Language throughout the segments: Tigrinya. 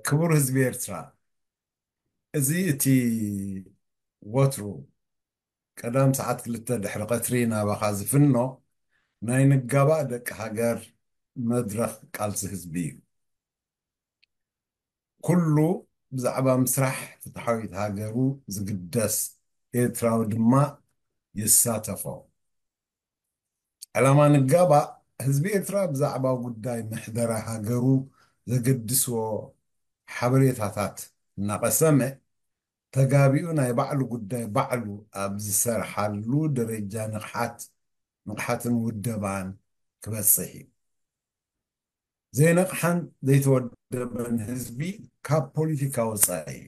ክቡር ህዝቢ ኤርትራ፣ እዚ እቲ ወትሩ ቀዳም ሰዓት ክልተ ድሕሪ ቀትሪ ናባኻ ዝፍኖ ናይ ንጋባእ ደቂ ሃገር መድረኽ ቃልሲ ህዝቢ እዩ። ኩሉ ብዛዕባ ምስራሕ ፍትሓዊት ሃገሩ ዝግደስ ኤርትራዊ ድማ ይሳተፎ። ዕላማ ንጋባእ፣ ህዝቢ ኤርትራ ብዛዕባ ጉዳይ ምሕደራ ሃገሩ ዘገድስዎ ሓበሬታታት እናቐሰመ፣ ተጋቢኡ ናይ ባዕሉ ጉዳይ ባዕሉ ኣብ ዝሰርሓሉ ደረጃ ንቕሓት፣ ንቕሓትን ውደባን ክበጽሕ እዩ። ዘይነቕሓን ዘይተወደበን ህዝቢ ካብ ፖለቲካ ወጻኢ እዩ።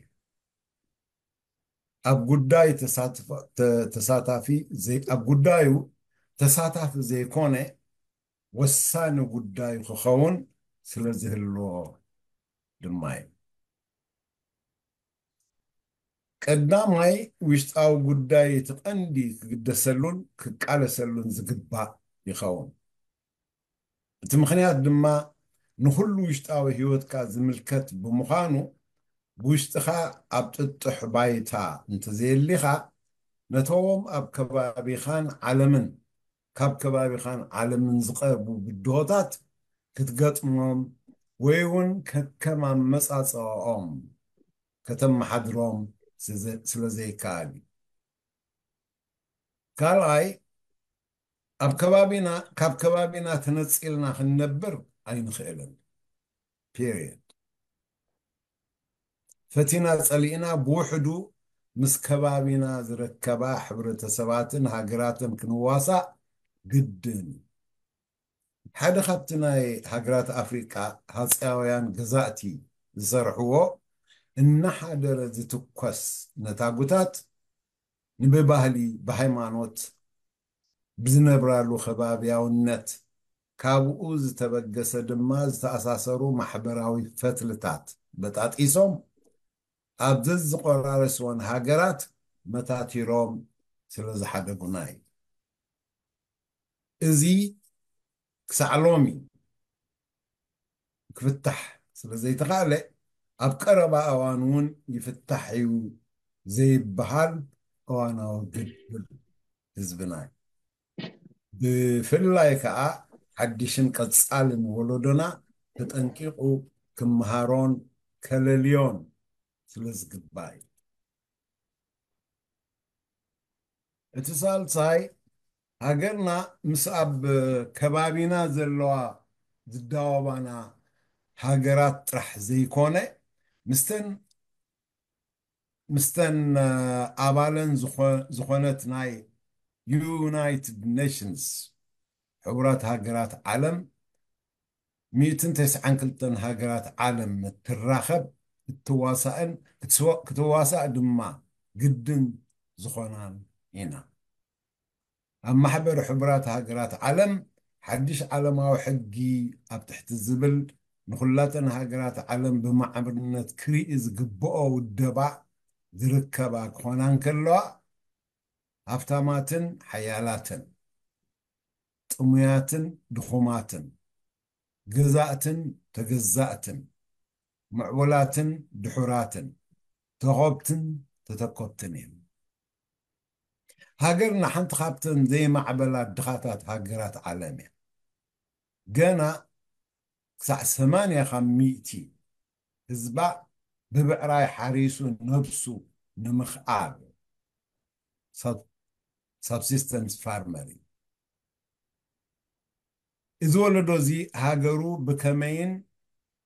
ኣብ ጉዳይ ተሳትፎ-፣ ተ-፣ ተሳታፊ ዘይ-፣ ኣብ ጉዳዩ ተሳታፊ ዘይኮነ ወሳኒ ጉዳዩ ክኸውን ስለ ዝህልዎ ድማ እዩ። ቀዳማይ ውሽጣዊ ጉዳይ እቲ ቀንዲ ክግደሰሉን ክቃለሰሉን ዝግባእ ይኸውን። እቲ ምኽንያት ድማ ንኹሉ ውሽጣዊ ህይወትካ ዝምልከት ብምዃኑ፣ ብውሽጥኻ ኣብ ጥጡሕ ባይታ እንተዘየሊኻ፣ ነቶም ኣብ ከባቢኻን ዓለምን፣ ካብ ከባቢኻን ዓለምን ዝቐርቡ ብድሆታት ክትገጥሞም ወይ እውን ከከም ኣመጻጽኣኦም ከተመሓድሮም ስዘ-፣ ስለ ዘይከኣል እዩ። ካልኣይ፣ ኣብ ከባቢና፣ ካብ ከባቢና ተነጺልና ክንነብር ኣይንኽእልን። ፔሪየድ። ፈቲና ጸሊእና ብውሕዱ ምስ ከባቢና ዝርከባ ሕብረተሰባትን ሃገራትን ክንዋሳእ ግድን እዩ። ሓደ ካብቲ ናይ ሃገራት ኣፍሪቃ ሃጸያውያን ገዛእቲ ዝሰርሕዎ እናሓደረ ዝትኮስ ነታጉታት ንብባህሊ፣ ብሃይማኖት፣ ብዝነብራሉ ከባብያውነት፣ ካብኡ ዝተበገሰ ድማ ዝተኣሳሰሩ ማሕበራዊ ፈትልታት በጣጢሶም ኣብ ዘዝቆራረስወን ሃገራት መታቲሮም ስለ ዝሓደጉና እዩ። እዚ ክሳዕ ሎሚ ክፍታሕ ስለ ዘይተኻእለ፣ ኣብ ቀረባ እዋን እውን ይፍታሕ እዩ ዘይበሃል እዋናዊ ግድል ህዝብና እዩ። ብፍላይ ከኣ ሓድሽን ቀጻልን ወለዶና ተጠንቂቑ ክመሃሮን ከለልዮን ስለ ዝግባእ እዩ። እቲ ሳልሳይ፣ ሃገርና ምስ ኣብ ከባቢና ዘለዋ ዝዳወባና ሃገራት ጥራሕ ዘይኮነ፣ ምስተን፣ ምስተን፣ እ፣ ኣባለን ዝኾ-፣ ዝኾነት ናይ ዩናይትድ ኔሽንስ፣ ሕቡራት ሃገራት ዓለም፣ ሚእትን ተስዓን ክልተን ሃገራት ዓለም እትራኸብ፣ እትዋሳእን ክትስዋ-፣ ክትዋሳእ ድማ ግድን ዝኾናን ኢና። ኣብ ማሕበር ሕቡራት ሃገራት ዓለም ሓድሽ ዓለማዊ ሕጊ ኣብ ትሕቲ ዝብል ንኹላተን ሃገራት ዓለም ብማዕርነት ክርኢ ዝግብኦ ውደባ ዝርከባ ክኾና እንከለዋ፣ ሃብታማትን ሓያላትን፣ ጥሙያትን ድኹማትን፣ ገዛእትን ተገዛእትን፣ ምዕቡላትን ድሑራትን፣ ተኾብትን ተተኮብትን እዮም። ሃገርና ሓንቲ ካብተን ዘይማዕበላ ድኻታት ሃገራት ዓለም እያ። ገና ክሳዕ ሰማንያ ካብ ሚእቲ ህዝባ ብብዕራይ ሓሪሱ ነብሱ ንምኽኣል፣ ሳብ-፣ ሳብሲስተንስ ፋርመር እዩ። እዚ ወለዶ እዚ ሃገሩ ብከመይን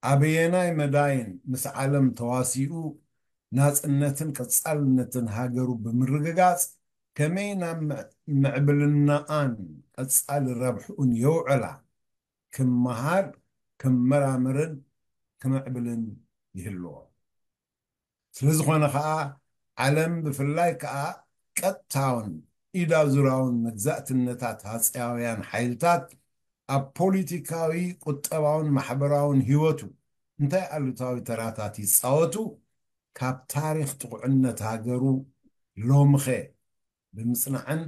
ኣበየናይ መዳይን ምስ ዓለም ተዋሲኡ ናጽነትን ቀጻልነትን ሃገሩ ብምርግጋጽ ከመይ ናብ ምዕ-፣ ምዕብልናኣን ቀጻሊ ረብሕኡን የውዕላ ክመሃር፣ ክመራመርን ክምዕብልን ይህልዎ። ስለ ዝኾነ ኸኣ ዓለም ብፍላይ ከኣ ቀጥታውን ኢድ ኣዙራውን መግዛእትነታት ሃጸያውያን ሓይልታት ኣብ ፖሊቲካዊ፣ ቁጠባውን ማሕበራውን ህይወቱ እንታይ ኣሉታዊ ተራታት ይጻወቱ፣ ካብ ታሪኽ ጥቑዕነት ሃገሩ ሎምኸ ብምጽናዕን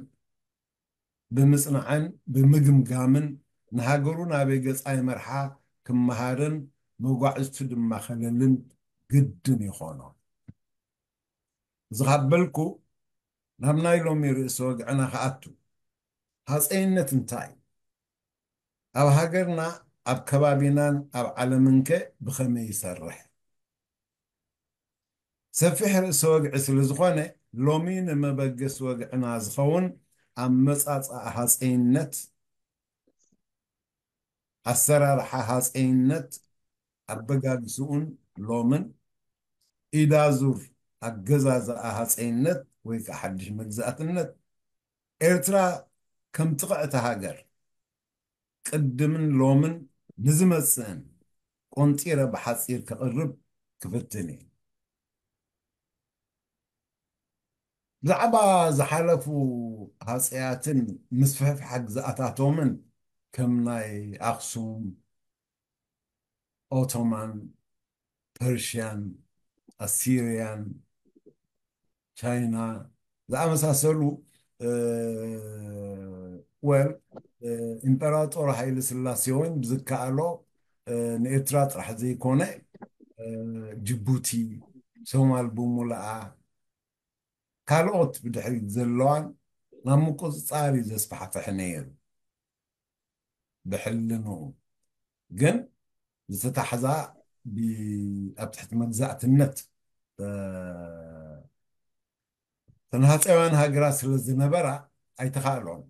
ብምጽናዕን ብምግምጋምን ንሃገሩ ናበይ ገጻ ይመርሓ ክመሃርን መጓዕዝቱ ድማ ከለልን ግድን ይኾኖ። እዚ ካብ በልኩ ናብ ናይ ሎሚ ርእሲ ወግዕና ክኣቱ። ሃፀይነት እንታይ እዩ? ኣብ ሃገርና፣ ኣብ ከባቢናን ኣብ ዓለምንከ ብኸመይ ይሰርሕ? ሰፊሕ ርእሲ ወግዒ ስለ ዝኾነ፣ ሎሚ ንመበገሲ ወግዕና ዝኸውን ኣመጻጽኣ ሃፀይነት፣ ኣሰራርሓ ሃፀይነት፣ ኣበጋግስኡን ሎምን፣ ኢዳዙር ኣገዛዝኣ ሃፀይነት ወይ ከዓ ሓድሽ መግዛእትነት፣ ኤርትራ ከም ጥቕዕቲ ሃገር ቅድምን ሎምን ንዝመጽእን ቆንጢረ ብሓጺር ከቕርብ ክፍትን እየ። ብዛዕባ ዝሓለፉ ሃፀያትን ምስፍሕፋሕ ግዝኣታቶምን ከም ናይ ኣኽሱም፣ ኦቶማን፣ ፐርሽያን፣ ኣሲርያን፣ ቻይና ዝኣመሳሰሉ፣ ወል፣ ኢምፐራጦር ሃይለ ስላሴ እውን ብዝከኣሎ ንኤርትራ ጥራሕ ዘይኮነ፣ ጅቡቲ፣ ሶማል ብሙሉኣ፣ ካልኦት ብድሕሪት ዘለዋን ናብ ምቁፅፃር እዩ ዘስፋሕፍሕ ነይሩ። ብሕልንኡ ግን ዝተታሕዛ፣ ብ-፣ ኣብ ትሕቲ መግዛእትነት፣ እ፣ ተናሃፀውያን ሃገራት ስለ ዝነበራ ኣይተኻእሎን።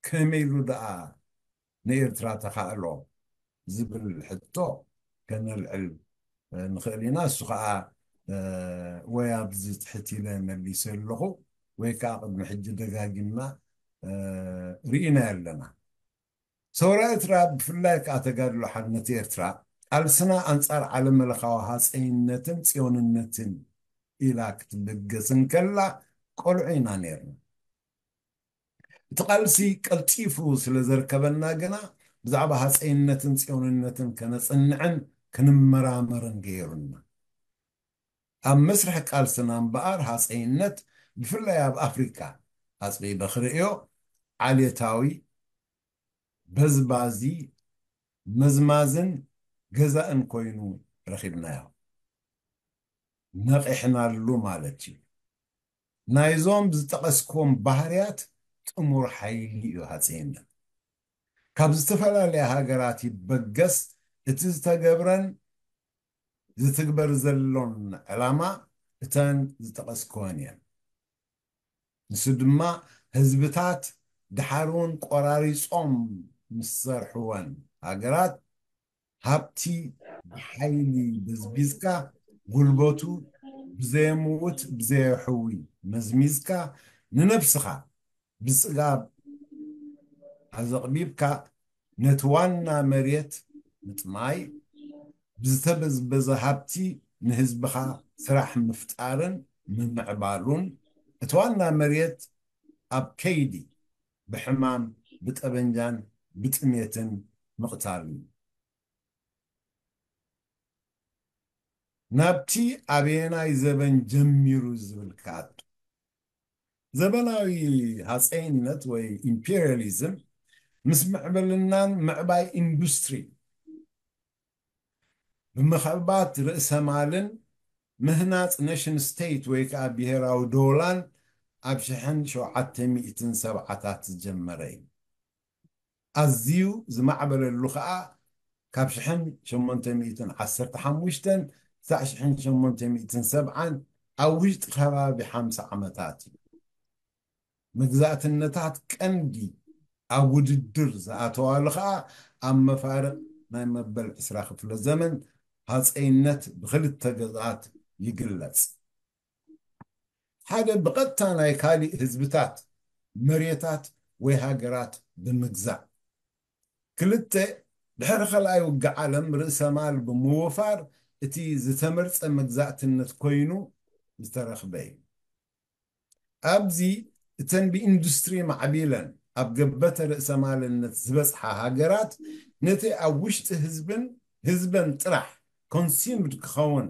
ከመይ ኢሉ ደኣ ንኤርትራ ተኻእሎ ዝብል ሕቶ ከነልዕል፣ እ፣ ንኽእል ኢና። እሱ ኸዓ፣ እ፣ ወይ ኣብዚ ትሕት ኢለ መሊሰ ኣለኹ፣ ወይ ከዓ ቅድሚ ሕጂ ደጋጊምና፣ እ፣ ርኢና ኣለና። ሰውራ ኤርትራ፣ ብፍላይ ከኣ ተጋድሎ ሓርነት ኤርትራ፣ ቃልስና ኣንጻር ዓለም ለኻዊ ሃጸይነትን ጽዮንነትን ኢላ ክትብገስ እንከላ፣ ቆልዑ ኢና ነይርና። እቲ ቃልሲ ቀልጢፉ ስለ ዘርከበና ግና፣ ብዛዕባ ሃጸይነትን ጽዮንነትን ከነጽንዕን ክንመራመርን ገይሩና። ኣብ መስርሕ ቃልስና እምበኣር፣ ሃጸይነት፣ ብፍላይ ኣብ ኣፍሪካ ኣጽቢበ ክርእዮ፣ ዓሌታዊ፣ በዝባዚ፣ መዝማዝን ገዛእን ኮይኑ ረኺብናዮ። ነቒሕናሉ ማለት እዩ። ናይዞም ዝጠቐስክዎም ባህርያት ጥሙር ሓይሊ እዩ ሃፀይነት። ካብ ዝተፈላለያ ሃገራት ይበገስ፣ እቲ ዝተገብረን ዝትግበር ዘሎን ዕላማ እተን ዝጠቐስክወን እየን። ንሱ ድማ ህዝብታት ድሓር እውን ቆራሪጾም ምስ ሰርሕወን ሃገራት ሃብቲ ብሓይሊ በዝቢዝካ፣ ጉልበቱ ብዘየምውት ብዘየሕዊ መዝሚዝካ፣ ንነብስኻ ብጽጋብ ኣዘቕቢብካ፣ ነቲ ዋና መሬት ምጥማይ፣ ብዝተበዝበዘ ሃብቲ ንህዝብኻ ስራሕ ምፍጣርን ምምዕባሉን፣ እቲ ዋና መሬት ኣብ ከይዲ ብሕማም፣ ብጠበንጃን ብጥሜትን ምቕታል እዩ። ናብቲ ኣበየናይ ዘበን ጀሚሩ ዝብል ክኣቱ። ዘበናዊ ሃፀይነት ወይ ኢምፔሪያሊዝም ምስ ምዕብልናን ምዕባይ ኢንዱስትሪ፣ ብምኽዕባት ርእሰ ማልን ምህናፅ ኔሽን ስቴት ወይ ከዓ ብሄራዊ ዶላን ኣብ ሽሕን ሸውዓተ ሚእትን ሰብዓታት ዝጀመረ እዩ። ኣዝዩ ዝማዕበለሉ ከዓ ካብ ሽሕን ሸሞንተ ሚእትን ዓሰርተ ሓሙሽተን ክሳዕ ሽሕን ሸሞንተ ሚእትን ሰብዓን ኣብ ውሽጢ ከባቢ ሓምሳ ዓመታት እዩ። መግዛእትነታት ቀንዲ ኣብ ውድድር ዝኣተዋሉ ከዓ ኣብ መፋርቕ ናይ መበል ዕስራ ክፍለ ዘመን ሃፀይነት ብኽልተ ገዛት ይግለጽ። ሓደ ብቐጥታ ናይ ካሊእ ህዝብታት መሬታት ወይ ሃገራት ብምግዛእ። ክልተ፣ ድሕሪ ካልኣይ ውግእ ዓለም ርእሰ ማል ብምውፋር እቲ ዝተመርጸ መግዛእትነት ኮይኑ ዝተረኽበ እዩ። ኣብዚ እተን ብኢንዱስትሪ ማዕቢለን ኣብ ገበተ ርእሰ ማልነት ዝበጽሓ ሃገራት ነቲ ኣብ ውሽጢ ህዝብን ህዝበን ጥራሕ ኮንሱምድ ክኸውን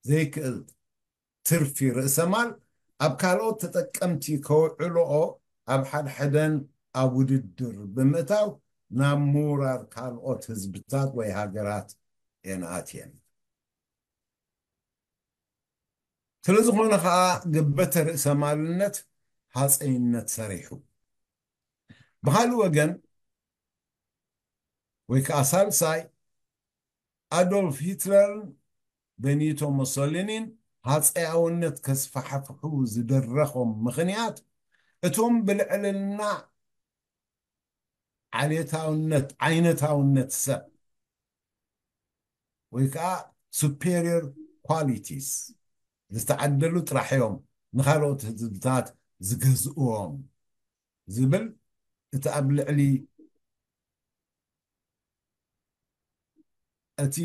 ዘይክእል ትርፊ ርእሰ ማል ኣብ ካልኦት ተጠቀምቲ ከውዕልኦ ኣብ ሓድሕደን ኣብ ውድድር ብምእታው ናብ ምውራር ካልኦት ህዝብታት ወይ ሃገራት እየን ኣትየን። ስለ ዝኾነ ኸኣ ገበተ ርእሰ ማልነት ሃፀይነት ሰሪሑ። ብኻልእ ወገን ወይ ከዓ ሳልሳይ ኣዶልፍ ሂትለርን በኒቶ ሞሶሊኒን ሃፀያውነት ከስፋሕፍሑ ዝደረኾም ምኽንያት እቶም ብልዕልና ዓሌታውነት ዓይነታውነት ሰብ ወይ ከዓ superior qualities ዝተዓደሉ ጥራሕ እዮም ንኻልኦት ህዝብታት ዝገዝእዎም ዝብል እቲ ኣብ ልዕሊ እቲ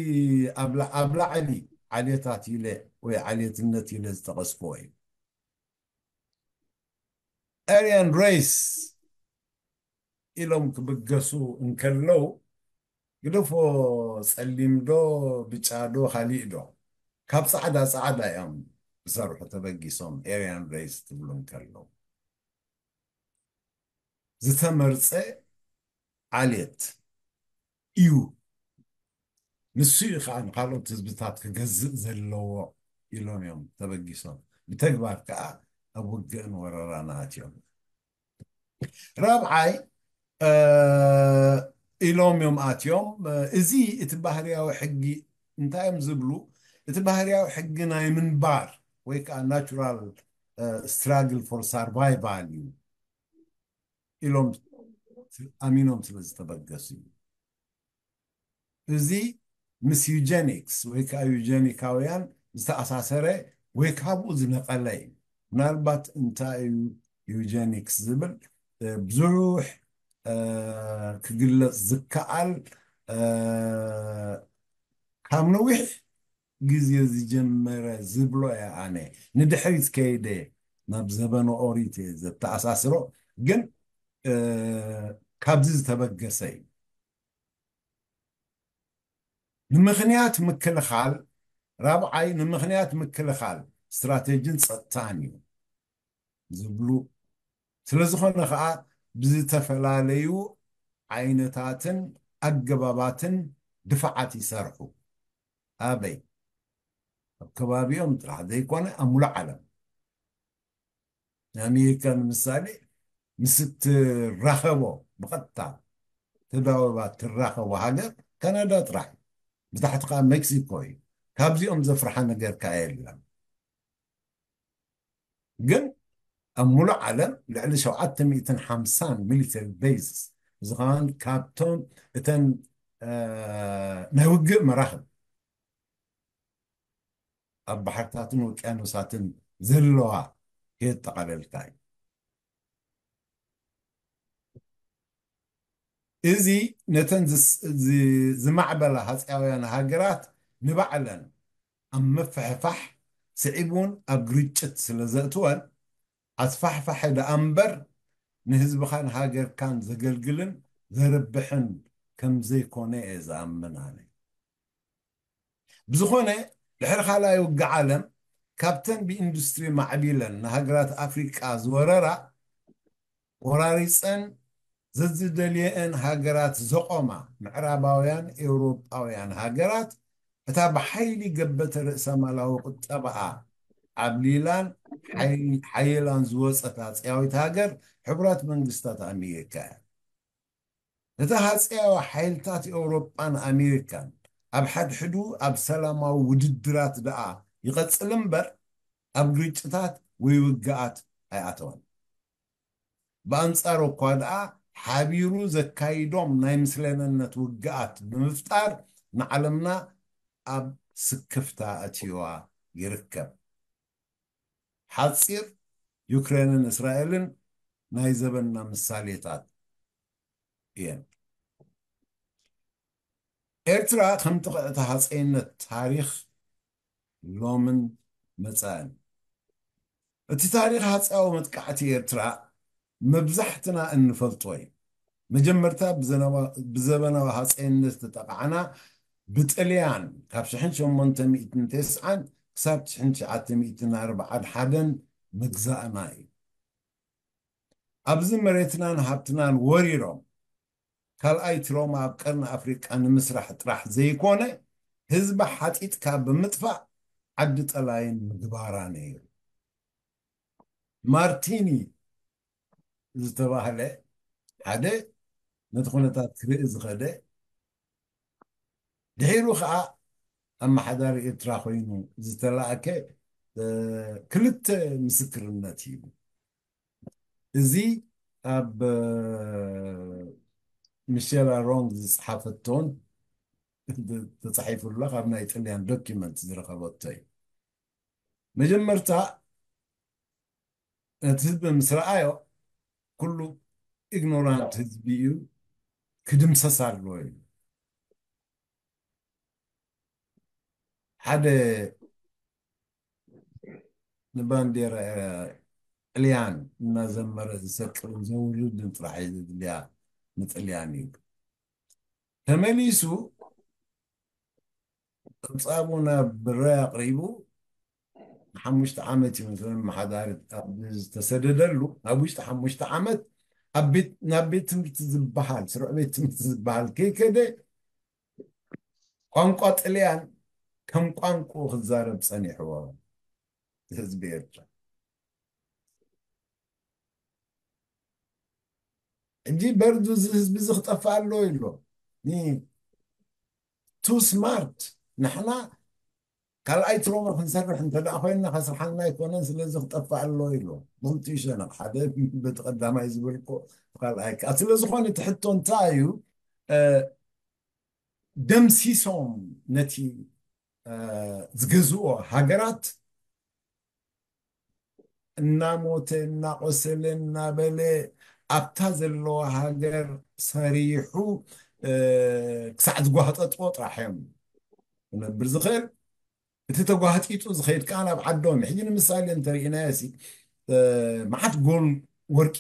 ኣብ ላ- ኣብ ላዕሊ ዓሌታት ኢለ ወይ ዓሌትነት ኢለ ዝጠቐስክዎ እዩ። Aryan race ኢሎም ክብገሱ እንከለዉ ግደፎ፣ ጸሊም ዶ ብጫ ዶ ካሊእ ዶ ካብ ጻዕዳ ጻዕዳ እዮም ዝሰርሑ ተበጊሶም Aryan race ትብሉ እንከለዉ ዝተመርጸ ዓሌት እዩ። ንሱ እዩ ከዓ ንካልኦት ህዝብታት ክገዝእ ዘለዎ ኢሎም እዮም ተበጊሶም። ብተግባር ከዓ ኣብ ውግእን ወረራን ኣትዮም። ራብዓይ ኢሎም እዮም ኣትዮም። እዚ እቲ ባህርያዊ ሕጊ እንታይ እዮም ዝብሉ? እቲ ባህርያዊ ሕጊ ናይ ምንባር ወይ ከዓ natural struggle for survival እዩ ኢሎም ኣሚኖም ስለ ዝተበገሱ እዩ። እዚ ምስ ዩጀኒክስ ወይ ከዓ ዩጀኒካውያን ዝተኣሳሰረ ወይ ካብኡ ዝነቐለ እዩ። ምናልባት እንታይ እዩ ዩጀኒክስ ዝብል ብዙሕ ክግለፅ ዝከኣል ካብ ነዊሕ ግዜ ዝጀመረ ዝብሎ እየ ኣነ። ንድሕሪት ከይደ ናብ ዘበነ ኦሪት እየ ዘተኣሳስሮ፣ ግን ካብዚ ዝተበገሰ እዩ። ንምኽንያት ምክልኻል ራብዓይ ንምኽንያት ምክልኻል ስትራቴጂን ፀጥታን እዩ ዝብሉ። ስለ ዝኾነ ከዓ ብዝተፈላለዩ ዓይነታትን ኣገባባትን ድፋዓት ይሰርሑ። ኣበይ? ኣብ ከባቢኦም ጥራሕ ዘይኮነ ኣብ ሙሉእ ዓለም። ኣሜሪካ ንምሳሌ ምስ እትራኸቦ ብቐጥታ ተዳወባ ትራኸቦ ሃገር ካናዳ ጥራሕ እዩ። ብታሕቲ ከዓ ሜክሲኮ እዩ። ካብዚኦም ዘፍርሓ ነገር ከዓ የለን። ግን ኣብ ሙሉእ ዓለም ልዕሊ ሸውዓተ ሚእትን ሓምሳን ሚሊተሪ ቤዝስ ዝኸውን ካብቶም እተን ናይ ውግእ መራኽብ ኣብ ባሕርታትን ውቅያኖሳትን ዘለዋ ከየጠቓለልካ እዩ። እዚ ነተን ዝማዕበላ ሃፀያውያን ሃገራት ንባዕለን ኣብ ምፍሕፋሕ ስዒብ እውን ኣብ ግርጭት ስለ ዘእትወን ኣስፋሕፋሒ ደኣ እምበር ንህዝብኻን ሃገርካን ዘገልግልን ዘርብሕን ከም ዘይኮነ እየ ዝኣምን ኣነ። ብዝኾነ ድሕሪ ካልኣይ ውግእ ዓለም ካብተን ብኢንዱስትሪ ማዕቢለን ንሃገራት ኣፍሪቃ ዝወረራ ቆራሪፀን ዘዝደልየአን ሃገራት ዘቆማ ምዕራባውያን ኤውሮጳውያን ሃገራት እታ ብሓይሊ ገበተ ርእሰማላዊ ቁጠባኣ ዓብሊላን ሓይላን ዝወፀት ኣፅያዊት ሃገር ሕቡራት መንግስታት ኣሜሪካ እያ። እታ ሃፀያዊ ሓይልታት ኤውሮጳን ኣሜሪካን ኣብ ሓድሕዱ ኣብ ሰላማዊ ውድድራት ደኣ ይቐጽል እምበር ኣብ ግርጭታት ወይ ውግኣት ኣይኣተወን። ብኣንጻሩ እኳ ደኣ ሓቢሩ ዘካይዶም ናይ ምስለነነት ውግኣት ብምፍጣር ንዓለምና ኣብ ስክፍታ ኣእትዩዋ ይርከብ። ሓጺር ዩክሬንን እስራኤልን ናይ ዘበንና ምሳሌታት እየን። ኤርትራ ከም ጥቕዕቲ ሃፀይነት ታሪኽ ሎምን መጻእን። እቲ ታሪኽ ሃፀያዊ መጥቃዕቲ ኤርትራ መብዛሕትና እንፈልጦ እዩ። መጀመርታ ብዘበናዊ ሃፀይነት ዝተጠቓዕና ብጥልያን ካብ ሽሕን ሸሞንተ ሚእትን ተስዓን ክሳብ ሽሕን ትሽዓተ ሚእትን ኣርብዓን ሓደን ምግዛእና እዩ። ኣብዚ መሬትናን ሃብትናን ወሪሮም ካልኣይ ትሮማ ኣብ ቀርኒ ኣፍሪቃ ንምስራሕ ጥራሕ ዘይኮነ ህዝቢ ሓጢጥካ ብምጥፋእ ዓዲ ጠላይን ምግባራ ነይሩ። ማርቲኒ ዝተባህለ ሓደ ነቲ ኩነታት ክርኢ ዝኸደ፣ ድሒሩ ከዓ ኣመሓዳሪ ኤርትራ ኮይኑ ዝተላእከ ክልተ ምስክርነት እዩ። እዚ ኣብ ሚሸላ ሮንግ ዝፅሓፈቶን ተፃሒፉላ ካብ ናይ ጥልያን ዶኪመንት ዝረኸበቶ እዩ። መጀመርታ ነቲ ህዝቢ ምስ ረኣዮ ኩሉ ኢግኖራንት ህዝቢ እዩ፣ ክድምሰስ ኣለዎ እዩ። ሓደ ንባንዴራ ጥልያን እናዘመረ ዝሰቅልን ዘውርድን ጥራሕ እዩ ዝድልያ፣ ንጥልያን እዩ። ተመሊሱ ጸብጻቡ ናብ ብራይ ኣቕሪቡ፣ ንሓሙሽተ ዓመት እዩ ምስ መመሓዳሪ ኣብ ዝተሰደደሉ፣ ኣብ ውሽጢ ሓሙሽተ ዓመት ኣብ ቤት፣ ናብ ቤት ትምህርቲ ዝበሃል፣ ስሩዕ ቤት ትምህርቲ ዝበሃል ከይከደ፣ ቋንቋ ጥልያን ከም ቋንቋ ክዛረብ ጸኒሕዎ ህዝቢ ኤርትራ። ሕጂ በርዱ እዚ ህዝቢ እዚ ክጠፍእ ኣለዎ ኢሎ። ቱ ስማርት። ንሕና ካልኣይ ትሮማ ክንሰርሕ እንተ ደኣ ኮይንና ከስርሓልና ኣይኮነን፣ ስለዚ ክጠፍእ ኣለዎ ኢሎ። ብኽልቲኡ ሸነኽ፣ ሓደ በቲ ቀዳማይ ዝበልኮ፣ ካልኣይ ከኣ። ስለ ዝኾነ እቲ ሕቶ እንታይ እዩ? እ፣ ደምሲሶም ነቲ፣ እ፣ ዝገዝኦ ሃገራት እናሞተ፣ እናቆሰለ፣ እናበለ ኣብታ ዘለዋ ሃገር ሰሪሑ፣ እ፣ ክሳዕ ዝጓህጠጥዎ ጥራሕ እዮም ክነብር ዝኽእል። እቲ ተጓህጢጡ ዝኸይድ ከኣ ናብ ዓዶም። ሕጂ ንምሳሌ እንተርኢናዮ ሲ፣ እ፣ መዓት ጎል ወርቂ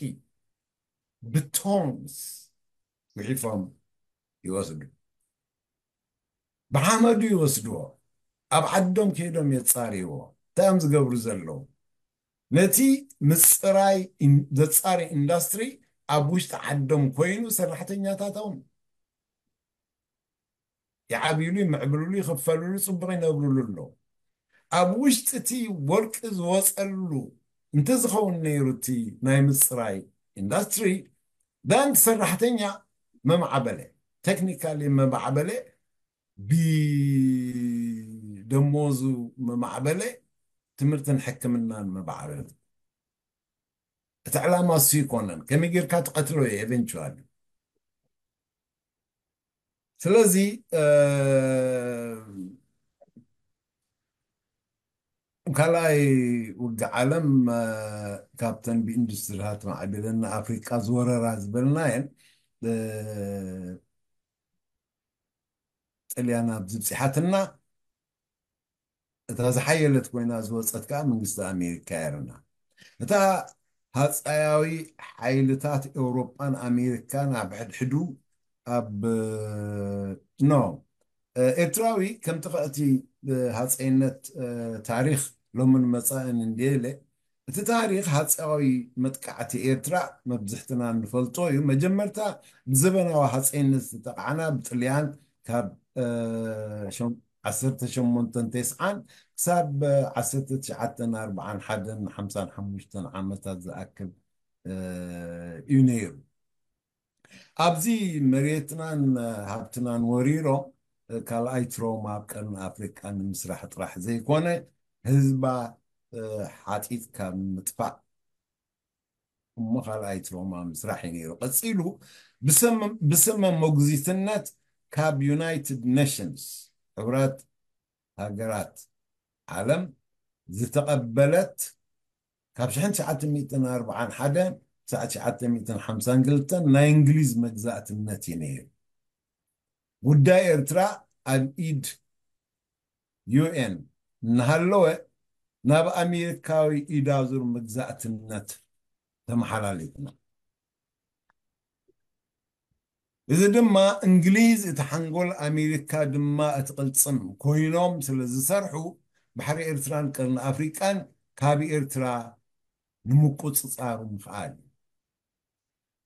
ብቶንስ ጉሒፎም ይወስዱ። ብሓመዱ ይወስድዎ። ኣብ ዓዶም ከይዶም የጻርይዎ። እንታይ እዮም ዝገብሩ ዘለዉ? ነቲ ምጽራይ ኢን-፣ ዘጻሪ ኢንዳስትሪ ኣብ ውሽጢ ዓዶም ኮይኑ ሰራሕተኛታቶም ይዓብይሉ፣ ይምዕብልሉ፣ ይኽፈልሉ፣ ጽቡቕ ይነብርሉ ኣለዉ። ኣብ ውሽጢ እቲ ወርቂ ዝወጸሉ እንተዝኸውን ነይሩ እቲ ናይ ምጽራይ ኢንዳስትሪ፣ ዳን ሰራሕተኛ መማዕበለ፣ ቴክኒካሊ መማዕበለ፣ ብደሞዙ መማዕበለ፣ ትምህርትን ሕክምናን መማዕበለ። እቲ ዕላማ እሱ ይኮነን። ከመይ ጌርካ ትቐትሎ እዩ ኤቨንቹዋሊ። ስለዚ፣ እ፣ ካልኣይ ውግእ ዓለም፣ እ፣ ካብተን ብኢንዱስትሪታት ማዕቢለን ንኣፍሪቃ ዝወረራ ዝበልናየን፣ እ፣ ጥልያን ኣብዚ ብፂሓትና፣ እታ ዝሓየለት ኮይና ዝወፀት ከዓ መንግስቲ ኣሜሪካ እያ። እታ ሃፀያዊ ሓይልታት ኤውሮጳን ኣሜሪካን ኣብ ሕድሕዱ ኣብ፣ ኖ፣ ኤርትራዊ ከም ጥቕዕቲ ሃፀይነት ታሪኽ ሎምን መጻእን እንድየለ፣ እቲ ታሪኽ ሃፀያዊ መጥቃዕቲ ኤርትራ መብዝሕትና እንፈልጦ እዩ። መጀመርታ ብዘበናዊ ሃፀይነት ዝተጠቕዓና ብጥልያን ካብ፣ እ፣ ሸም-፣ ዓሰርተ ሸሞንተ ተስዓን ክሳብ ዓሰርተ ትሽዓተ ኣርብዓን ሓደን ሓምሳን ሓሙሽተን ዓመታት ዝኣክል፣ እ፣ እዩ ነይሩ። ኣብዚ መሬትናን ሃብትናን ወሪሮም፣ እ፣ ካልኣይ ትሮማ ኣብ ቀርኒ ኣፍሪቃ ንምስራሕ ጥራሕ ዘይኮነ፣ ህዝባ፣ እ፣ ሓጢጥ ካብ ምጥፋእ እሞ ካልኣይ ትሮማ ምስራሕ እዩ ነይሩ። ቀጺሉ ብስም፣ ብስመ ሞግዚትነት ካብ ዩናይትድ ኔሽንስ፣ ሕቡራት ሃገራት ዓለም፣ ዝተቐበለት ካብ ሽሕን ትሽዓተ ሚእትን ኣርብዓን ሓደን ክሳዕ ትሽዓተ ሚእትን ሓምሳን ክልተን ናይ እንግሊዝ መግዛእትነት እዩ ነይሩ። ጉዳይ ኤርትራ ኣብ ኢድ ዩ ኤን እናሃለወ ናብ ኣሜሪካዊ ኢዳዙር መግዛእትነት ተመሓላሊፍና። እዚ ድማ እንግሊዝ እቲ ሓንጎል፣ ኣሜሪካ ድማ እቲ ቅልጽም ኮይኖም ስለ ዝሰርሑ፣ ባሕሪ ኤርትራን ቀርኒ ኣፍሪቃን ካብ ኤርትራ ንምቁጽጻሩ ምኽኣል እዩ።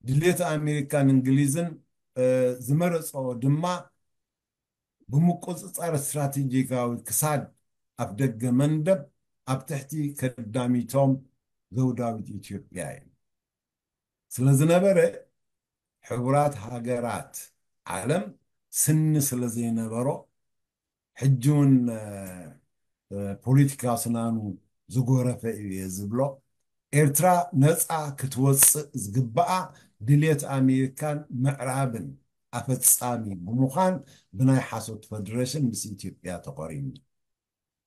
ድሌት ኣሜሪካን እንግሊዝን፣ እ፣ ዝመረጸኦ ድማ ብምቁጽጻር ስትራቴጂካዊ ክሳድ ኣፍደገ መንደብ ኣብ ትሕቲ ከዳሚቶም ዘውዳዊት ኢትዮጵያ እዩ። ስለ ዝነበረ፣ ሕቡራት ሃገራት ዓለም ስኒ ስለ ዘይነበሮ፣ ሕጂ እውን ፖለቲካ ስናኑ ዝጎረፈ እዩ እየ ዝብሎ። ኤርትራ ነፃ ክትወፅእ ዝግበኣ ድልየት ኣሜሪካን ምዕራብን ኣፈፃሚ ብምዃን፣ ብናይ ሓሶት ፈደረሽን ምስ ኢትዮጵያ ተቆሪኑ።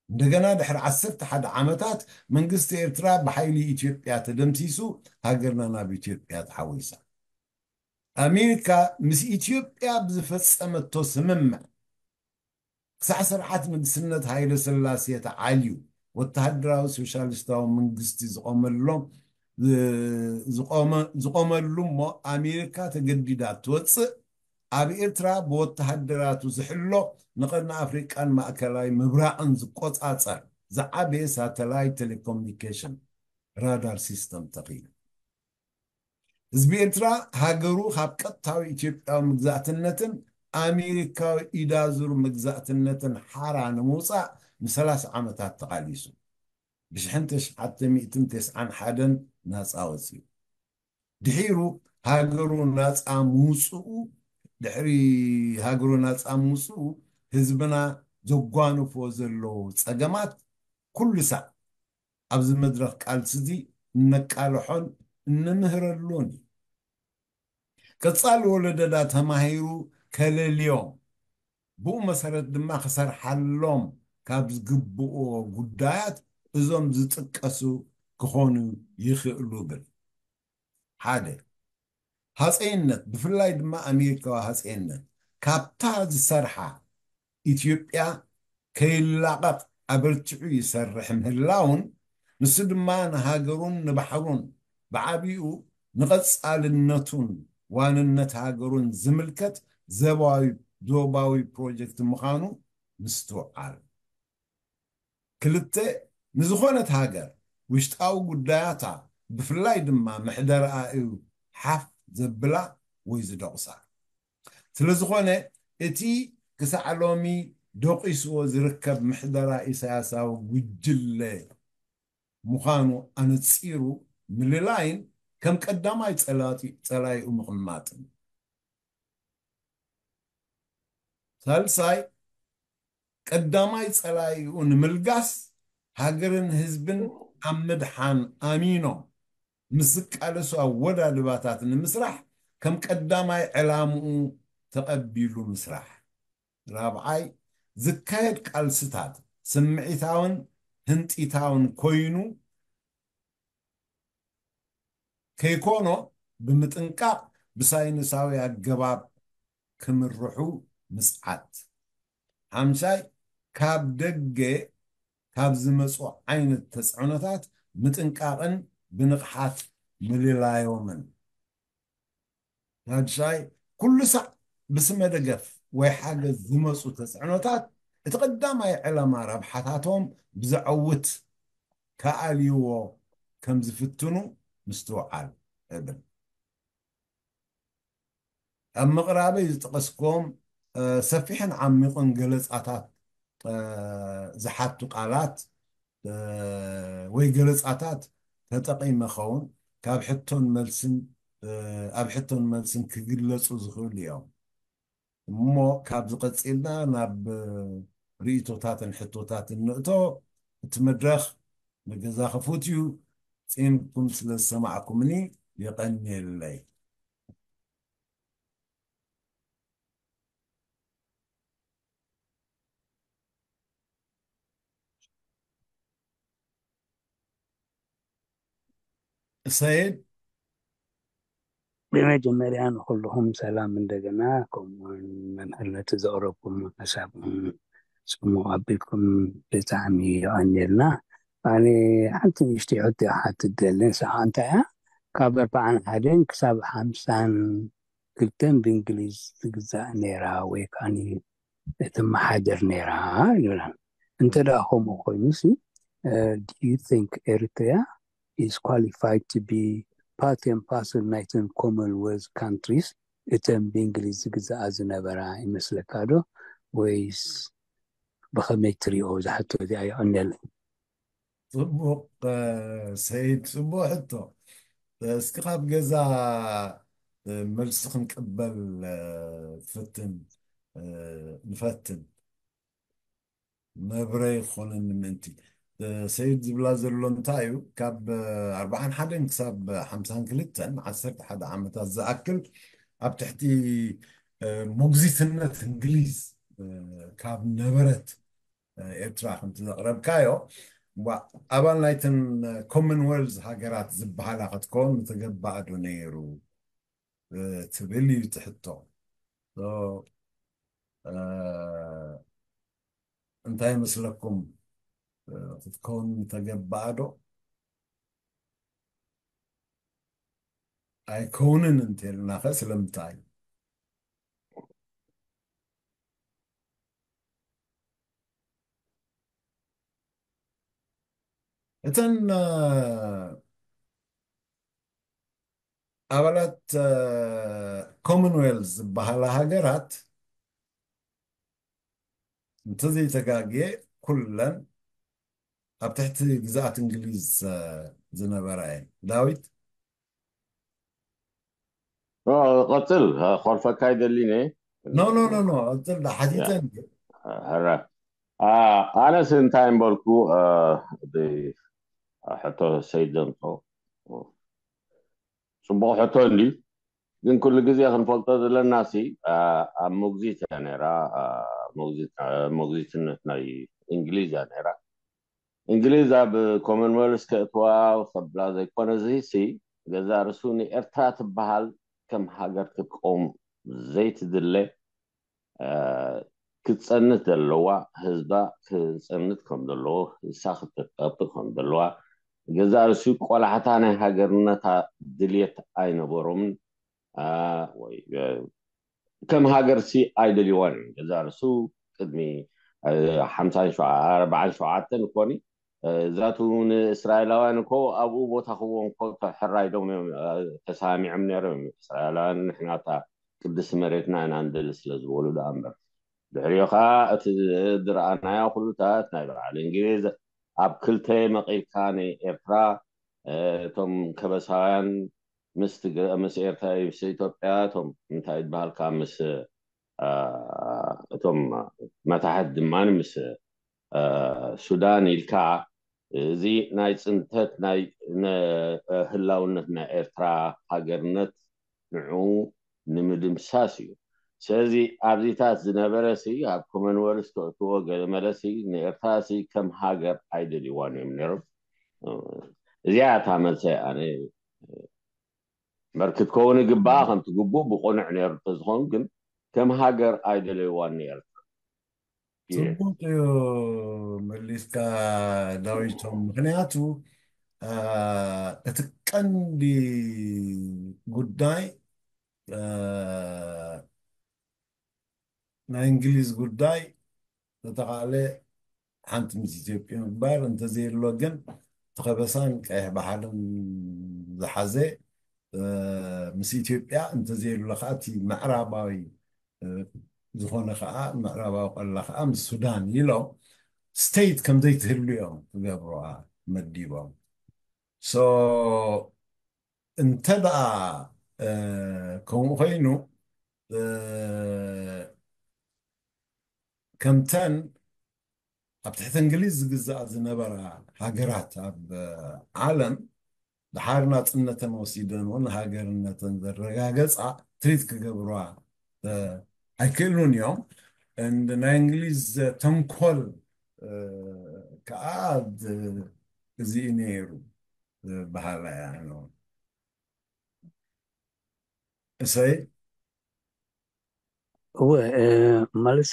እንደገና ድሕሪ ዓሰርተ ሓደ ዓመታት መንግስቲ ኤርትራ ብሓይሊ ኢትዮጵያ ተደምሲሱ፣ ሃገርና ናብ ኢትዮጵያ ተሓዊሳ። ኣሜሪካ ምስ ኢትዮጵያ ብዝፈጸመቶ ስምምዕ፣ ክሳዕ ስርዓት ንግስነት ሃይለ ስላሴ ተዓልዩ፣ ወተሃደራዊ ሶሻሊስታዊ መንግስቲ ዝቆመሎም ዝቆመ- ዝቆመሉ እሞ፣ ኣሜሪካ ተገዲዳ ትወፅእ፣ ኣብ ኤርትራ ብወተሃደራቱ ዝሕሎ፣ ንቀርኒ ኣፍሪቃን ማእከላይ ምብራቕን ዝቆጻጸር ዝዓበየ ሳተላይት ቴሌኮሙኒኬሽን ራዳር ሲስተም ተኺሉ። ህዝቢ ኤርትራ ሃገሩ ካብ ቀጥታዊ ኢትዮጵያዊ መግዛእትነትን ኣሜሪካዊ ኢዳዙር መግዛእትነትን ሓራ ንምውፃእ ንሰላሳ ዓመታት ተቓሊሱ፣ ብሽሕን ተሽዓተ ሚእትን ተስዓን ሓደን ናፃ ወፂኡ። ድሒሩ ሃገሩ ናፃ ምውፅኡ ድሕሪ ሃገሩ ናፃ ምውፅኡ፣ ህዝብና ዘጓንፎ ዘለዉ ፀገማት ኩሉ ሳዕ ኣብዚ መድረኽ ቃልሲ እዚ እነቃልሖን እንምህረሉን እዩ። ቀፃሊ ወለደዳ ተማሂሩ ከለልዮም፣ ብኡ መሰረት ድማ ክሰርሓሎም ካብ ዝግብኦ ጉዳያት እዞም ዝጥቀሱ ክኾኑ ይኽእሉ ብል። ሓደ፣ ሃፀይነት፣ ብፍላይ ድማ ኣሜሪካዊ ሃፀይነት ካብታ ዝሰርሓ ኢትዮጵያ ከይላቐቕ ኣበርቲዑ ይሰርሕ ምህላውን፣ ንሱ ድማ ንሃገሩን ንባሕሩን፣ ብዓቢኡ ንቐጻልነቱን ዋንነት ሃገሩን ዝምልከት ዘባዊ- ዞባዊ ፕሮጀክት ምዃኑ ምስትውዓል። ክልተ፣ ንዝኾነት ሃገር ውሽጣዊ ጉዳያታ፣ ብፍላይ ድማ ምሕደርኣ እዩ ሓፍ ዘብላ ወይ ዝደቑሳ። ስለ ዝኾነ፣ እቲ ክሳዕ ሎሚ ደቂስዎ ዝርከብ ምሕደራ ኢሳያሳዊ ጉጅለ ምዃኑ ኣነጺሩ ምልላይን ከም ቀዳማይ ጸላጢ- ጸላኢኡ ምቕማጥን። ሳልሳይ፣ ቀዳማይ ጸላኢኡ ንምልጋስ፣ ሃገርን ህዝብን ኣብ ምድሓን ኣሚኖም ምስ ዝቃለሱ ኣወዳድባታት ንምስራሕ ከም ቀዳማይ ዕላምኡ ተቐቢሉ ምስራሕ። ራብዓይ፣ ዝካየድ ቃልስታት ስምዒታውን ህንጢታውን ኮይኑ ከይኮኖ ብምጥንቃቕ ብሳይንሳዊ ኣገባብ ክምርሑ ምጽዓት። ሓምሻይ፣ ካብ ደገ ካብ ዝመጹ ዓይነት ተጽዕኖታት ምጥንቃቕን ብንቕሓት ምልላዮምን። ሻድሻይ፣ ኩሉ ሳዕ ብስመ ደገፍ ወይ ሓገዝ ዝመጹ ተጽዕኖታት እቲ ቀዳማይ ዕላማ ረብሓታቶም ብዘዐውት ክኣልይዎ ከም ዝፍትኑ ምስትውዓል እብል። ኣብ ምቕራበይ ዝጠቐስክዎም ሰፊሕን ዓሚቑን ገለጻታት ዝሓቱ ቃላት ወይ ገለጻታት ተጠቒመ ኸውን ካብ ሕቶን መልስን ኣብ ሕቶን መልስን ክግለጹ ዝኽእሉ እዮም። እሞ ካብዚ ቀጺልና ናብ ርእይቶታትን ሕቶታትን ንእቶ። እቲ መድረኽ ንገዛ ክፉት እዩ። ጺምኩም ስለ ዝሰማዕኩምኒ የቐንየለይ። ሰይድ። ብመጀመርያ ንኩልኹም ሰላም እንደገና፣ ከምኡውን መምህር ነቲ ዘቕረብኩም ሓሳብ ጽሙቕ ኣቢልኩም ብጣዕሚ የቐንየልና። ኣነ ሓንቲ ንእሽተይ ሕቶ እያ ክሓትት ደሊ፣ ንሳ ከዓ እንታይ እያ? ካብ ኣርባዓን ሓደን ክሳብ ሓምሳን ክልተን ብእንግሊዝ ትግዛእ ነይራ ወይ ከዓ ትመሓደር ነይራ ይብላን። እንተ ደኣ ከምኡ ኮይኑሲ do you think Eritrea is qualified to be part and parcel ናይተን Commonwealth countries እተን ብእንግሊዝ ዝግዛኣ ዝነበራ ይመስለካ ዶ? ወይስ ብኸመይ ትሪኦ ዝሓቶ እዚኣ? የቐንየለይ። ጽቡቕ ሰይድ፣ ጽቡቕ ሕቶ። እስኪ ካብ ገዛ መልሲ ክንቅበል ፈትን ንፈትን፣ መብረ ይኾነኒ ምእንቲ። ሰይድ ዝብላ ዘሎ እንታይ እዩ? ካብ ኣርባዓን ሓደን ክሳብ ሓምሳን ክልተን፣ ዓሰርተ ሓደ ዓመታት ዝኣክል ኣብ ትሕቲ ሞግዚትነት እንግሊዝ ካብ ነበረት ኤርትራ ከምቲ ዘቕረብካዮ፣ ዋ፣ ኣባል ናይተን ኮመንዌልዝ ሃገራት ዝበሃላ ክትከውን ምተገባኣ ዶ ነይሩ ትብል እዩ እቲ ሕቶ። So እንታይ ይመስለኩም? ክትከውን ምተገባኣ ዶ? ኣይከውንን እንተልናኸ ስለምንታይ? እተን ኣባላት ኮመንዌልዝ ዝበሃላ ሃገራት፣ እንተዘይተጋግየ፣ ኩለን ኣብ ትሕቲ ግዝኣት እንግሊዝ ዝነበራ እየን። ዳዊት? ቀፅል። ኮርፈካ ይደሊነ። ኖ ኖ ኖ ኖ፣ ቀፅል። ሓቲተ። ሕራ። ኣነስ እንታይ እምበልኩ፣ ሕቶ ሰይድ ዘምፆ ፅቡቕ ሕቶ እንዲ፣ ግን ኩሉ ግዜ ክንፈልጦ ዘለና ሲ ኣብ ሞግዚት እያ ነይራ። ሞግዚትነት ናይ እንግሊዝ እያ ነይራ። እንግሊዝ ኣብ ኮመንዌልስ ከእትዋ ከብላ ዘይኮነ፣ እዚ ሲ ገዛ ርሱ ንኤርትራ ትበሃል ከም ሃገር ክትቆም ዘይትድለ፣ ክትጸንት ዘለዋ፣ ህዝባ ክጸንት ከም ዘለዎ፣ ህሳ ክትጠብቅ ከም ዘለዋ፣ ገዛ ርሱ ቆላሕታ ናይ ሃገርነታ ድልየት ኣይነበሮምን። ወይ ከም ሃገር ሲ ኣይደልይዋን እዮም። ገዛ ርሱ ቅድሚ ሓምሳን ኣርባዓን ሸውዓተን እኮኒ እዛቱ ንእስራኤላውያን እኮ ኣብኡ ቦታ ክዎም እኮ ተሕራይዶም እዮም፣ ተሰማሚዖም ነይሮም እዮም። እስራኤላውያን ንሕና እታ ቅድስቲ መሬትና ኢና ንደሊ ስለ ዝበሉ ደኣ እምበር። ድሕሪኡ ከዓ እቲ ዝረኣናዮ ኩሉታት ናይ በዓል እንግሊዝ ኣብ ክልተ መቒልካ ንኤርትራ እቶም ከበሳውያን ምስ ትግረ ምስ ኤርትራ ምስ ኢትዮጵያ እቶም እንታይ ይበሃልካ ምስ እቶም መታሕት ድማ ምስ ሱዳን ኢልካ እዚ ናይ ፅንተት ናይ ህላውነት ናይ ኤርትራ ሃገርነት ንዑ ንምድምሳስ እዩ። ስለዚ ኣብዚታት ዝነበረ ሲ ኣብ ኮመንወልስ ተእትዎ ገለ መለሲ ንኤርትራ ሲ ከም ሃገር ኣይደልይዋን እዮም ነይሮም። እዚኣ እታ መልሰ ኣነ መር ክትከውን ይግባኣ ከምቲ ግቡእ ብቕኑዕ ነይሩ እንተዝኸውን ግን ከም ሃገር ኣይደለይዋን ነይሩ። ጽቡቅ እዩ መሊስካ ዳዊቶም። ምክንያቱ እቲ ቀንዲ ጉዳይ ናይ እንግሊዝ ጉዳይ ዝተኻለ ሓንቲ ምስ ኢትዮጵያ ምግባር እንተዘየሎ ግን እቲ ከበሳን ቀይሕ ባሕርን ዝሓዘ ምስ ኢትዮጵያ እንተዘየሎ ከዓ እቲ ምዕራባዊ ዝኾነ ከዓ ምዕራባዊ ቀላ ከዓ ምስ ሱዳን ኢሎም ስቴት ከምዘይትህሉ እዮም ክገብሩዋ መዲቦም። So እንተ ደኣ ከምኡ ኮይኑ ከምተን ኣብ ትሕቲ እንግሊዝ ዝግዛኣ ዝነበራ ሃገራት ኣብ ዓለም ድሓር ናፅነተን ወሲደን እውን ሃገርነተን ዘረጋገፃ ትሪት ክገብሩዋ ኣይክእሉን እዮም። ናይ እንግሊዝ ተንኮል ከዓ እዚ ነይሩ በሃላ እያ። እሰይ እወ ማለት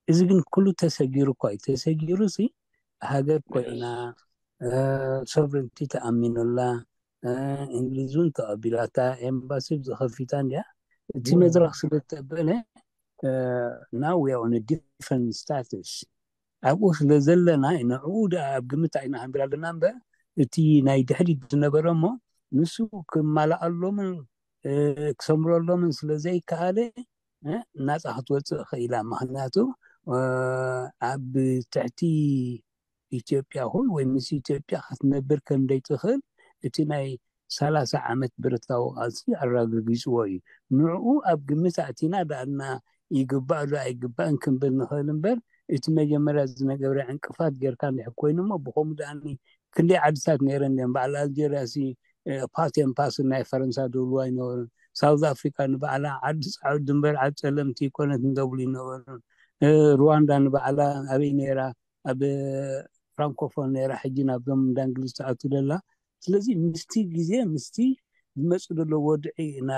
እዚ ግን ኩሉ ተሰጊሩ እኳ እዩ። ተሰጊሩ ሲ ሃገር ኮይና ሶቨሬንቲ ተኣሚኑላ እንግሊዝ እውን ተቐቢላታ ኤምባሲ ዝኸፊታ እንዲያ። እቲ መድረክ ስለ ተበለ now we are on a different status ኣብኡ ስለ ዘለና ንዕኡ ደኣ ኣብ ግምት ኣይና ሃንቢራ ኣለና እምበር እቲ ናይ ድሕሪት ዝነበረ እሞ ንሱ ክማልኣሎምን ክሰምረሎምን ስለ ዘይከኣለ ናፃ ክትወፅእ ኽኢላ። ምክንያቱ ኣብ ትሕቲ ኢትዮጵያ ኹን ወይ ምስ ኢትዮጵያ ክትነብር ከም ዘይትኽእል እቲ ናይ ሰላሳ ዓመት ብረታዊ ቃልሲ ኣረጋጊፅዎ እዩ። ንዕኡ ኣብ ግምት ኣእቲና ዳኣልና ይግባእ ዶ ኣይግባእን ክንብል ንኽእል እምበር እቲ መጀመርያ ዝነገብረ ዕንቅፋት ጌርካ እንድሕር ኮይኑ እሞ ብኸምኡ ዳኣኒ ክንደይ ዓድታት ነይረን እየን። በዓል ኣልጀርያ ሲ ፓቴን ፓስን ናይ ፈረንሳ ዝብልዋ ኣይነበሩን። ሳውዝ ኣፍሪካ ንባዕላ ዓዲ ፃዕዱ ድንበር ዓዲ ፀለምቲ ይኮነት እንደብሉ ይነበሩን። ሩዋንዳ ንባዕላ ኣበይ ነይራ? ኣብ ፍራንኮፎን ነይራ፣ ሕጂ ናብዞም እንዳ እንግሊዝ ትኣቱ ደላ። ስለዚ ምስቲ ግዜ ምስቲ ዝመፁ ዘሎ ወድዒ ኢና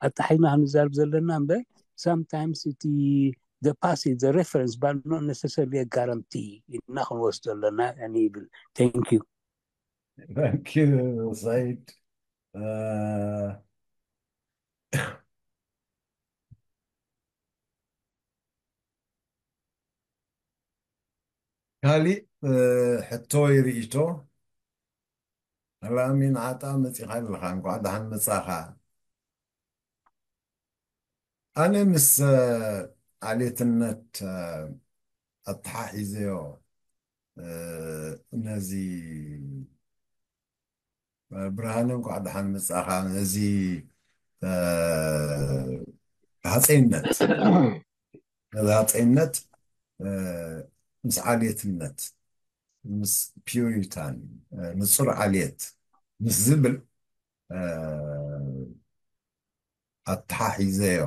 ኣጣሒና ክንዛርብ ዘለና እምበር sometimes እቲ the past is the reference but not necessarily a guarantee ኢልና ክንወስዶ ኣለና እኔ ይብል። Thank you. Thank you, Said. Uh, ካሊእ ሕቶ ወይ ርእይቶ? ኣላሚን ዓጣ መፂኻ ኣለኻ፣ እንኳዕ ደሓን መፃኻ። ኣነ ምስ ዓሌትነት ኣተሓሒዘዮ ነዚ ብርሃነ እንኳዕ ደሓን መፃኻ። ነዚ ሃፀይነት ነዚ ሃፀይነት ምስ ዓሌትነት ምስ ፒዩሪታን ንፁር ዓሌት ምስ ዝብል ኣተሓሒዘዮ።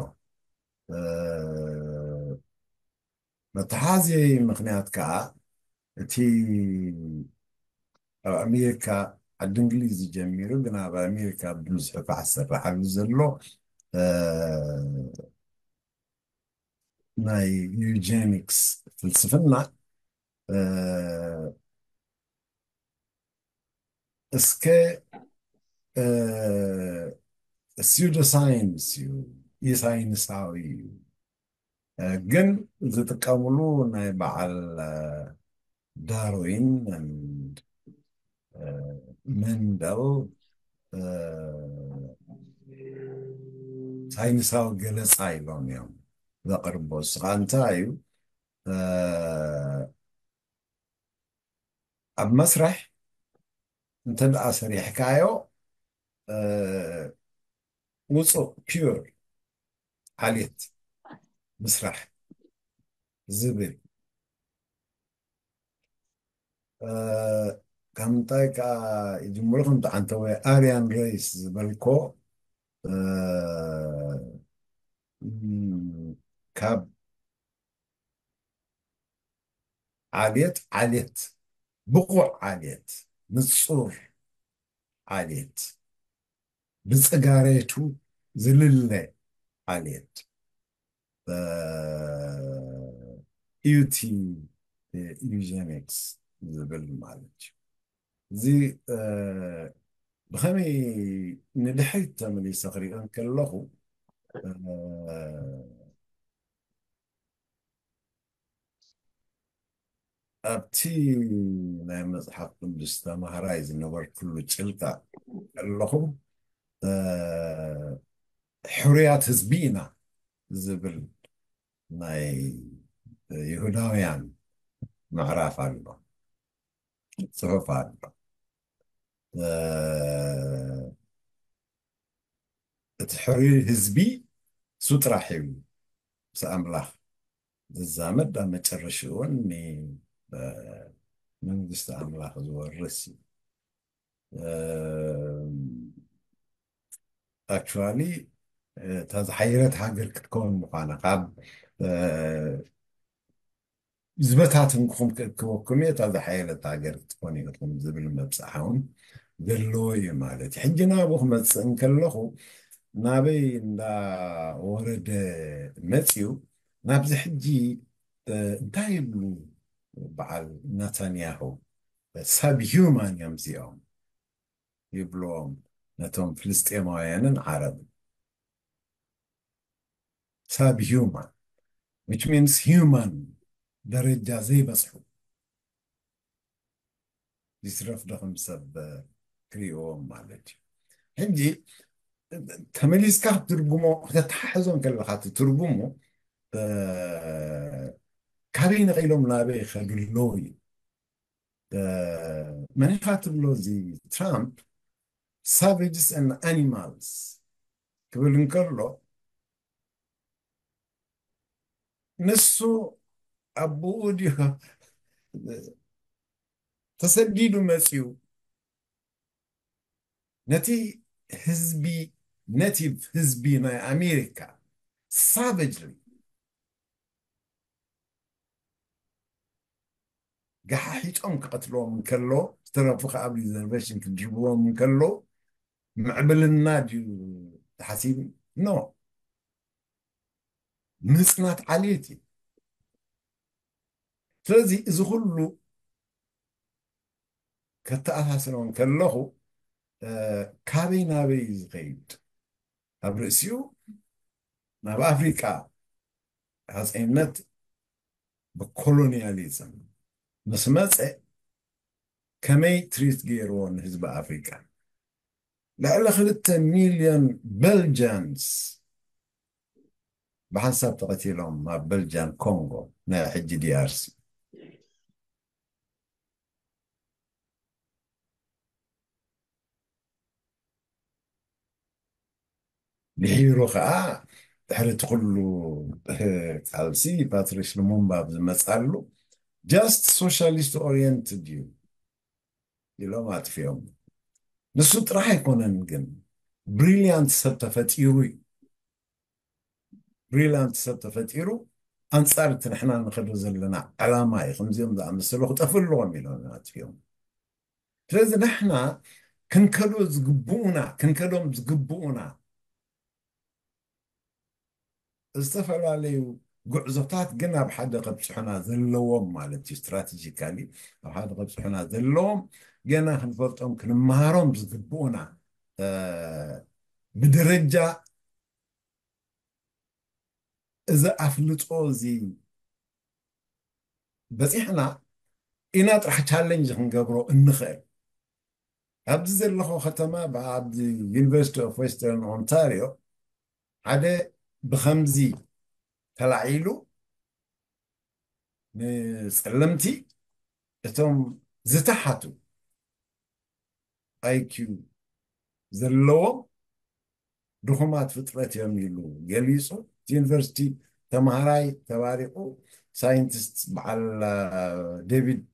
መተሓዚ ምክንያት ከዓ እቲ ኣብ ኣሜሪካ ዓዲ እንግሊዝ ጀሚሩ ግን ኣብ ኣሜሪካ ብዙሕ ፋሕ ዝስራሓሉ ዘሎ ናይ ዩጀኒክስ ፍልስፍና እስከ ሲዩዶ ሳይንስ እዩ፣ ይሳይንሳዊ እዩ። ግን ዝጥቀምሉ ናይ በዓል ዳርዊን መንደል ሳይንሳዊ ገለፃ ኢሎም እዮም ዘቕርቦ። እስኻ እንታይ እዩ ኣብ መስርሕ እንተ ደኣ ሰሪሕካዮ ውፁእ ፒር ዓሌት ምስራሕ ዝብል ከምንታይ ከዓ ይጅምሩ ከምቲ ዓንተወ ኣርያን ሬስ ዝበልኮ ካብ ዓሌት ዓሌት ብቑዕ ዓሌት ንፁር ዓሌት ብፅጋሬቱ ዝልለ ዓሌት እዩ እቲ ዩጀኒክስ ዝብል ማለት እዩ። እዚ ብኸመይ ንድሕሪት ተመሊሰ ክሪኦ እንከለኹ ኣብቲ ናይ መፅሓፍ ቅዱስ ተማሃራይ ዝነበርኩሉ ጭልቃ ከለኹ ሕሩያት ህዝቢ ኢና ዝብል ናይ ይሁዳውያን ምዕራፍ ኣሎ፣ ፅሑፍ ኣሎ። እቲ ሕሩይ ህዝቢ እሱ ጥራሕ እዩ ምስ ኣምላኽ ዝዛመድ ኣብ መጨረሽኡ እውን ንመንግስቲ ኣምላኽ ዝወርስ እዩ። ኣክቹዋሊ እታ ዝሓየለት ሃገር ክትከውን ምዃና ካብ ዝበታትንኩም ክእክበኩም እየ፣ እታ ዝሓየለት ሃገር ክትኮኑ ኢኹም ዝብል መብፅዓ እውን ዘለዎ እዩ ማለት እዩ። ሕጂ ናብኡ ክመፅእ እንከለኹ ናበይ እንዳወረደ መፅዩ ናብዚ ሕጂ እንታይ ይብሉ በዓል ናታንያሁ ሰብ ሂውማን እዮም እዚኦም ይብልዎም ነቶም ፍልስጤማውያንን ዓረብን። ሰብ ሂውማን which means human ደረጃ ዘይበፅሑ ይትረፍ ዶ ከም ሰብ ክሪእዎም ማለት እዩ። ሕጂ ተመሊስካ ክትትርጉሞ ከተተሓሕዞ ከለካ እቲ ትርጉሙ እ፣ ካበይ ነቒሎም ናበይ ይኸዱ ኣለዉ እዩ። መን ኢኻ ትብሎ? እዚ ትራምፕ savages and animals ክብል እንከሎ፣ ንሱ ኣቦኡ ድዩ ተሰዲዱ መፂኡ ነቲ ህዝቢ፣ ኔቲቭ ህዝቢ ናይ ኣሜሪካ ሳቨጅሊ ገሓሒጦም ክቐትልዎም እንከሎ፣ ዝተረፉ ከኣ ኣብ ሪዘርቬሽን ክድርብዎም እንከሎ፣ ምዕብልና ድዩ ተሓሲቡ? ኖ፣ ምጽናት ዓሌት እዩ። ስለዚ እዚ ኩሉ ከተኣሳስሮ እንከለኹ፣ ካበይ ናበይ እዩ ዝኸይድ? ኣብ ርእሲኡ ናብ ኣፍሪቃ ሃፀይነት ብኮሎኒያሊዝም ምስ መፀ ከመይ ትሪት ገይርዎ ንህዝቢ ኣፍሪቃ? ልዕሊ ክልተ ሚልዮን በልጃንስ ብሓንሳብ ተቐቲሎም ኣብ በልጃን ኮንጎ፣ ናይ ሕጂ ዲኣርሲ። ድሒሩ ኸዓ ድሕሪ እቲ ኩሉ ቃልሲ ፓትሪስ ሉሙምባ ኣብ ዝመፃሉ just socialist oriented እዩ ኢሎም ኣጥፊኦም። ንሱ ጥራሕ ኣይኮነን ግን ብሪሊያንት ሰብ ተፈጢሩ እዩ። ብሪሊያንት ሰብ ተፈጢሩ ኣንፃር እቲ ንሕና ንኸዶ ዘለና ዕላማ እዩ። ከምዚኦም ዝኣመሰሉ ክጠፍኡ ኣለዎም ኢሎም ኣጥፊኦም። ስለዚ ንሕና ክንከዶ ዝግብኡና ክንከዶም ዝግብኡና ዝተፈላለዩ ጉዕዞታት ግን ኣብ ሓደ ከብፅሑና ዘለዎም ማለት እዩ። ስትራቴጂካሊ ኣብ ሓደ ከብፅሑና ዘለዎም ገና ክንፈልጦም ክንመሃሮም ዝግብኡና ብደረጃ እዚ ኣፍልጦ እዚ በፂሕና ኢና ጥራሕ ቻለንጅ ክንገብሮ እንኽእል። ኣብዚ ዘለኹ ከተማ ኣብዚ ዩኒቨርሲቲ ኦፍ ዌስተርን ኦንታሪዮ ሓደ ብኸምዚ ተላዒሉ ንፀለምቲ እቶም ዝተሓቱ ኣይኪዩ ዘለዎም ድኹማት ፍጥረት እዮም ኢሉ ገሊፁ። እቲ ዩኒቨርሲቲ ተምሃራይ ተባሪቑ ሳይንቲስት በዓል ዴቪድ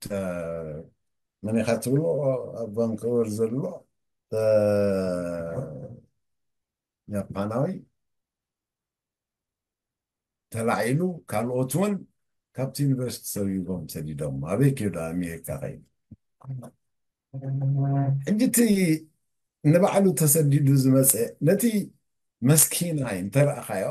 መን ኢኻ ትብሎ ኣብ ቫንኮቨር ዘሎ ያፓናዊ ተላዒሉ ካልኦት እውን ካብቲ ዩኒቨርሲቲ ሰቢቦም ሰዲዶም ኣበይ ከይዱ ኣሜሪካ ከይዱ ሕጂ እቲ ንባዕሉ ተሰዲዱ ዝመፀ ነቲ መስኪናይ እንተረእኻዮ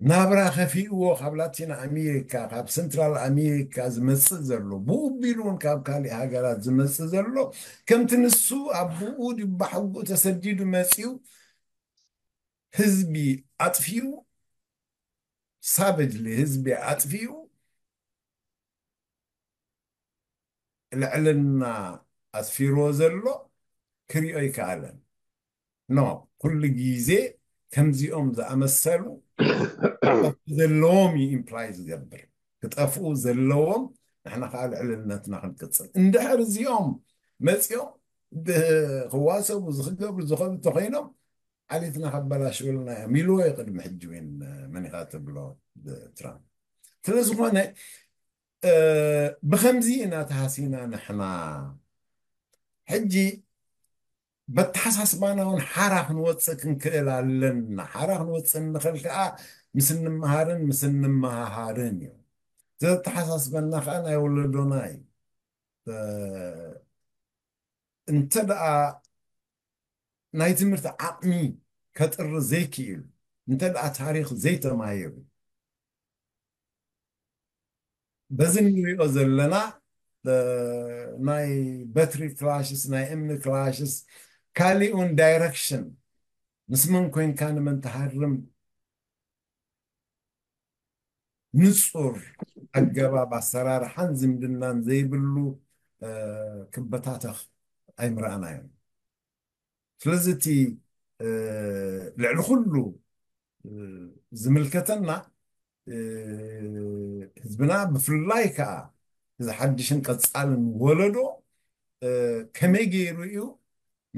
ናብራ ከፊእዎ ካብ ላቲን ኣሜሪካ ካብ ሰንትራል ኣሜሪካ ዝመፅእ ዘሎ ብኡ ቢሉ እውን ካብ ካሊእ ሃገራት ዝመፅእ ዘሎ ከምቲ ንሱ ኣቦኡ ድባሕጉ ተሰዲዱ መፂኡ ህዝቢ ኣጥፊኡ ሳቨጅሊ ህዝቢ ኣጥፊኡ ልዕልና ኣስፊርዎ ዘሎ ክሪኦ ኣይከኣለን። ኖ ኩሉ ግዜ ከምዚኦም ዝኣመሰሉ ዘለዎም እዩ ኢምፕላይ ዝገብር ክጠፍኡ ዘለዎም ንሕና ከዓ ልዕልነትና ክንቅፅል እንድሕር እዚኦም መፂኦም ክዋሰቡ ዝክገብሩ ዝኸዱ ተኮይኖም ዓሌትና ከበላሽውልና እዮም ኢልዎ እዩ ቅድሚ ሕጂ እውን መኒኻ ትብሎ ትራምፕ ስለዝኾነ ብኸምዚ ኢና ተሃሲና ንሕና ሕጂ በተሓሳስባና እውን ሓራ ክንወፅእ ክንክእል ኣለና ሓራ ክንወፅእ እንኽእል ከዓ ምስ እንመሃርን ምስ እንመሃሃርን እዩ ዘተሓሳስበና ከዓ ናይ ወለዶና እዩ እንተ ደኣ ናይ ትምህርቲ ዓቕሚ ከጥሪ ዘይክኢሉ እንተ ደኣ ታሪኽ ዘይተማሂሩ በዚ ንሪኦ ዘለና ናይ በትሪ ክላሽስ ናይ እምኒ ክላሽስ ካሊእ እውን ዳይረክሽን ምስ መን ኮይንካ ንመን ትሃርም ንፁር ኣገባብ ኣሰራርሓን ዝምድናን ዘይብሉ ክበታተኽ ኣይምረኣናዮን ስለዚ እቲ ልዕሊ ኩሉ ዝምልከተና ህዝብና ብፍላይ ከዓ እዚ ሓድሽን ቀፃልን ወለዶ ከመይ ገይሩ እዩ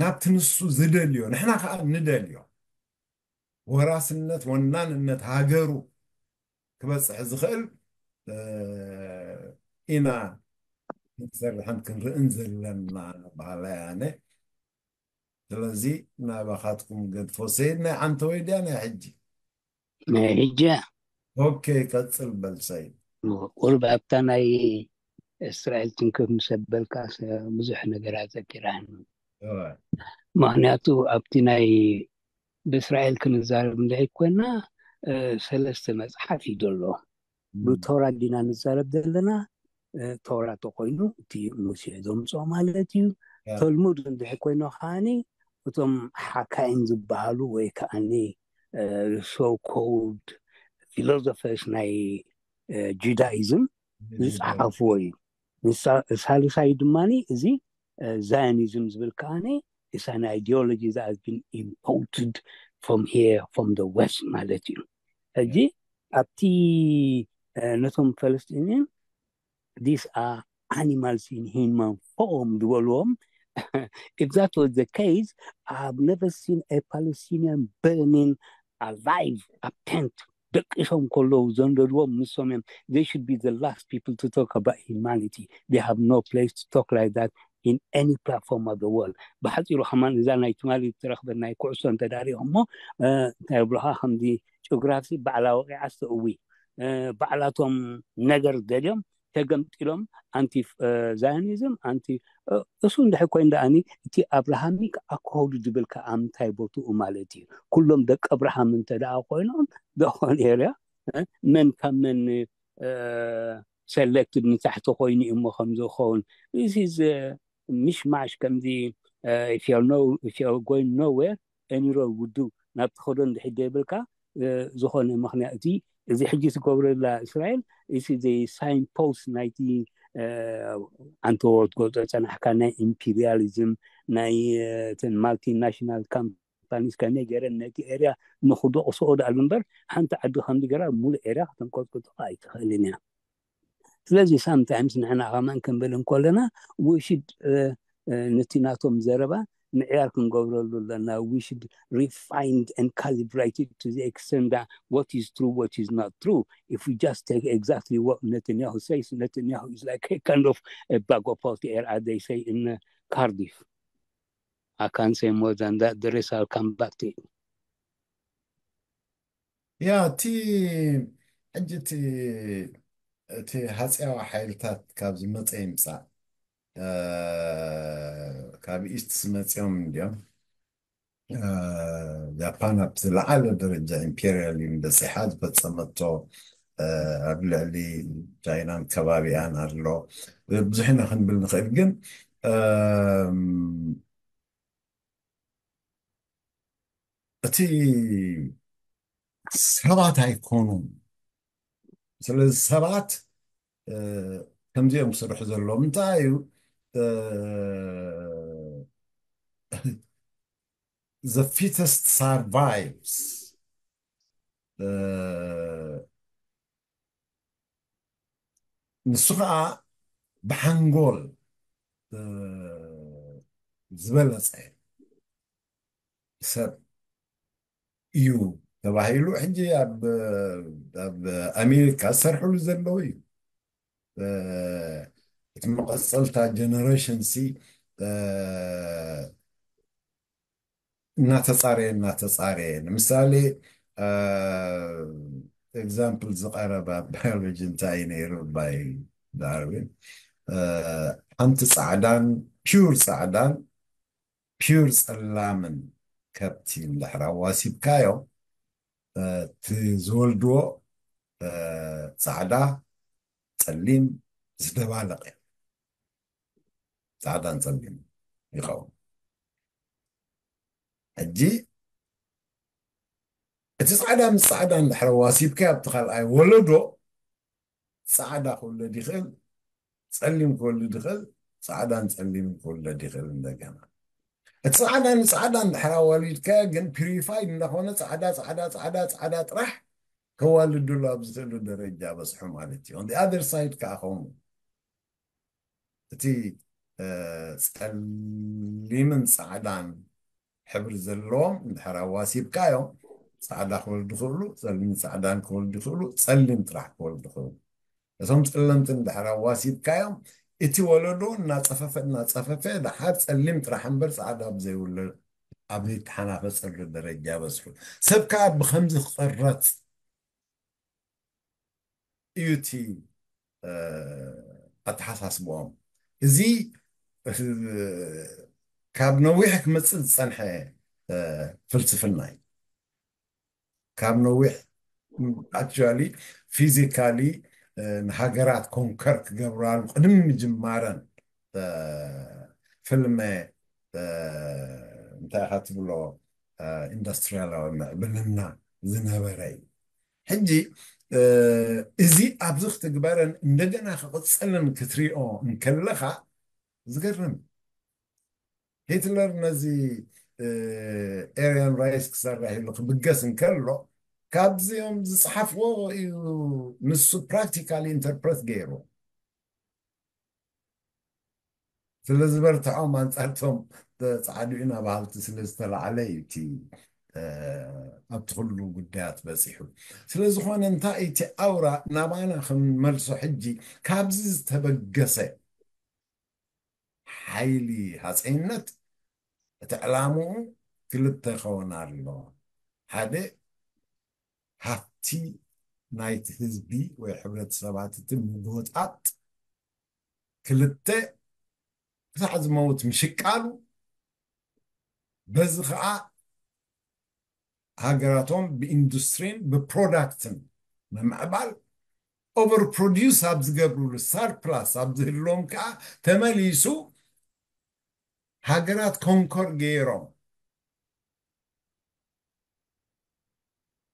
ናብቲ ንሱ ዝደልዮ ንሕና ከዓ ንደልዮ ወራስነት ወናንነት ሃገሩ ክበፅሕ ዝኽእል ኢና ክንሰርሕን ክንርእን ዘለና በሃላይ ኣነ። ስለዚ ናባኻትኩም ገድፎ። ሰይድ ናይ ዓንተወይ ድያ ናይ ሕጂ? ናይ ሕጂ። ኦኬ፣ ቀፅል በል ሰይድ። ቁሩብ ኣብታ ናይ እስራኤል ትንክፍ ምስ ኣበልካ ብዙሕ ነገር ኣዘኪራን። ምክንያቱ ኣብቲ ናይ ብእስራኤል ክንዛረብ እንድሕር ኮይና ሰለስተ መፅሓፍ እዩ ዘሎ። ብቶራ ዲና ንዛረብ ዘለና። ቶራ ተኮይኑ እቲ ሙሴ ዘምፅኦ ማለት እዩ። ተልሙድ እንድሕር ኮይኑ ከዓኒ እቶም ሓካይም ዝበሃሉ ወይ ከዓኒ so called philosophers ናይ ጁዳይዝም ዝፀሓፍዎ እዩ። ሳልሳይ ድማ እዚ ዛዮኒዝም ዝብል ከዓኒ is an ideology that has been imported from here, from the west ማለት እዩ። ሕጂ ኣብቲ ነቶም ፈለስጢንያን these are animals in human form ዝበልዎም if that was the case, I have never seen a Palestinian burning alive ኣብ tent ደቂሶም ከለዉ ዘንደድዎም ንሶም እዮም። They should be the last people to talk about humanity. They have no place to talk like that in any platform of the world. ብሓፂሩ ከማን እዛ ናይ ትማሊ ትረኽበ ናይ ኩዕሶ እንተዳሪኹሞ እንታይ ብልኻ ከምዚ ጭጉራፍሲ ባዕላ ወቂዓ ዝተእዊ ባዕላቶም ነገር ደልዮም ተገምጢሎም ኣንቲ ዛዮኒዝም ኣንቲ እሱ እንድሕር ኮይኑ ደኣኒ እቲ ኣብርሃሚክ ኣኮድ ዝብል ከዓ ምንታይ ቦትኡ ማለት እዩ። ኩሎም ደቂ ኣብርሃም እንተ ደኣ ኮይኖም ደኾን ኤርያ መን ካብ መን ሰሌክትድ ንታሕቲ ኮይኑ እዩ እሞ ከም ዝኸውን እዚ ምሽማሽ ከምዚ if you're going nowhere, any road would do ናብ ትኸዶ እንድሕር ዘይብልካ ዝኾነ ምክንያት እዚ ሕጂ ትገብረላ እስራኤል እዚ ዘይ ሳይን ፖስት ናይቲ ኣንተ ወትጎ ዝፀናሕካ ናይ ኢምፔሪያሊዝም ናይ ማልቲናሽናል ካምፓኒስ ከመይ ገይረን ነቲ ኤርያ ንክደቑስኦ ደኣሉ እምበር ሓንቲ ዓዲ ከምዚ ገራ ሙሉእ ኤርያ ከተንቀጥቅጦ ኣይትኽእልን እያ። ስለዚ ሳምታይምስ ንሕና ከማን ክንብል እንከለና ውሽድ ነቲ ናቶም ዘረባ ምዕያር ክንገብረሉ ኣለና። We should refine and calibrate it to the extent that what is true, what is not true. If we just take exactly what Netanyahu says, Netanyahu is like a kind of a bag of hot air, as they say in uh, Cardiff. I can't say more than that. The rest I'll come back to it. ያ እቲ ሕጂ እቲ እቲ ሃፅያዊ ሓይልታት ካብ ዝመፀ ይምፃእ ካብ ኢስት ዝመፅኦም እንዲኦም ጃፓን ኣብቲ ዝለዓለ ደረጃ ኢምፔሪያሊዝም በፂሓ ዝፈፀመቶ ኣብ ልዕሊ ቻይናን ከባቢኣን ኣሎ ብዙሕ ኢና ክንብል ንኽእል ግን እቲ ሰባት ኣይኮኑን ስለዚ ሰባት ከምዚኦም ክስርሑ ዘለዎም እንታይ እዩ the fittest survives ንሱ ከዓ ብሓንጎል ዝበለፀ ሰብ እዩ ተባሂሉ ሕጂ ኣብ ኣሜሪካ ዝሰርሕሉ ዘለዉ እዩ እቲ መቐፀልታ ጀነሬሽን ሲ እናተፃረየ እናተፃረየ ንምሳሌ ኤግዛምፕል ዝቀረበ ኣብ ባዮሎጂ እንታይ እዩ ነይሩ ባይ ዳርዊን ሓንቲ ፃዕዳን ፒውር ፃዕዳን ፒውር ፀላምን ከብቲ እንድሕር ኣዋሲብካዮ እቲ ዝወልድዎ ፃዕዳ ፀሊም ዝደባለቀ ፃዕዳን ፀሊም ይኸውን ሕጂ እቲ ፃዕዳ ምስ ፃዕዳ እንድሕር ኣዋሲብካዮ ኣብቲ ካልኣይ ወለዶ ፃዕዳ ክውለድ ይኽእል ፀሊም ክወልድ ይኽእል ፃዕዳን ፀሊምን ክውለድ ይኽእል እንደገና እቲ ፃዕዳ ንፃዕዳ እንድሕር ኣዋሊድካዮ ግን ፒሪፋይድ እንዳኾነ ፃዕዳ ፃዕዳ ፃዕዳ ፃዕዳ ጥራሕ ከዋልዱሉ ኣብ ዝኽእሉ ደረጃ በጽሑ ማለት እዩ። On the other side ከዓ ከምኡ እቲ ጸሊምን ጻዕዳን ሕብሪ ዘለዎም እንድሕር ኣዋሲብካዮም፣ ጻዕዳ ክወልዱ ይኽእሉ፣ ጸሊም ጻዕዳን ክወልዱ ይኽእሉ፣ ጸሊም ጥራሕ ክወልዱ ይኽእሉ። እቶም ጸለምቲ እንድሕር ኣዋሲብካዮም፣ እቲ ወለዶ እናጸፈፈ እናጸፈፈ፣ ደሓር ጸሊም ጥራሕ እምበር ጻዕዳ ኣብ ዘይውለድ፣ ኣብ ዘይተሓናፈጸሉ ደረጃ በጽሑ። ሰብ ከኣ ብኸምዚ ክቐረጽ እዩ እቲ ኣተሓሳስብኦም። እዚ ካብ ነዊሕ ክመፅእ ዝፀንሐ ፍልስፍና እዩ። ካብ ነዊሕ፣ actually, physically ንሃገራት ኮንከር ክገብራሉ ቅድሚ ምጅማረን ፍልመ እንታይ ኢኻ ትብሎ፣ ኢንዱስትሪያላዊ ምዕብልና ዝነበረ እዩ። ሕጂ እዚ ኣብዚ ክትግበርን እንደገና ክቕፅልን ክትሪኦ እንከለኻ ዝገርም። ሂትለር ነዚ ኤርያን ራይስ ክሰርሕ ኢሉ ክብገስ እንከሎ ካብዚኦም ዝፅሓፍዎ እዩ ንሱ ፕራክቲካሊ ኢንተርፕረት ገይሩ። ስለ ዝበርትዖም ኣንጻርቶም ጸዓዱ ኢና በሃልቲ ስለ ዝተላዕለ እዩ እቲ ኣብቲ ኩሉ ጉዳያት በጺሑ። ስለ ዝኾነ እንታይ እቲ ኣውራ ናባና ክንመልሶ ሕጂ ካብዚ ዝተበገሰ ሓይሊ ሃፀይነት እቲ ዕላምኡ ክልተ ይኸውን ኣሎ። ሓደ ሃፍቲ ናይቲ ህዝቢ ወይ ሕብረተሰባት እቲ ምጎጣጥ፣ ክልተ ክሳዕ ዝመውት ምሽቃሉ፣ በዚ ከዓ ሃገራቶም ብኢንዱስትሪን ብፕሮዳክትን ምምዕባል ኦቨር ፕሮዲውስ ኣብ ዝገብሩሉ ሰርፕላስ ኣብ ዝህልዎም ከዓ ተመሊሱ ሃገራት ኮንኮር ገይሮም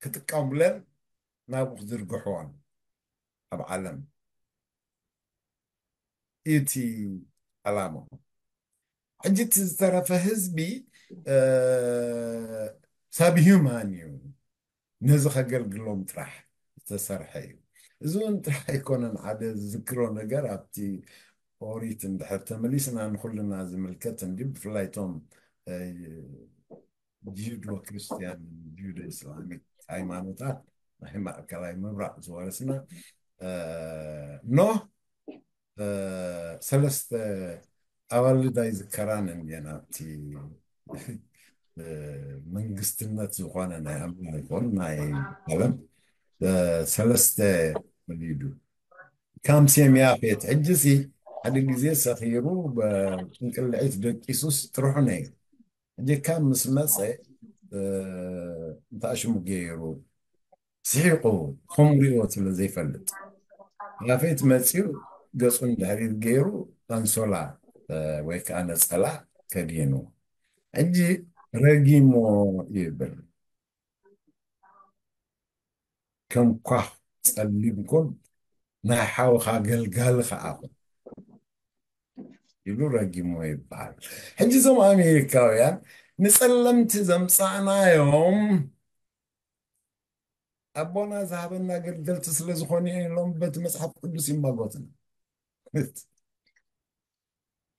ክጥቀሙለን ናብኡ ክዝርግሕዎን ኣብ ዓለም እቲ ዕላማ። ሕጂ እቲ ዝተረፈ ህዝቢ ሳብ ሂዩማን እዩ፣ ነዚ ከገልግሎም ጥራሕ ዝተሰርሐ እዩ። እዚ እውን ጥራሕ ኣይኮነን። ሓደ ዝዝክሮ ነገር ኣብቲ ኦሪት እንድሕር ተመሊስና ንኩልና ዝምልከት እንዲ ብፍላይ እቶም ጂዩዶ ክርስቲያን ጂዩዶ ኢስላሚክ ሃይማኖታት ናይ ማእከላይ ምብራቕ ዝወረስና ኖህ ሰለስተ ኣዋልድ ኣይዝከራን እንድየን ኣብቲ መንግስትነት ዝኾነ ናይ ኣምሪኮን ናይ ዓለም ሰለስተ ወሊዱ። ካም ሴም ያፌት ሕጂ ሲ ሓደ ግዜ ሰኺሩ ብጥንቅልዒት ደቂሱስ ጥርሑ ነይሩ። ሕጂ ካም ምስ መፀ እንታይ ሽሙ ገይሩ ስሒቑ ከምኡ ሪእዎ ስለ ዘይፈልጥ ያፌት መፂኡ ገፁ እንድሕር ገይሩ ኣንሶላ ወይ ከዓ ነፀላ ከዲኑ ሕጂ ረጊሞ ይብል። ከም ኳኽ ጸሊም ኩን ናይ ሓውኻ ገልጋሊ ኸዓ ኩን ኢሉ ረጊሞ ይበሃል። ሕጂ እዞም ኣሜሪካውያን ንጸለምቲ ዘምጻእናዮም ኣቦና ዝሃበና ገልገልቲ ስለ ዝኾኑ እዮም ኢሎም በቲ መጽሓፍ ቅዱስ ይማጎትና።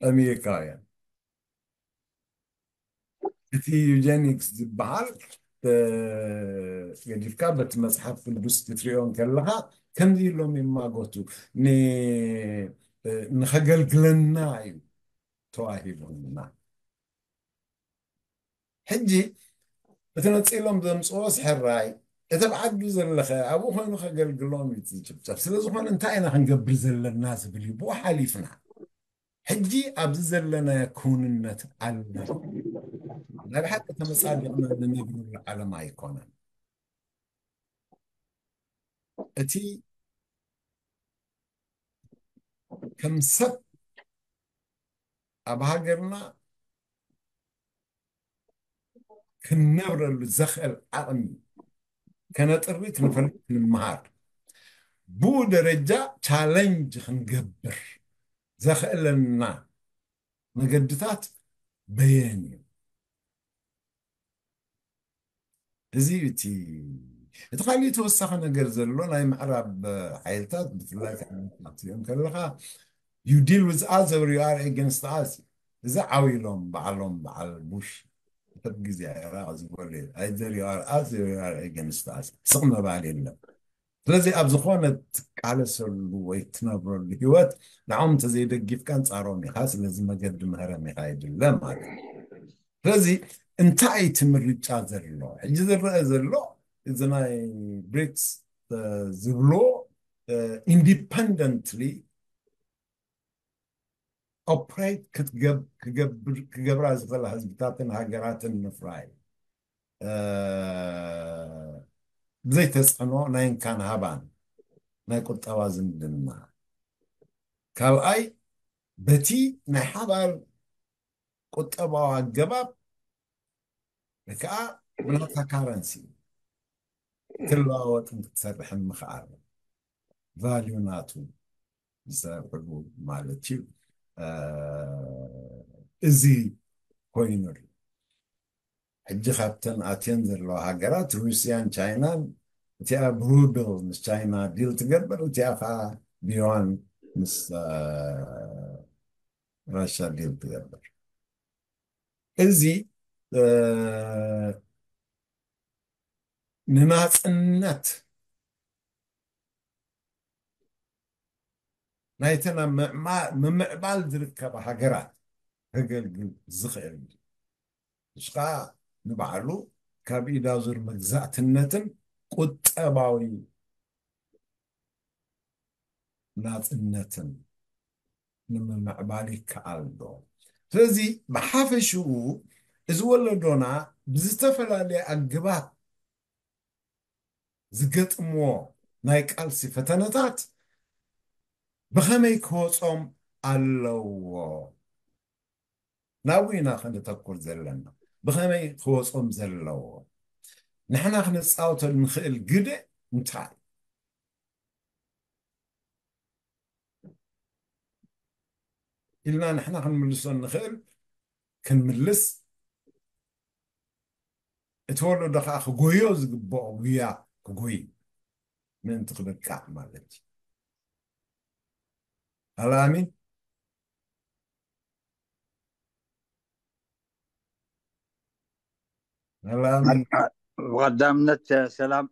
ኣሜሪካውያን እቲ ዩጀኒክስ ዝበሃል ገዲፍካ በቲ መፅሓፍ ቅዱስ ክትሪኦ እንከለኻ ከምዚ ኢሎም ይማጎቱ። ንኸገልግለና እዩ ተዋሂቡና። ሕጂ እቲ ነፂሎም ዘምፅዎ ስሕራይ እቲ ብዓዱ ዘለኸ ኣብኡ ኮይኑ ከገልግሎም እዩ ዝጭፍጨፍ። ስለዝኾነ እንታይ ኢና ክንገብር ዘለና ዝብል እዩ ብኡ ሓሊፍና። ሕጂ ኣብዚ ዘለናዮ ክውንነት ኣለና። ናይ ብሓቂ ተመጻዲቕና ንነብረሉ ዓለም ኣይኮነን። እቲ ከም ሰብ ኣብ ሃገርና ክንነብረሉ ዘኽእል ዓቕሚ ከነጥሪ ክንፈልጥ ክንመሃር ብኡ ደረጃ ቻለንጅ ክንገብር ዘኽእለና መገድታት በየን እዩ። እዚ እቲ እቲ ካልእ ተወሳኺ ነገር ዘሎ ናይ ምዕራብ ሓይልታት ብፍላይ ክትሪኦም ከለኻ you deal with us or you are against us። እዚ ዓው ኢሎም በዓሎም በዓል ቡሽ ሰብ ግዜ ኢራቕ ዝበሉ either you are us or you are against us። ስቕ ምባል የለን። ስለዚ ኣብ ዝኾነ ትቃለሰሉ ወይ ትነብረሉ ህይወት ንዖም እንተዘይደጊፍካ ኣንጻሮም ኢኻ። ስለዚ መገዲ ምህረም ኢኻ የድለ ማለት እዩ። ስለዚ እንታይ እቲ ምርጫ ዘሎ ሕጂ ዝረአ ዘሎ እዚ ናይ ብሪክስ ዝብሎ ኢንዲፐንደንትሊ ኦፕሬት ክገብራ ዝኽእላ ህዝብታትን ሃገራትን ምፍራይ ብዘይተፅዕኖ ናይ እንካን ሃባን ናይ ቁጠባ ዝምድና። ካልኣይ በቲ ናይ ሓባር ቁጠባዊ ኣገባብ ወይ ከዓ ብናታ ካረንሲ ክትለዋወጥን ክትሰርሕን ምኽኣል ቫልዩ ናቱ ዝሰርሕሉ ማለት እዩ። እዚ ኮይኑ ኣሎ። ሕጂ ካብተን ኣትየን ዘለዋ ሃገራት ሩስያን ቻይናን እቲኣ ብሩብል ምስ ቻይና ዲል ትገብር እቲኣ ከዓ ብዩዋን ምስ ራሻ ዲል ትገብር። እዚ ንናፅነት ናይተን ኣብ ምምዕባል ዝርከባ ሃገራት ከገልግል ዝኽእል እዩ። እሱ ከዓ ንባዕሉ ካብ ኢዳዙር መግዛእትነትን ቁጠባዊ ናፅነትን ንምምዕባል ይከኣል ዶ? ስለዚ ብሓፈሽኡ እዚ ወለዶና ብዝተፈላለየ ኣገባብ ዝገጥምዎ ናይ ቃልሲ ፈተነታት ብኸመይ ክወጾም ኣለዎ? ናብኡ ኢና ከነተኩር ዘለና። ብኸመይ ክወጾም ዘለዎ? ንሕና ክንጻወተሉ ንኽእል ግደ እንታይ ኢልና ንሕና ክንምልሶ ንኽእል ክንምልስ፣ እቲ ወለዶ ከዓ ክጎዮ ዝግብኦ ጉያ ክጎይ ምእንቲ ክበቃዕ ማለት እዩ። ኣላሚን ኣላሚን ብቐዳምነት ሰላም፣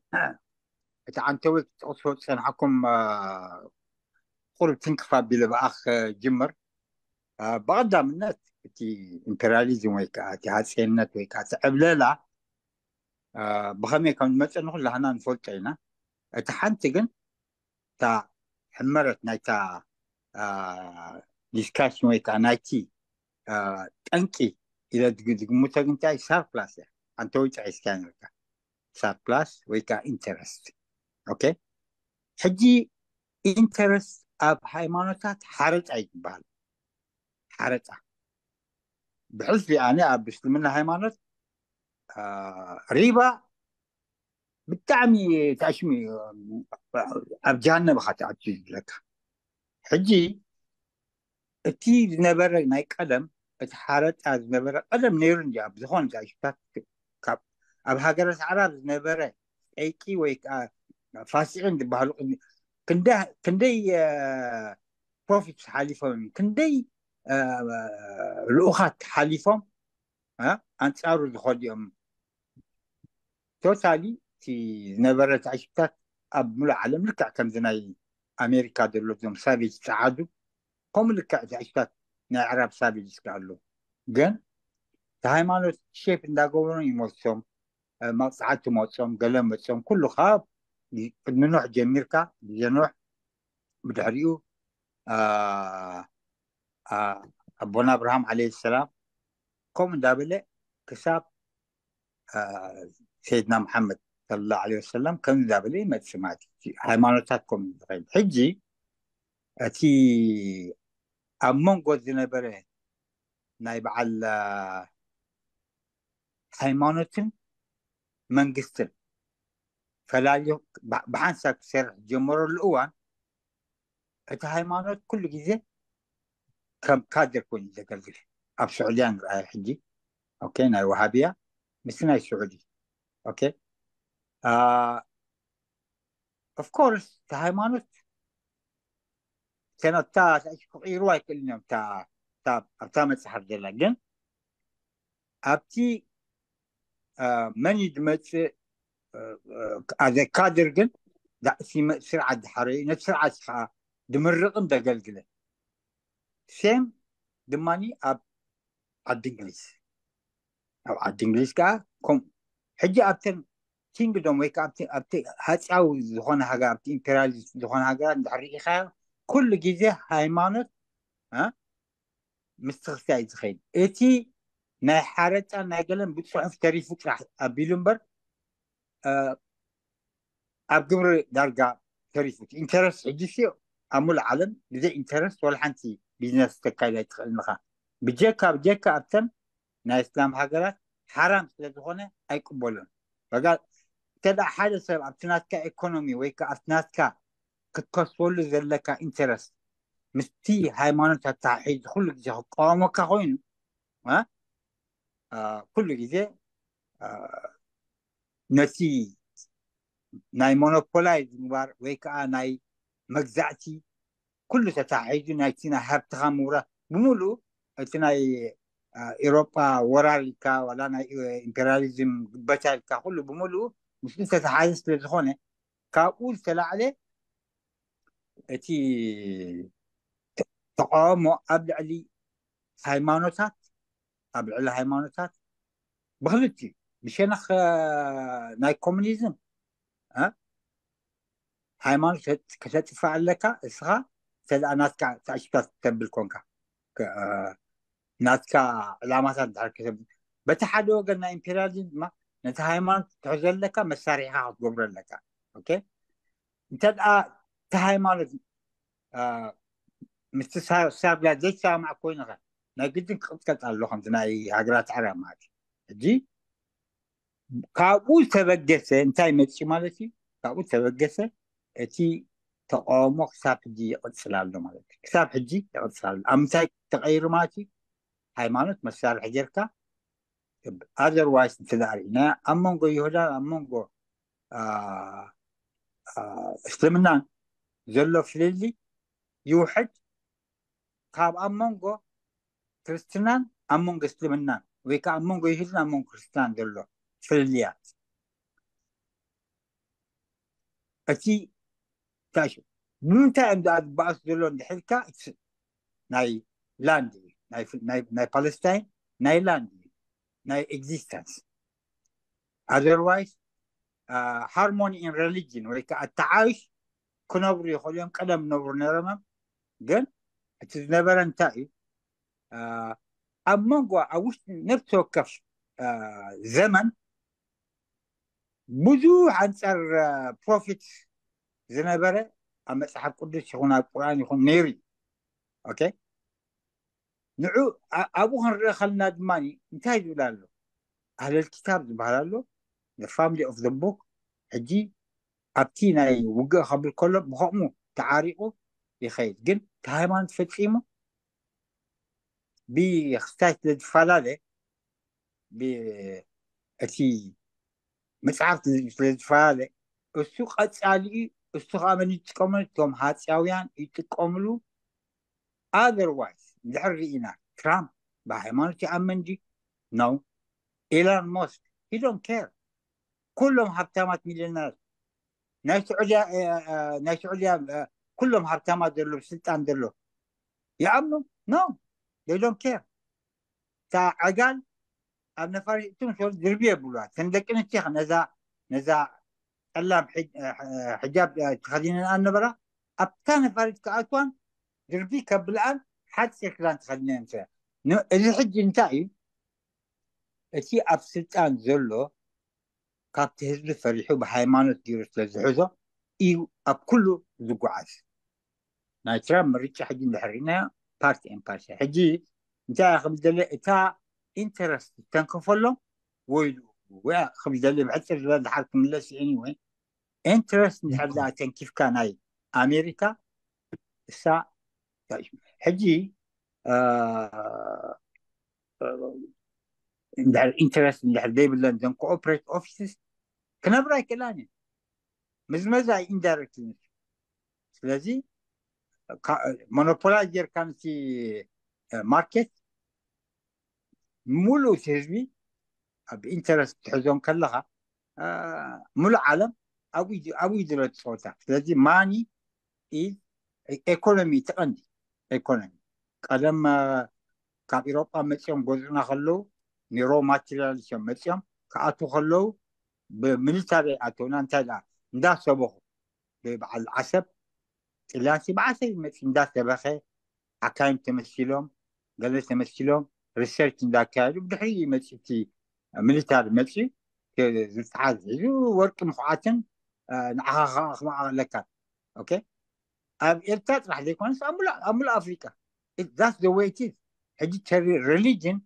እቲ ዓንተዊ ክትጠቕስዎ ዝጸናሕኩም ቁሩብ ትንክፍ ኣቢለ ብኣኽ ጅምር። ብቐዳምነት እቲ ኢምፔሪያሊዝም ወይ ከዓ እቲ ሃፀይነት ወይ ከዓ እቲ ዕብለላ ብኸመይ ከም ዝመፀ ንኩላህና ንፈልጦ ኢና። እቲ ሓንቲ ግን እታ ሕመረት ናይታ ዲስካሽን ወይ ከዓ ናይቲ ጠንቂ ኢለ ዝግምቶ ግን እንታይ ሳርፕላስ እያ። ኣንተ ወይ ጠቂስካ ነርካ ሳርፕላስ ወይ ከዓ ኢንተረስት። ኦኬ፣ ሕጂ ኢንተረስት ኣብ ሃይማኖታት ሓረጣ እዩ ዝበሃል። ሓረጣ ብሕልፊ ኣነ ኣብ እስልምና ሃይማኖት ሪባ ብጣዕሚ ታሽሚ ኣብ ጀሃነም ኢኻ ትኣቱ ዝብለካ። ሕጂ እቲ ዝነበረ ናይ ቀደም እቲ ሓረጣ ዝነበረ ቀደም ነይሩ እንዲ ኣብ ዝኾነ ዛሽታት ካብ ኣብ ሃገረ ሰዕራብ ዝነበረ ጠይቂ ወይ ከዓ ፋሲሒን ዝበሃሉ ክንደይ ፕሮፊት ሓሊፎም እዮም፣ ክንደይ ልኡኻት ሓሊፎም ኣንፃሩ ዝኸዱ እዮም። ቶታሊ እቲ ዝነበረ ትዕሽታት ኣብ ሙሉእ ዓለም ልክዕ ከምዚ ናይ ኣሜሪካ ዘሎ ዞም ሳቬጅ ፀዓዱ ከምኡ ልክዕ ትዕሽታት ናይ ዕራብ ሳቬጅ እስከ ኣሎ። ግን እቲ ሃይማኖት ሼፕ እንዳገበሩ ይመልሶም። መቕፃዕቲ መፆም፣ ገለ መፆም፣ ኩሉ ካብ ቅድሚ ኖሕ ጀሚርካ ግዜ ኖሕ ብድሕሪኡ ኣቦና ኣብርሃም ዓለይሂ ሰላም ከምኡ እንዳበለ ክሳብ ሰይድና መሓመድ ሰለላሁ ዓለይሂ ወሰለም ከምዚ እንዳበለ ይመፅእ ማለት እዩ። ሃይማኖታት ከምኡ ዝኸይድ። ሕጂ እቲ ኣብ መንጎ ዝነበረ ናይ በዓል ሃይማኖትን መንግስትን ፈላልዩ ብሓንሳብ ክሰርሕ ዝጀመረሉ እዋን እቲ ሃይማኖት ኩሉ ግዜ ከም ካድር ኮይኑ ዘገልግል ኣብ ስዑድያ ንርኣዮ ሕጂ። ኦኬ፣ ናይ ወሃብያ ምስ ናይ ስዑዲ ኦኬ፣ of course እቲ ሃይማኖት ተነታ ክቕይሩ ኣይክእልን እዮም። ኣብታ መፅሓፍ ዘላ ግን ኣብቲ መን እዩ ዝመፅእ ኣዘ ካድር ግን ስርዓት ዝሓረዩ ነቲ ስርዓት ከዓ ድምርቕን ዘገልግልን ሴም ድማ ኣብ ዓዲ እንግሊዝ ኣብ ዓዲ እንግሊዝ ከዓ ከምኡ ሕጂ ኣብተን ኪንግዶም ወይ ከዓ ኣብቲ ሃፅያዊ ዝኾነ ሃገር ኣብቲ ኢምፔሪያሊስት ዝኾነ ሃገራት እንድሕር ርኢኻዮ ኩሉ ግዜ ሃይማኖት ምስቲ ክርስትያን እዩ ዝኸይድ። እቲ ናይ ሓረጫን ናይ ገለን ብፅሑፍ ተሪፉ ጥራሕ ኣቢሉ እምበር ኣብ ግብሪ ዳርጋ ተሪፉ። ኢንተረስት ሕጂ ሲ ኣብ ሙሉእ ዓለም ብዘይ ኢንተረስት ወላ ሓንቲ ቢዝነስ ተካይድ ኣይትኽእልን ኢኻ። ብጀካ ብጀካ ኣብተን ናይ እስላም ሃገራት ሓራም ስለ ዝኾነ ኣይቅበሉን። በጋ እንተ ሓደ ሰብ ኣብቲ ናትካ ኢኮኖሚ ወይ ከዓ ኣብቲ ናትካ ክትከስበሉ ዘለካ ኢንተረስት ምስቲ ሃይማኖት ኣተሓሒዙ ኩሉ ግዜ ክቃወመካ ኮይኑ ኩሉ ግዜ ነቲ ናይ ሞኖፖላይዝ ምግባር ወይ ከዓ ናይ መግዛእቲ ኩሉ ተታሒዙ ናይቲ ናይ ሃብትኻ ምውራር ብምሉእ እቲ ናይ ኤሮጳ ወራር ኢልካ ዋላ ናይ ኢምፔሪያሊዝም ግበታ ኢልካ ኩሉ ብምሉእ ምስኡ ተተሓዘ ስለ ዝኾነ ካብኡ ዝተላዕለ እቲ ተቃውሞ ኣብ ልዕሊ ሃይማኖታት ኣብ ልዕሊ ሃይማኖታት ብክልቲ ብሸነኽ ናይ ኮሙኒዝም ሃይማኖት ከተጥፋ ኣለካ እስኻ እንተ ናትካ ተኣሽካ ተብል ኮንካ ናትካ ዕላማታት ድር በቲ ሓደ ወገን ናይ ኢምፔሪያሊዝም ድማ ነቲ ሃይማኖት ትሕዞ ኣለካ መሳሪሕካ ክትገብሮ ኣለካ እንተ እቲ ሃይማኖት ምስቲ ሳብላ ዘይሰማማዕ ኮይንኸ ናይ ግድን ክቕጥቀጥ ኣሎ ከምቲ ናይ ሃገራት ዓረብ ማለት ሕጂ ካብኡ ዝተበገሰ እንታይ መፅኡ ማለት እዩ ካብኡ ዝተበገሰ እቲ ተቃውሞ ክሳብ ሕጂ ይቕፅል ኣሎ ማለት እዩ ክሳብ ሕጂ ይቕፅል ኣሎ ኣብ ምንታይ ተቐይሩ ማለት እዩ ሃይማኖት መሳርሒ ጌርካ otherwise እንተ ርኢና ኣብ መንጎ ይሁዳን ኣብ መንጎ እስልምናን ዘሎ ፍልልይ ይውሕድ ካብ ኣብ መንጎ ክርስትናን ኣብ መንጎ እስልምናን ወይ ከዓ ኣብ መንጎ ይሁድን ኣብ መንጎ ክርስትናን ዘሎ ፍልልያት እቲ ታሽ ብምንታይ እዮም ደኣ ዝበኣሱ ዘሎ እንድሕልካ ናይ ላንድ እዩ ናይ ፓለስታይን ናይ ላንድ እዩ ናይ ኤግዚስተንስ otherwise harmony in religion ወይ ከዓ ኣተዓይሽ ክነብሩ ይኽእሉ እዮም ቀደም ነብሩ ነረመም ግን እቲ ዝነበረ እንታይ እዩ ኣብ መንጎ ኣብ ውሽጢ ነፍሲ ወከፍ ዘመን ብዙሕ ኣንፃር ፕሮፊት ዝነበረ ኣብ መፅሓፍ ቅዱስ ይኹን ኣብ ቁርኣን ይኹን ነይሩ እዩ ንዑ ኣብኡ ክንርኢ ከልና ድማ እንታይ ዝብል ኣሎ ኣህለል ክታብ ዝበሃል ኣሎ family of the book ሕጂ ኣብቲ ናይ ውግእ ከብል ከሎ ብከምኡ ተዓሪቑ ይኸይድ ግን እቲ ሃይማኖት ፈፂሙ ብክስታይ ስለ ዝፈላለ እቲ መፅሓፍ ስለ ዝፈላለ እሱ ቀፃሊ እሱ ከዓ መን ይጥቀመሉ እቶም ሃፅያውያን ይጥቀምሉ otherwise እንድሕር ርኢና ትራምፕ ብሃይማኖት ይኣምን ድዩ no ኢላን ሞስክ he don't care ኩሎም ሃብታማት ሚሊዮነር ናይ ስዑድያ ናይ ስዑድያ ኩሎም ሃብታማት ዘሎ ስልጣን ዘሎ ይኣምኑ no they don't care እታ ዕጋል ኣብ ነፋሪት እትምሰሉ ድርቢ የብሉዋ ተን ደቂ ኣንስትዮ ነዛ ነዛ ጠላም ሕጃብ ተኸዲነን ኣነበራ ኣብታ ነፋሪት ክኣትዋን ድርቢ ከብልኣን ሓፂር ክዳን ተኸዲነን ምስ እዚ ሕጂ እንታይ እዩ እቲ ኣብ ስልጣን ዘሎ ካብቲ ህዝቢ ፈሪሑ ብሃይማኖት ገይሩ ስለ ዝሕዞ እዩ ኣብ ኩሉ ዝጓዓዝ ናይ ትራምፕ ምርጫ ሕጂ እንድሕር ርኢናዮ ፓርቲ ኤን ፓርቲ ሕጂ እንታይ ክብል ደለ እታ ኢንተረስት ተንከፈሎም ወይሉ ክብል ደለ ብሕፅር ዝበለ ድሓር ክምለስ እዩ anyway ኢንተረስት እንድሕር ደኣ ተንኪፍካ ናይ ኣሜሪካ እሳ ሕጂ እንድሕር ኢንተረስት እንድሕር ዘይብለን ዘን ኮኦፕሬት ኦፊስስ ክነብራ ኣይክእላን እዩ ምዝመዛ ኢንዳይሬክት። ስለዚ ሞኖፖላይዝ ጌርካ ነቲ ማርኬት፣ ሙሉእ እቲ ህዝቢ ኣብ ኢንተረስት ትሕዞም ከለኻ፣ ሙሉእ ዓለም ኣብኡ እዩ ዘሎ እቲ ፀወታ። ስለዚ ማኒ ኢዝ ኤኮኖሚ፣ እቲ ቀንዲ ኤኮኖሚ። ቀደም ካብ ኢሮጳ መፂኦም ጎዝኡና ከለዉ፣ ኒሮ ማቴሪያሊስት እዮም መፂኦም። ክኣትዉ ከለዉ ብሚሊታሪ ኣተውና። እንታይ ደኣ እንዳሰበኹ፣ ብበዓል ዓሰብ ጥልያንሲ ብዓሰብ ይመፅ እንዳሰበኸ፣ ሓካይም ተመሲሎም፣ ገለ ተመሲሎም፣ ሪሰርች እንዳካየዱ፣ ብድሕሪ መፅእ እቲ ሚሊታሪ መፅኡ፣ ዝተሓዝ ሒዙ ወርቂ ምኹዓትን ንዓኻ ከኣ ክመዓለካ። ኦኬ፣ ኣብ ኤርትራ ጥራሕ ዘይኮነስ ኣብ ሙሉእ ኣፍሪቃ። That's the way it is። ሕጂ religion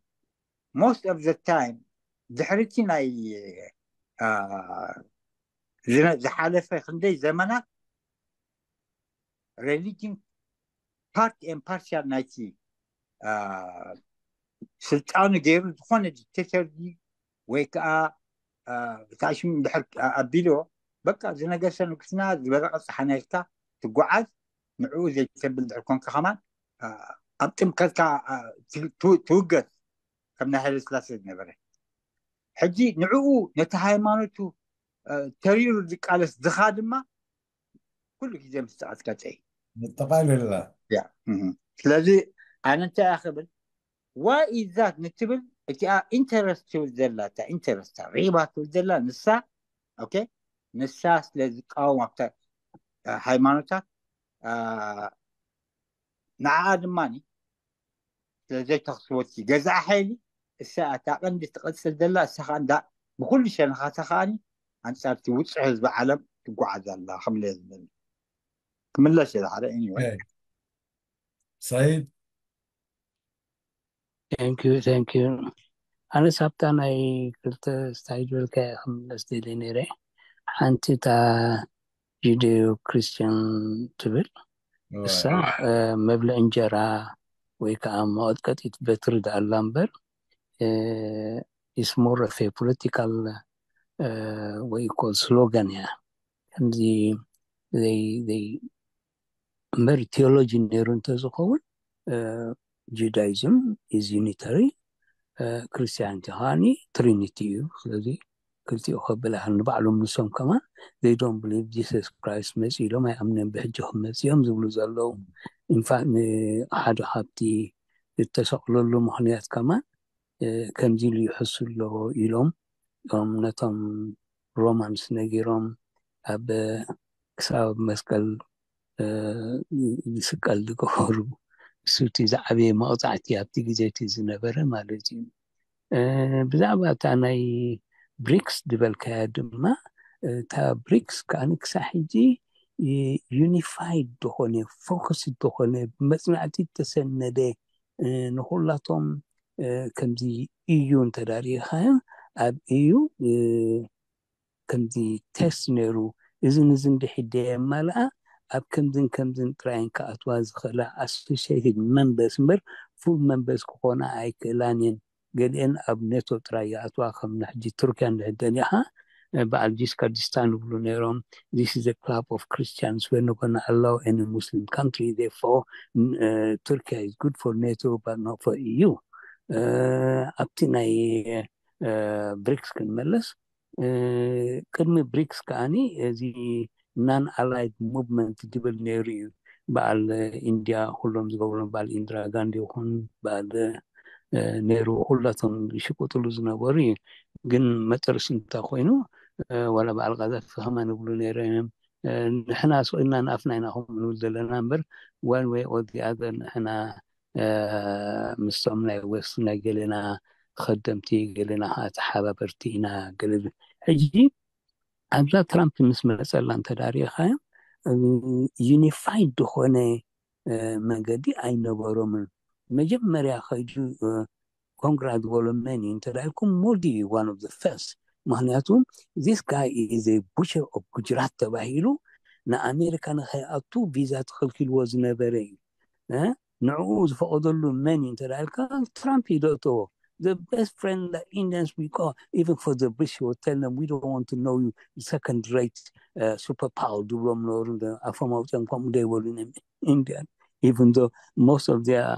most of the time ድሕርቲ ናይ ዝሓለፈ ክንደይ ዘመናት religion part and parcel ናይቲ ስልጣኑ ገይሩ ዝኾነ ዲክቴተር ወይ ከዓ ታሽም ድሕር ኣቢልዎ፣ በቃ ዝነገሰ ንጉስና ዝበረቐ ፀሓናይካ ትጓዓዝ። ንዕኡ ዘይተብል ድሕር ኮንካ ከማን ኣብ ጥምቀትካ ትውገዝ፣ ከም ናይ ሃይለ ስላሴ ዝነበረ። ሕጂ ንዕኡ ነቲ ሃይማኖቱ ተሪሩ ዝቃለስ ድኻ ድማ ኩሉ ግዜ ምስ ተቐጥቀጠ እዩ። መጠቓለላ። ስለዚ ኣነ እንታይ እያ ክብል፣ ዋይ ኢዛት ንትብል እቲኣ ኢንተረስት ትብል ዘላ፣ እታ ኢንተረስት ሪባ ትብል ዘላ ንሳ። ኦኬ፣ ንሳ ስለ ዝቃወም ኣብታ ሃይማኖታት፣ ንዓኣ ድማ ስለ ዘይተኽስቦ እቲ ገዛእ ሓይሊ፣ እሳ እታ ቀንዲ ትቐፅል ዘላ። እሳ ከዓ እንዳ ብኩሉ ሸነኻታ ከዓኒ ኣንፃር እቲ ውፁዕ ህዝቢ ዓለም ትጓዓዝ ኣላ። ከምለ ዝብል ክምለስ እየ ዝሓደ። Anyway። ሰይድ። Thank you, thank you። ኣነ ሳብታ ናይ ክልተ ስታይ ዝበልካ ክምለስ ደልየ ነይረ። ሓንቲ እታ ጁደዮ ክርስቲያን ትብል፣ እሳ መብልዒ እንጀራ ወይ ከዓ መቐጥቀጢት በትሪ ደኣላ እምበር፣ is more of a political ወይ ኮል ስሎጋን እያ። ከምዚ እምበር ቴዎሎጂ ነይሩ እንተዝኸውን፣ ጁዳይዝም is unitary፣ ክርስቲያኒቲ ከዓኒ ትሪኒቲ እዩ። ስለዚ ክልቲኡ ከብል ኣይኽእልን። ንባዕሎም ንሶም ከማን they don't believe Jesus Christ መፂኡ ኢሎም ኣይኣምንን፣ ብሕጂ ክመፅእ እዮም ዝብሉ ዘለዉ። ኢንፋክት ንሓደ ካብቲ ዝተሰቕለሉ ምኽንያት ከማን ከምዚ ኢሉ ይሕሱ ኣለዎ ኢሎም፣ እቶም ነቶም ሮማንስ ነጊሮም ኣብ ክሳብ መስቀል ዝስቀል ዝገበሩ፣ እሱ እቲ ዝዓበየ መቕፃዕቲ ኣብቲ ግዜ እቲ ዝነበረ ማለት እዩ። ብዛዕባ እታ ናይ ብሪክስ ዝበልካያ ድማ፣ እታ ብሪክስ ከዓኒ ክሳብ ሕጂ ዩኒፋይድ ዝኾነ፣ ፎከስ ዝኾነ፣ ብመፅናዕቲ ዝተሰነደ፣ ንኩላቶም ከምዚ እዩ እንተዳሪእኻዮ፣ ኣብ እዩ ከምዚ ቴስት ነይሩ፣ እዝን እዝን ድሕደ የማልኣ፣ ኣብ ከምዝን ከምዝን ጥራይን ክኣትዋ ዝኽእላ ኣሶሲየትድ መንበርስ እምበር ፉል መንበርስ ክኾና ኣይክእላን እየን። ገሊአን ኣብ ኔቶ ጥራይ ይኣትዋ፣ ከም ንሕጂ ቱርኪያ እንድሕር ደሊኻ፣ በዓል ጂስካ ዲስታን ይብሉ ነይሮም፣ this is a club of Christians, we're not gonna allow any Muslim country, therefore Turkey is good for NATO but not for EU። ኣብቲ ናይ ብሪክስ ክንመለስ፣ ቅድሚ ብሪክስ ከዓኒ እዚ non-aligned movement ዝብል ነይሩ እዩ። በዓል ኢንድያ ኩሎም ዝገብሩ፣ በዓል ኢንድራ ጋንዲ ይኹን በዓል ነይሩ፣ ኩላቶም ዝሽቅጥሉ ዝነበሩ እዩ። ግን መጨረሽ እንታይ ኮይኑ፣ ዋላ በዓል ቃዛፊ ከማን ይብሉ ነይሮም እዮም። ንሕና ስቕ ኢልና ንኣፍና ኢና ከምኡ ንብል ዘለና እምበር፣ one way or the other ንሕና ምስቶም ናይ ዌስት ናይ ገሌና ኸደምቲ፣ ገሌና ከዓ ተሓባበርቲ ኢና። ገለ ሕጂ ኣብዛ ትራምፕ ምስ መፀላ እንተዳሪኻዮ፣ ዩኒፋይድ ዝኾነ መገዲ ኣይነበሮምን። መጀመርያ ከይዱ ኮንግራ ዝበሎ መን እዩ እንተዳልኩም፣ ሞዲ እዩ one of the first። ምክንያቱ this guy is a butcher of ጉጅራት ተባሂሉ ንኣሜሪካ ንኸይኣቱ ቪዛ ተኸልኪልዎ ዝነበረ እዩ። ንዕኡ ዝፈቐደሉ መን እዩ እንተዳልካ፣ ትራምፕ እዩ ደእተዎ። the best friend that Indians we call, even for the British, will tell them, "We don't want to know you, second rate uh, superpower," ዝብሎም ነበሩ። ኣፎም ኣውፅኦም ከምኡ ዘይበሉ ኢንዲያን፣ even though most of their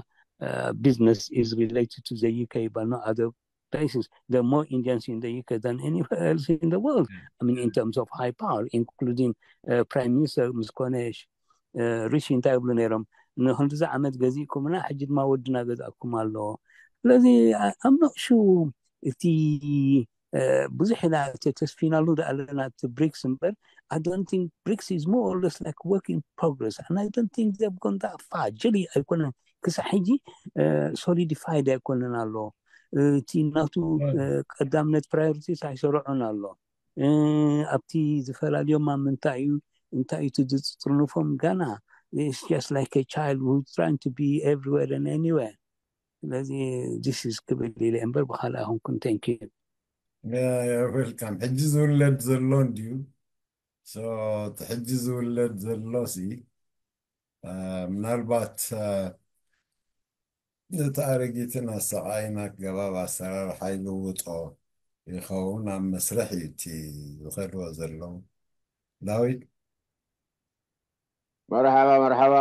uh, business is related to the U K, but not other places. There are more Indians in the U K than anywhere else in the world. I mean, in terms of high power, including uh, Prime Minister ምስ ኮነ ሪሺ እንታይ ይብሉ ነይሮም? ንክንድዚ ዓመት ገዚእኩምና፣ ሕጂ ድማ ወድና ገዛእኩም ኣሎ። ስለዚ I'm not sure እቲ ብዙሕ ኢና ተተስፊናሉ ኣለና እቲ ብሪክስ እምበር፣ I don't think BRICS is more or less like work in progress, and I don't think they've gone that far. ጀሊ ኣይኮነን፣ ክሳብ ሕጂ solidified ኣይኮነን ኣሎ። እቲ ናቱ ቀዳምነት priorities ኣይሰረዑን ኣሎ። ኣብቲ ዝፈላልዮም ኣብ ምንታይ እዩ፣ እንታይ እዩ ዝፅርንፎም? ገና it's just like a child who's trying to be everywhere and anywhere. ስለዚ this is ክብል ኢለ እምበር ብካልእ ኣይኮንኩን። Thank you. Welcome. ሕጂ ዝውለድ ዘሎ እንድዩ። So እቲ ሕጂ ዝውለድ ዘሎ ሲ ምናልባት እቲ ኣረጊትን ኣሰቓይን ኣገባብ ኣሰራርሓ ይልውጦ ይኸውን ኣብ መስርሕ እዩ እቲ ዝኸድዎ ዘለዉ። ዳዊት? መርሓባ መርሓባ።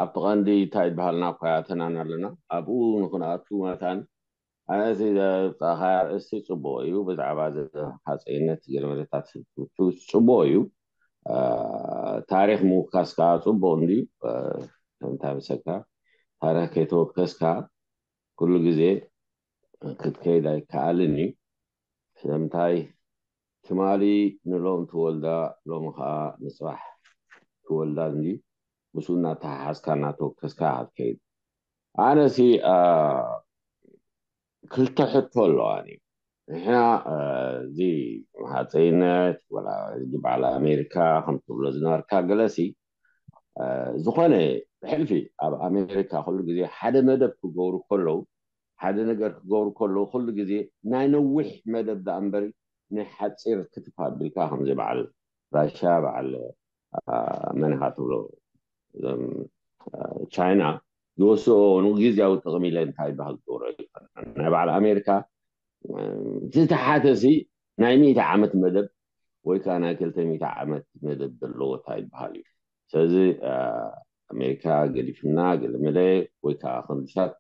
ኣብቲ ቀንዲ እንታይ ይበሃልና እኳ ተናን ኣለና፣ ኣብኡ ንክንኣቱ መታን ኣነዚ ዘውፃእካ ኣርእስቲ ፅቡቅ እዩ። ብዛዕባ ሃፀይነት ገለመለታት ጽቡቅ እዩ። ታሪክ ምውካስ ከዓ ፅቡቅ እንድዩ። እንታይ ምሰካ፣ ታሪክ ከይተወከስካ ኩሉ ግዜ ክትከይድ ኣይከኣልን እዩ። ስለምንታይ ትማሊ ንሎም ትወልዳ ሎሚ ከዓ ንፅባሕ ትወልዳ እንድዩ። ምስኡ እናተሓሓዝካ እናተወከስካ ክትከይድ። ኣነ ሲ ክልተ ሕቶ ኣለዋኒ። ንሕና እዚ ሃፀይነት ወላ በዓል ኣሜሪካ ከም ትብሎ ዝነበርካ ገለሲ ዝኾነ ብሕልፊ ኣብ ኣሜሪካ ኩሉ ግዜ ሓደ መደብ ክገብሩ ከለዉ ሓደ ነገር ክገብሩ ከለዉ ኩሉ ግዜ ናይ ነዊሕ መደብ ደኣ እምበሪ ናይ ሓፂር ክትፍ ኣቢልካ ከምዚ በዓል ራሻ በዓል መን ኢኻ ትብሎ ቻይና ዝወስኦ ንግዝያዊ ጥቕሚ ኢለ እንታይ ይበሃል ዝገብሮ ኣይኮነን። ናይ በዓል ኣሜሪካ ዝተሓተ ሲ ናይ ሚእቲ ዓመት መደብ ወይ ከዓ ናይ ክልተ ሚእቲ ዓመት መደብ ዘለዎ እንታይ ይበሃል እዩ። ስለዚ ኣሜሪካ ገዲፍና ገለመለ ወይ ከዓ ከምዚታት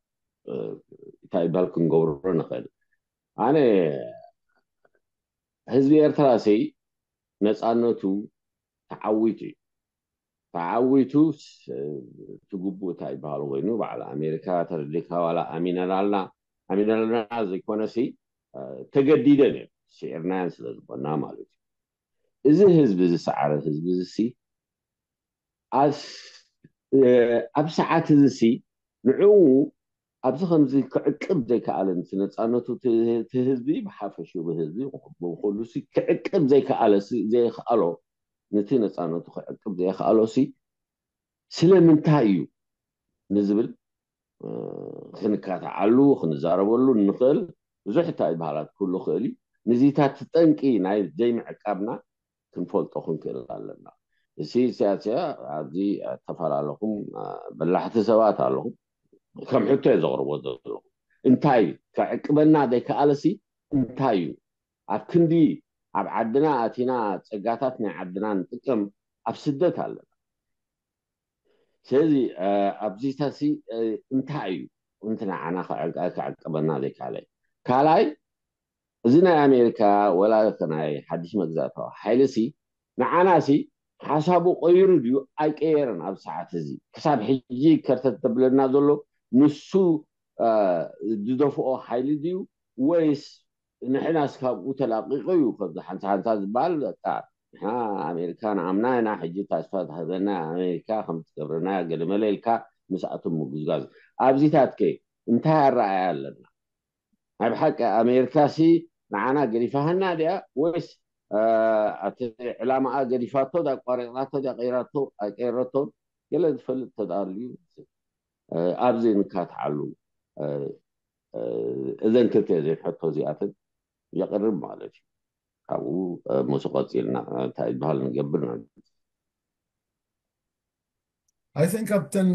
እንታይ ይበሃል ክንገብሮ ንኽእል። ኣነ ህዝቢ ኤርትራ ሲ ነፃነቱ ተዓዊቱ እዩ። ተዓዊቱ ትግቡእ እንታይ ይበሃል ኮይኑ በዓል ኣሜሪካ ተረዲካ ዋላ ኣሚነናልና ኣሚነናልና ዘይኮነ ሲ ተገዲደን እዮም ስዒርናያን ስለ ዝኾና ማለት እዩ። እዚ ህዝቢ ዝሰዓረ ህዝቢ እዚ ሲ ኣብ ሰዓት እዚ ሲ ንዕኡ ኣብዚ ከምዚ ክዕቅብ ዘይከኣለ ነፃነቱ እቲ ህዝቢ ብሓፈሽኡ ብህዝቢ ብኩሉ ሲ ክዕቅብ ዘይከኣለ ሲ ዘይከኣሎ ነቲ ነፃነቱ ክዕቅብ ዘይከኣሎ ሲ ስለምንታይ እዩ ንዝብል ክንካታዓሉ ክንዛረበሉ እንኽእል ብዙሕ እንታይ በሃላት ክህሉ ክእል እዩ። ንዚታት ጠንቂ ናይ ዘይምዕቃብና ክንፈልጦ ክንክእል ኣለና። እዚ ስያስያ ኣብዚ ተፈላለኹም በላሕቲ ሰባት ኣለኹም ከም ሕቶ እየ ዘቕርቦ ዘለኹ። እንታይ እዩ ክዕቅበና ዘይከኣለሲ እንታይ እዩ? ኣብ ክንዲ ኣብ ዓድና ኣቲና ጸጋታት ናይ ዓድና ንጥቀም ኣብ ስደት ኣለና። ስለዚ ኣብዚታሲ እንታይ እዩ እንት ንዓና ክዕቀበና ዘይካለ? ካልኣይ እዚ ናይ ኣሜሪካ ወላ ናይ ሓድሽ መግዛእታዊ ሓይሊ ሲ ንዓና ሲ ሓሳቡ ቀይሩ ድዩ ኣይቀየረን? ኣብ ሰዓት እዚ ክሳብ ሕጂ ከርተት ተብለና ዘሎ ንሱ ዝደፍኦ ሓይሊ ድዩ ወይስ ንሕናስ ካብኡ ተላቂቁ እዩ ከምዚ ሓንሳ ሓንሳ ዝበሃል በቃ ንሕና ኣሜሪካ ንኣምና ኢና ሕጂ ታስፋ ትሃበና ኣሜሪካ ከም ትገብረና ገለመለ ኢልካ ምስኣቶም ምጉዝጋዝ ኣብዚታት ከ እንታይ ኣረኣያ ኣለና ናይ ብሓቂ ኣሜሪካ ሲ ንዓና ገዲፋሃና ድያ ወይስ እቲ ዕላማኣ ገዲፋቶ ዳ ቋሪፅናቶ ዳ ቀይራቶ ኣይቀይረቶን ገለ ዝፈልጥ ተዳልዩ ኣብዚ ንካትዓሉ እዘን ክልተ እዘን ሕቶ እዚኣተን የቕርብ ማለት እዩ። ካብኡ ምስ ቀፂልና እንታይ ዝበሃል ንገብር I think ኣብተን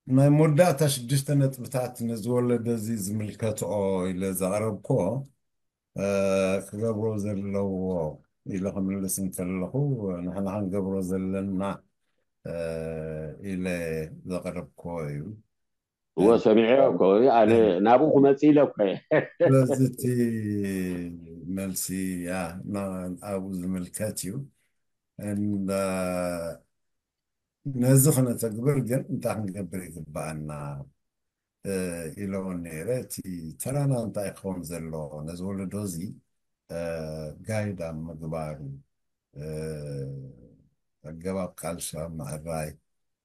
ናይ መወዳእታ ሽዱሽተ ነጥብታት ነዚ ወለዶ እዚ ዝምልከትኦ ኢለ ዘቕረብክዎ፣ እ፣ ክገብሮ ዘለዎ ኢለ ክምልስ እንከለኹ፣ ንሕና ክንገብሮ ዘለና፣ እ፣ ኢለ ዘቕረብክዎ እዩ። እዎ፣ ሰሚዐዮ እኮ። ኣነ ናብኡ ክመጽእ ኢለ እኮ እየ። ስለዚ እቲ መልሲ፣ ያ፣ ና-፣ ኣብኡ ዝምልከት እዩ። እንዳ-፣ ነዚ ክነተግብር ግን እንታይ ክንገብር ይግብኣና፣ እ፣ ኢለውን ነይረ። እቲ ተራና እንታይ ክኸውን ዘለዎ፣ ነዚ ወለዶ እዚ፣ እ፣ ጋይድ ኣብ ምግባሩ፣ እ፣ ኣገባብ ቃልሲ ኣብ ምዕራይ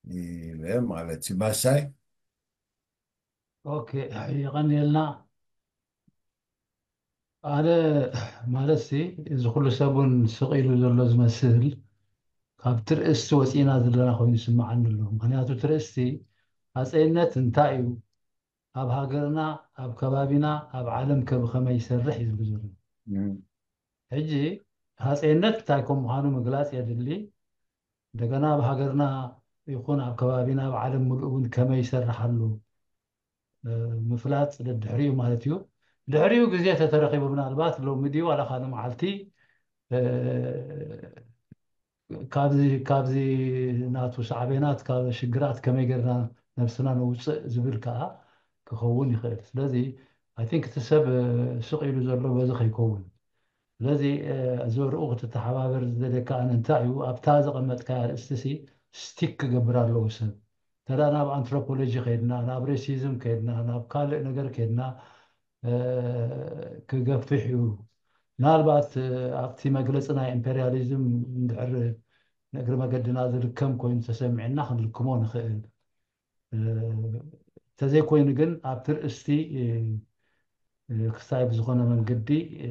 ኢለ ማለት እዩ። ባሻይ? ኦኬ፣ የቐንየልና። ኣነ ማለት ሲ፣ እዚ ኩሉ ሰብ እውን ስቕ ኢሉ ዘሎ ዝመስል፣ ካብ ትርእስቲ ወፂእና ዘለና ኮይኑ ይስምዓኒ ኣሎ። ምክንያቱ ትርእስቲ ሃፀይነት እንታይ እዩ፣ ኣብ ሃገርና፣ ኣብ ከባቢና፣ ኣብ ዓለም ከ ብኸመይ ይሰርሕ እዩ ዝብል ዘሎ። እም። ሕጂ ሃፀይነት እንታይ ከም ምዃኑ ምግላፅ የድሊ። እንደገና ኣብ ሃገርና ይኹን ኣብ ከባቢና፣ ኣብ ዓለም ምሉእ እውን ከመይ ይሰርሕ ኣሎ፣ እ፣ ምፍላጥ ደድሕሪኡ ማለት እዩ። ድሕሪኡ ግዜ ተተረኺቡ ምናልባት ሎሚ ድዩ ዋላ ካልእ መዓልቲ፣ እ፣ ካብዚ፣ ካብዚ ናቱ ሳዕቤናት፣ ካብ ሽግራት ከመይ ጌርና ነብስና ነውፅእ ዝብል ከዓ ክኸውን ይኽእል። ስለዚ፣ I think እቲ ሰብ፣ እ፣ ስቕ ኢሉ ዘሎ በዚ ከይከውን። ስለዚ፣ እ፣ እዚ ወርኡ ክትተሓባበር ዝደልየካ ኣነ እንታይ እዩ፣ ኣብታ ዘቐመጥካያ ኣርእስቲ ሲ ስቲክ ክገብር ኣለዎ ሰብ። እንተ ደኣ ናብ ኣንትሮፖሎጂ ከይድና፣ ናብ ሬሲዝም ከይድና፣ ናብ ካልእ ነገር ከይድና፣ እ፣ ክገፍሕ እዩ። ምናልባት፣ እ፣ ኣብቲ መግለጺ ናይ ኢምፔርያሊዝም እንድሕር ንእግሪ መገድና ዝልከም ኮይኑ ተሰሚዕና ክንልክሞ ንኽእል። እ፣ እንተዘይኮይኑ ግን ኣብቲ ርእስቲ፣ እ፣ እ፣ ክሳይ ብዝኾነ መንገዲ፣ እ፣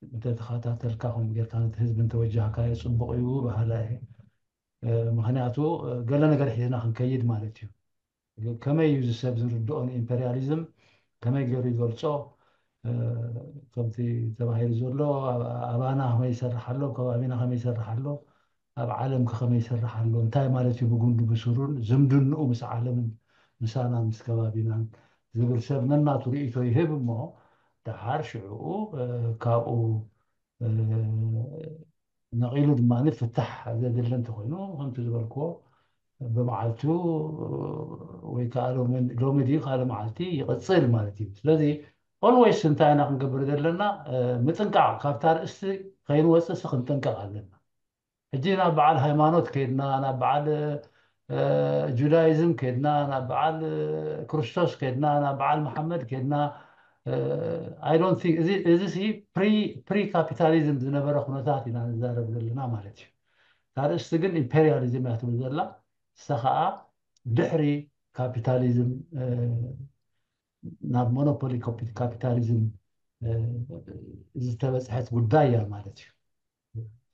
እንተተኸታተልካ ከምኡ ጌርካ ነቲ ህዝቢ እንተወጃህካዮ ጽቡቕ እዩ በሃላይ እየ። እ፣ ምኽንያቱ፣ እ፣ ገለ ነገር ሒዝና ክንከይድ ማለት እዩ። ከመይ እዩ እዚ ሰብ ዝርድኦ ንኢምፔርያሊዝም? ከመይ ገይሩ ይገልጾ? እ፣ ከምቲ ተባሂሉ ዘሎ፣ ኣብ-፣ ኣባና ከመይ ይሰርሕ ኣሎ? ኣብ ከባቢና ከመይ ይሰርሕ ኣሎ? ኣብ ዓለም ከ ከመይ ይሰርሕ ኣሎ? እንታይ ማለት እዩ ብጉንዱ ብስሩን ዝምድንኡ ምስ ዓለምን ምሳና ምስ ከባቢናን ዝብል ሰብ ነናቱ ርእይቶ ይህብ እሞ፣ ደሓር ሽዕኡ፣ እ፣ ካብኡ፣ እ፣ ነቒሉ ድማ ፍታሕ ዘድሊ እንተኾይኑ፣ ከምቲ ዝበልክዎ፣ ብመዓልቱ ወይ ከዓ ሎሚ፣ ሎሚ ድዩ ካልእ መዓልቲ ይቕጽል ማለት እዩ። ስለዚ ኦልዌይስ እንታይ ኢና ክንገብር ዘለና? እ፣ ምጥንቃቕ፣ ካብታ ርእስቲ ከይንወጽእሲ ክንጥንቀቕ ኣለና። ሕጂ ናብ በዓል ሃይማኖት ከይድና፣ ናብ በዓል፣ እ፣ ጁዳይዝም ከይድና፣ ናብ በዓል፣ እ፣ ክርስቶስ ከይድና፣ ናብ በዓል መሓመድ ከይድና፣ እ፣ I don't think፣ እዚ፣ እዚ ሲ ፕሪ፣ ፕሪ ካፒታሊዝም ዝነበረ ኩነታት ኢና ንዛረብ ዘለና ማለት እዩ። እታ ርእስቲ ግን ኢምፔርያሊዝም እያ ትብል ዘላ። ንሳ ኸዓ ድሕሪ ካፒታሊዝም፣ እ፣ ናብ ሞኖፖሊ ኮፒ-፣ ካፒታሊዝም፣ እ፣ ዝተበጽሐት ጉዳይ እያ ማለት እዩ።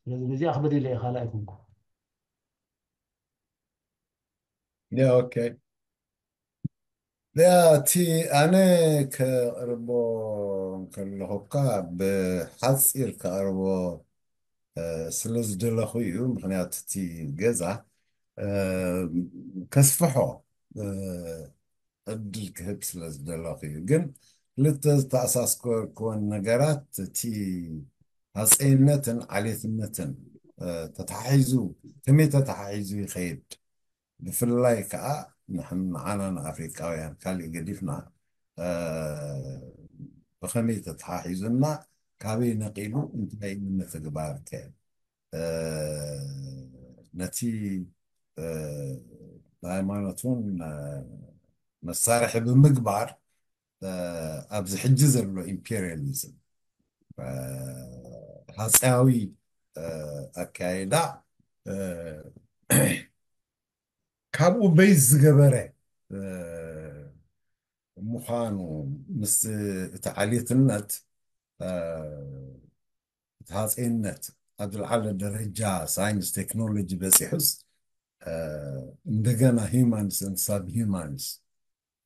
ስለዚ ነዚኣ ክብል ኢለ እየ፣ ካልእ ኣይኮንኩ። ያ፣ ኦኬ። ያ፣ እቲ ኣነ ከቕርቦ እንከለኹ እኳ ብሓፂር ከቕርቦ፣ እ፣ ስለ ዝደለኹ እዩ። ምኽንያቱ እቲ ገዛ፣ እ፣ ከስፍሖ፣ እ፣ ዕድል ክህብ ስለ ዝደለኹ እዩ። ግን ክልተ ዝተኣሳስከርክወን ነገራት፣ እቲ ሃፀይነትን ዓሌትነትን፣ እ፣ ተተሓሒዙ፣ ከመይ ተተሓሒዙ ይኸይድ? ብፍላይ ከዓ ንሕን-፣ ንዓና ንኣፍሪቃውያን ካልእ ገዲፍና፣ እ፣ ብኸመይ ተተሓሒዙና፣ ካበይ ነቒሉ፣ እንታይ ንምትግባር ከ፣ እ፣ ነቲ፣ እ፣ ብሃይማኖት እውን፣ እ፣ መሳርሒ ብምግባር፣ እ፣ ኣብዚ ሕጂ ዘሎ ኢምፔሪያሊዝም፣ እ፣ ሃፀያዊ፣ እ፣ ኣካይዳ፣ እ፣ ካብኡ በይዝ ዝገበረ፣ እ፣ ምዃኑ፣ ምስ እቲ ዓሌትነት፣ እ፣ እቲ ሃፀይነት ኣብ ዝለዓለ ደረጃ ሳይንስ ቴክኖሎጂ በፂሑስ፣ እ፣ እንደገና humans and subhumans፣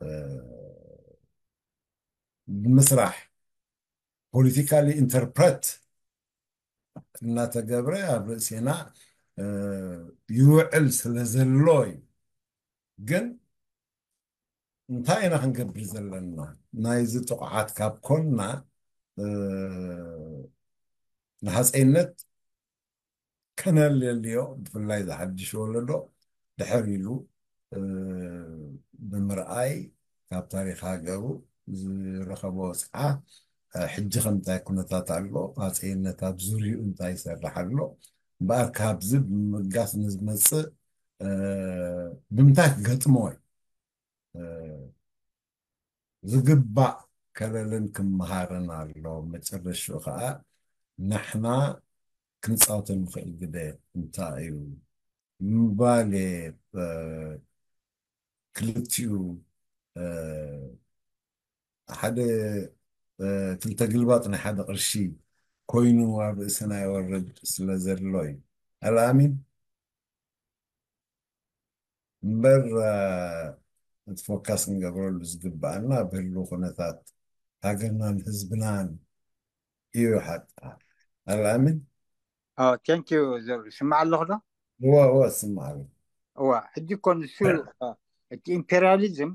እ፣ ብምስራሕ፣ ፖለቲካሊ ኢንተርፕረት እናተገብረ ኣብ ርእሴና፣ እ፣ ይውዕል ስለ ዘሎ እዩ። ግን እንታይ ኢና ክንገብር ዘለና? ናይዚ ጥቕዓት ካብ ኮንና፣ እ፣ ንሃፀይነት ከነልልዮ፣ ብፍላይ ዝሓድሽ ወለዶ ድሕር ኢሉ፣ እ፣ ብምርኣይ፣ ካብ ታሪኽ ሃገሩ ዝረኸቦ ወፅዓ፣ እ፣ ሕጂ ከምታይ ኩነታት ኣሎ፣ ሃፀይነት ኣብ ዙርይኡ እንታይ ይሰርሕ ኣሎ፣ እምበኣር ካብዚ ብምብጋስ ንዝመፅእ፣ እ፣ ብምንታይ ክገጥሞ እዩ፣ እ፣ ዝግባእ ከለልን ክመሃርን ኣሎ። መጨረሽኡ ከዓ ንሕና ክንፃወቶ ንኽእል ግደ እንታይ እዩ? ምባል፣ እ፣ ክልቲኡ፣ እ፣ ሓደ፣ እ፣ ክልተ ግልባጥ ናይ ሓደ ቅርሺ ኮይኑ ኣብ ርእስና ይወርድ ስለ ዘሎ እዩ። ኣልኣሚን? እምበር፣ እ፣ እቲ ፎካስ ክንገብረሉ ዝግባኣና ኣብ ህልው ኩነታት ሃገርናን ህዝብናን እዩ ሓታ። ኣልኣሚን? ቴንክ ዩ። ስማዕ ኣለኹ ዶ? እወ፣ እወ፣ ስማዕ ኣሎ። እዋ፣ ሕጂ እኮ ንሱ፣ እ፣ እቲ ኢምፔሪያሊዝም፣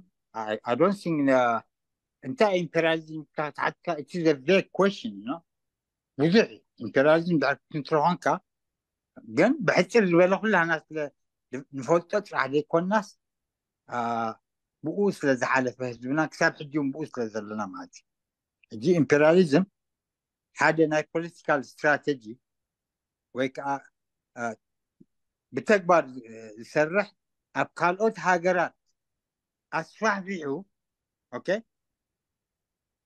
I don't think፣ እ፣ እንታይ ኢምፔሪያሊዝም ተሓትካ፣ it's a vague question፣ you know? ብዙሕ እዩ። ኢምፔሪያሊዝም ድሕር ክትንትሮ ኮንካ፣ ግን ብሕፅር ዝበለ ኩላና ስለ ንፈልጦ ጥራሕ ዘይኮናስ፣ አ፣ ብኡ ስለ ዝሓለፈ ህዝብና ክሳብ ሕጂ እውን ብኡ ስለ ዘለና ማለት እዩ። ሕጂ ኢምፔሪያሊዝም ሓደ ናይ ፖለቲካል ስትራቴጂ ወይ ከዓ፣ አ፣ ብተግባር ዝ-፣ ዝሰርሕ ኣብ ካልኦት ሃገራት ኣስፋሕፊሑ፣ ኦኬ፣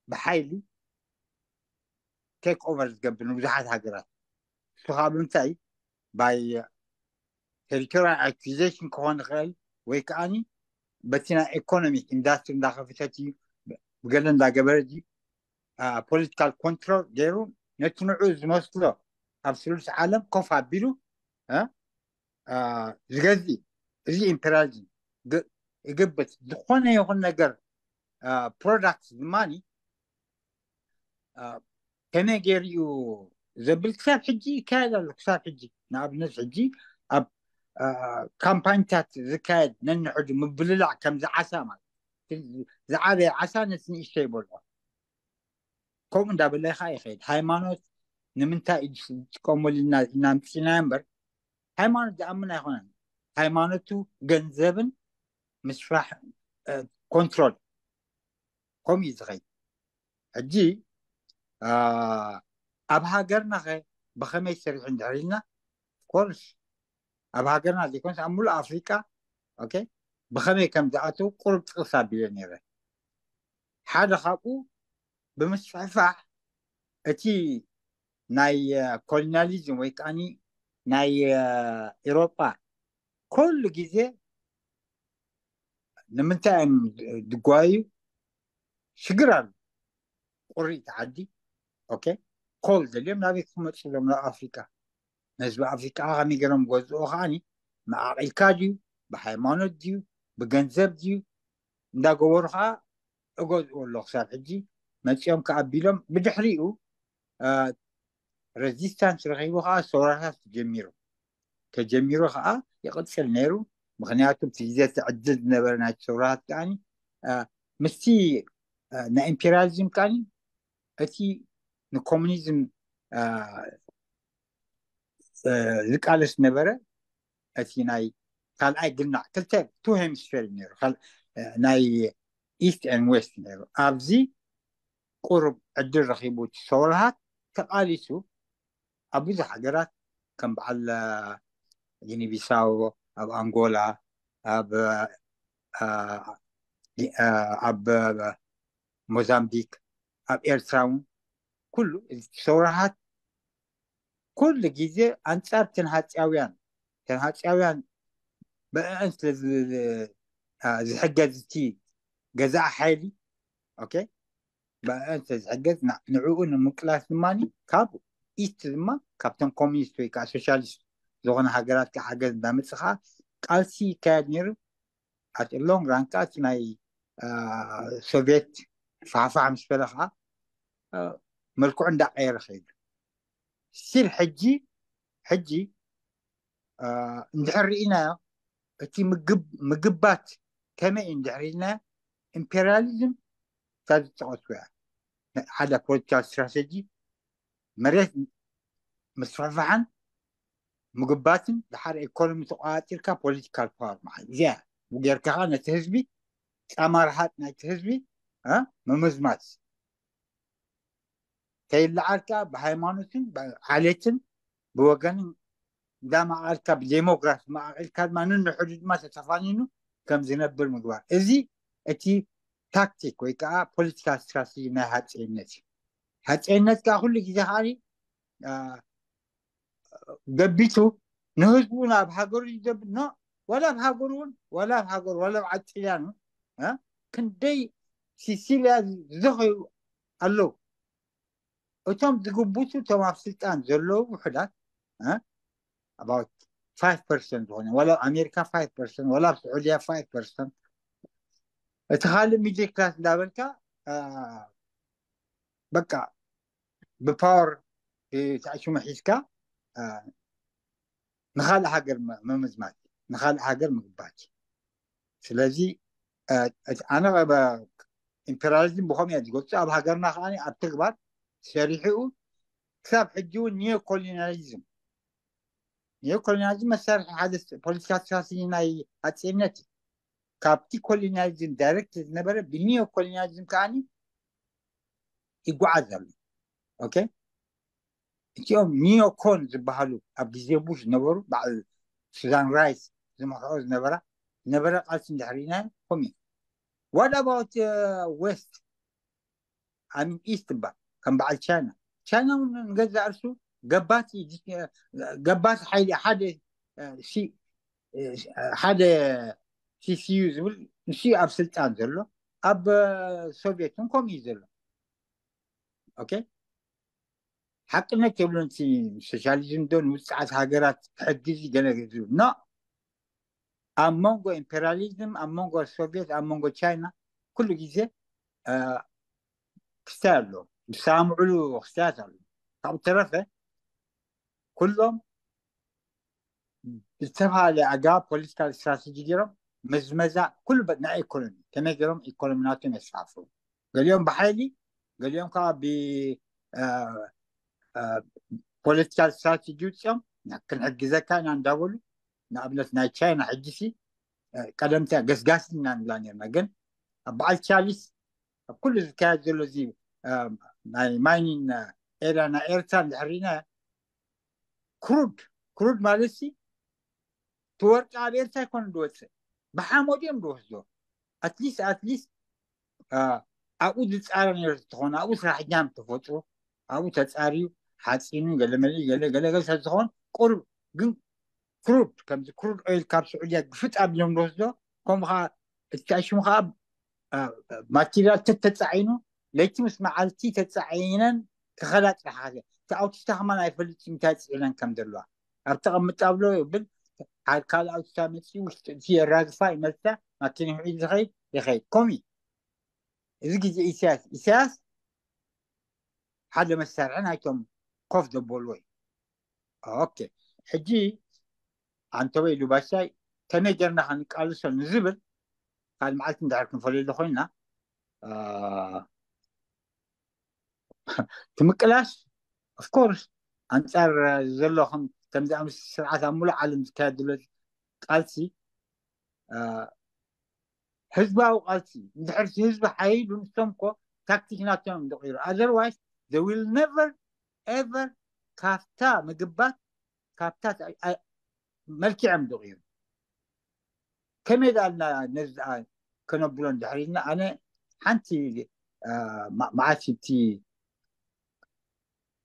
ብሓይሊ ቴክ ኦቨር ዝገብር ንብዙሓት ሃገራት። እሱ ከዓ ብምንታይ? ባይ ቴሪቶሪያል ኣኩዜሽን ክኾን ይኽእል፣ ወይ ከዓኒ በቲ ናይ ኢኮኖሚክ ኢንዳስትሪ እንዳኸፈተት እዩ፣ ብገለ እንዳገበረ እዩ፣ አ፣ ፖለቲካል ኮንትሮል ገይሩ ነቲ ንዑ ዝመስሎ ኣብ ስሉስ ዓለም ኮፍ ኣቢሉ፣ እ፣ አ፣ ዝገዝእ። እዚ ኢምፔሪያሊዝም ግ-፣ ይግብት። ዝኾነ ይኹን ነገር፣ አ፣ ፕሮዳክት ድማኒ፣ አ፣ ከመይ ገይሩ እዩ ዘብል ክሳብ ሕጂ ይካየድ ኣሎ። ክሳብ ሕጂ ንኣብነት ሕጂ ኣብ፣ አ፣ ካምፓኒታት ዝካየድ ነንሕዱ ምብልላዕ ከምዚ ዓሳ ማለት ዝዓበየ ዓሳ ነቲ ንእሽተይ ይበልዖ። ከምኡ እንዳበለ ከዓ ይኸይድ። ሃይማኖት ንምንታይ እዩ ዝጥቀመሉ ኢልና፣ ኢና ምፅና እምበር፣ ሃይማኖት ዝኣምን ኣይኮነን። ሃይማኖቱ ገንዘብን ምስፋሕ፣ እ፣ ኮንትሮል፣ ከምኡ እዩ ዝኸይድ። ሕጂ፣ አ፣ ኣብ ሃገርና ኸ ብኸመይ ሰሪሑ እንድሕር ኢልና፣ ኮርስ ኣብ ሃገርና ዘይኮነስ ኣብ ሙሉእ ኣፍሪቃ፣ ኦኬ፣ ብኸመይ ከም ዝኣተው ቁሩብ ጥቕስ ኣቢለ ነይረ። ሓደ ካብኡ ብምስፍሕፋሕ እቲ ናይ፣ እ፣ ኮሎኒያሊዝም ወይ ከዓኒ ናይ፣ እ፣ ኤሮጳ ኩሉ ግዜ ንምንታይ እዮም ድጓዩ? ሽግር ኣሎ። ቁሪ እቲ ዓዲ፣ ኦኬ፣ ኮል ደልዮም ናበይ ክመፁ እዮም? ናብ ኣፍሪቃ። ንህዝቢ ኣፍሪቃ ከመይ ገይሮም ገዝኦ ከዓኒ፣ መዓቂልካ ድዩ፣ ብሃይማኖት ድዩ፣ ብገንዘብ ድዩ እንዳገበሩ ከዓ እገዝኡ ኣሎ። ክሳብ ሕጂ መፂኦም ከኣቢሎም፣ ብድሕሪኡ፣ አ፣ ሬዚስታንስ ረኺቡ ከዓ ሰውራታት ተጀሚሩ። ተጀሚሩ ከዓ ይቕፅል ነይሩ። ምኽንያቱ እቲ ግዜ እቲ ዕድል ዝነበረ ናይቲ ሰውራታት ከዓኒ፣ አ፣ ምስቲ፣ አ፣ ናይ ኢምፔሪያሊዝም ከዓኒ እቲ ንኮሙኒዝም፣ አ፣ አ፣ ዝቃለስ ነበረ። እቲ ናይ ካልኣይ ግናዕ ክልተ ቱ ሄሚስፌር እዩ ነይሩ። ካል-፣ አ፣ ናይ ኢስት ኤን ዌስት ነይሩ። ኣብዚ ቁሩብ ዕድል ረኺቡ እቲ ሰውራታት ተቃሊሱ ኣብ ብዙሕ ሃገራት ከም በዓል፣ አ፣ ጊኒ ቢሳው፣ ኣብ ኣንጎላ፣ ኣብ፣ አ፣ አ፣ ኣብ ሞዛምቢክ፣ ኣብ ኤርትራ እውን ኩሉ እቲ ሰውራታት ኩሉ ግዜ ኣንጻር ተንሃጽያውያን፣ ተንሃጽያውያን ብእአን ስለ ዝ-፣ አ፣ ዝሕገዝ እቲ ገዛኢ ሓይሊ፣ ኦኬ፣ ብእአን ስለ ዝሕገዝ ና-፣ ንዕኡ ንምቅላስ ድማ ካብ ኢስት ድማ ካብተን ኮሚኒስት ወይ ከዓ ሶሻሊስት ዝኾነ ሃገራት ከዓ ሓገዝ እንዳመጽእ ከዓ ቃልሲ ይካየድ ነይሩ። ኣት ሎንግ ራን ከዓ እቲ ናይ፣ አ፣ ሶቪየት ፋሕፋሕ ምስ በለ ከዓ፣ አ፣ መልክዑ እንዳቀየረ ከይዱ። ስቲል ሕጂ፣ ሕጂ፣ አ፣ እንድሕር ርኢናዮ፣ እቲ ምግብ-፣ ምግባት ከመይ እዩ እንድሕር ኢልናዮ፣ ኢምፔሪያሊዝም ካብ ዝጠቐስኩ እያ። ሓደ ፖለቲካል ስትራቴጂ መሬት ምስፍሕፋሕን ምግባትን ድሓር ኢኮኖሚ ተቋፂርካ ፖለቲካል ፓወር ማለት እዚያ ጌርካ ነቲ ህዝቢ ጫማ ርሃጥ ናይቲ ህዝቢ ምምዝማዝ ከይለዓልካ ብሃይማኖትን ብዓሌትን ብወገንን እንዳማዕኣልካ ብዴሞግራፊ ማዕቂልካ ድማ ንንሕዱ ድማ ተተፋኒኑ ከም ዝነብር ምግባር። እዚ እቲ ታክቲክ ወይ ከዓ ፖለቲካል ስትራቴጂ ናይ ሃፀይነት እዩ። ሃፀይነት ከዓ ኩሉ ግዜ ከዓ ገቢቱ ንህዝቡ ናብ ሃገሩ ይደብ ኖ ወላ ኣብ ሃገሩ እውን ወላ ኣብ ሃገሩ ወላ ኣብ ዓጥልያን ክንደይ ሲሲልያ ዝዘኸዩ ኣለዉ። እቶም ዝግቡቱ እቶም ኣብ ስልጣን ዘለዉ ውሕዳት about five percent ዝኾነ ወላ ኣብ ኣሜሪካ five percent ወላ ኣብ ስዑድያ five percent። እቲ ካልእ ሚድል ክላስ እንዳበልካ በቃ ብፓወር ተኣሽሙ ሒዝካ ንካልእ ሃገር ምምዝማት፣ ንካልእ ሃገር ምግባት። ስለዚ ኣነ ኢምፔሪያሊዝም ብኸምኡ እየ ዝገልፆ። ኣብ ሃገርና ከዓ ኣብ ተግባር ሰሪሕኡ ክሳብ ሕጂ እውን ኒዮኮሎኒያሊዝም ኒዮኮሎኒያሊዝም መሳርሒ ሓደ ፖለቲካ ስትራቴጂ ናይ ኣፅነት እዩ። ካብቲ ኮሎኒያሊዝም ዳይሬክት ዝነበረ ብኒዮኮሎኒያሊዝም ከዓ ይጓዓዝ ኣሎ። ኦኬ፣ እቲኦም ኒዮኮን ዝበሃሉ ኣብ ግዜ ቡሽ ዝነበሩ በዓል ሱዛን ራይስ ዝመርሕኦ ዝነበራ ዝነበረ ቃልሲ እንድሕር ኢና ከምኡ። What about west? I mean east እባ ከም በዓል ቻይና። ቻይና እውን ንገዛእ ርሱ ገባቲ ገባቲ ሓይሊ ሓደ ሓደ ሲሲዩ ዝብል ንሱ ኣብ ስልጣን ዘሎ ኣብ ሶቪየት እውን ከምኡ እዩ ዘሎ። ኦኬ፣ ሓቅነት የብሉን። እቲ ሶሻሊዝም ዶ ንውፅዓት ሃገራት ክሕግዝ ገለ ዝብል ኖ። ኣብ መንጎ ኢምፔሪያሊዝም ኣብ መንጎ ሶቪየት ኣብ መንጎ ቻይና ኩሉ ግዜ ክስታይ ኣሎ። ዝሰማምዕሉ ክስታያት ኣሎ። ካብኡ ተረፈ ኩሎም ብዝተፈላለየ ኣገባብ ፖለቲካል ስትራቴጂ ገይሮም መዝመዛ ኩሉ ናይ ኢኮኖሚ ከመይ ገይሮም ኢኮኖሚ ናቶም የስፋፍሩ። ገሊኦም ብሓይሊ ገሊኦም ከዓ ብፖለቲካል ስትራቴጂ ውፅኦም ክንሕግዘካ ኢና እንዳበሉ ንኣብነት ናይ ቻይና ሕጂሲ ቀደምታ ገስጋስ ኢና ንብላ ነርና። ግን ኣብ በዓል ቻሊስ ኣብ ኩሉ ዝካየድ ዘሎ እዚ ናይ ማይኒን ኤርያ ናይ ኤርትራ እንድሕር ርኢና ክሩድ ክሩድ ማለት ሲ እቲ ወርቂ ኣብ ኤርትራ ኣይኮነ ዝወፅእ ብሓመድ እዮም ዝወስዶ። ኣትሊስት ኣትሊስት ኣብኡ ዝፃረ ነር ዝተኾነ ኣብኡ ስራሕ ጃም ተፈጥሩ ኣብኡ ተፃርዩ ሓፂኑ ገለመለ ገለ ገለገለ ስለዝኾን ቁሩብ ግን ክሩድ ከምዚ ክሩድ ኦይል ካብ ስዑድያ ግፍጥ ኣቢሎም ዝወስዶ ከምኡ ከዓ እቲ ሽሙ ከዓ ማቴሪያል ተተፃዒኑ ለይቲ ምስ መዓልቲ ተፃዒነን ክኸዳ ጥራሕ እቲ ኣውቲስታ ከማን ኣይፈልጥ እንታይ ፅዒነን ከም ዘለዋ ኣብ ተቐምጣ ብሎ ይብል ካልእ ኣውቲስታ መፂኡ ውሽጢ እቲ የራግፋ ይመልሳ ማኪና ሒዙ ዝኸይድ ይኸይድ ኮሚ እዚ ግዜ ኢሳያስ ኢሳያስ ሓደ መሳርሒ ናይቶም ኮፍ ዘበልዎ እዩ። ኦኬ ሕጂ ኣንተወይ ኢሉ ባሻይ ከመይ ጌርና ክንቃልሶ ንዝብል ካልእ መዓልቲ እንድሕር ክንፈልየሉ ኮይና ትምቅላስ ኦፍኮርስ ኣንፃር ዘሎ ከምዚ ምስ ስርዓት ኣብ ሙሉእ ዓለም ዝካየድ ዘሎ ቃልሲ ህዝባዊ ቃልሲ እንድሕር ህዝቢ ሓይሉ ንሶም ኮ ታክቲክ ናቶም እዮም ዝቕይሩ otherwise they will never ever ካብታ ምግባት ካብታ መልኪዖም ዝቕይሩ ከመይ ዳልና ነዚ ከነብሎ እንድሕር ኢልና ኣነ ሓንቲ መዓልቲ እቲ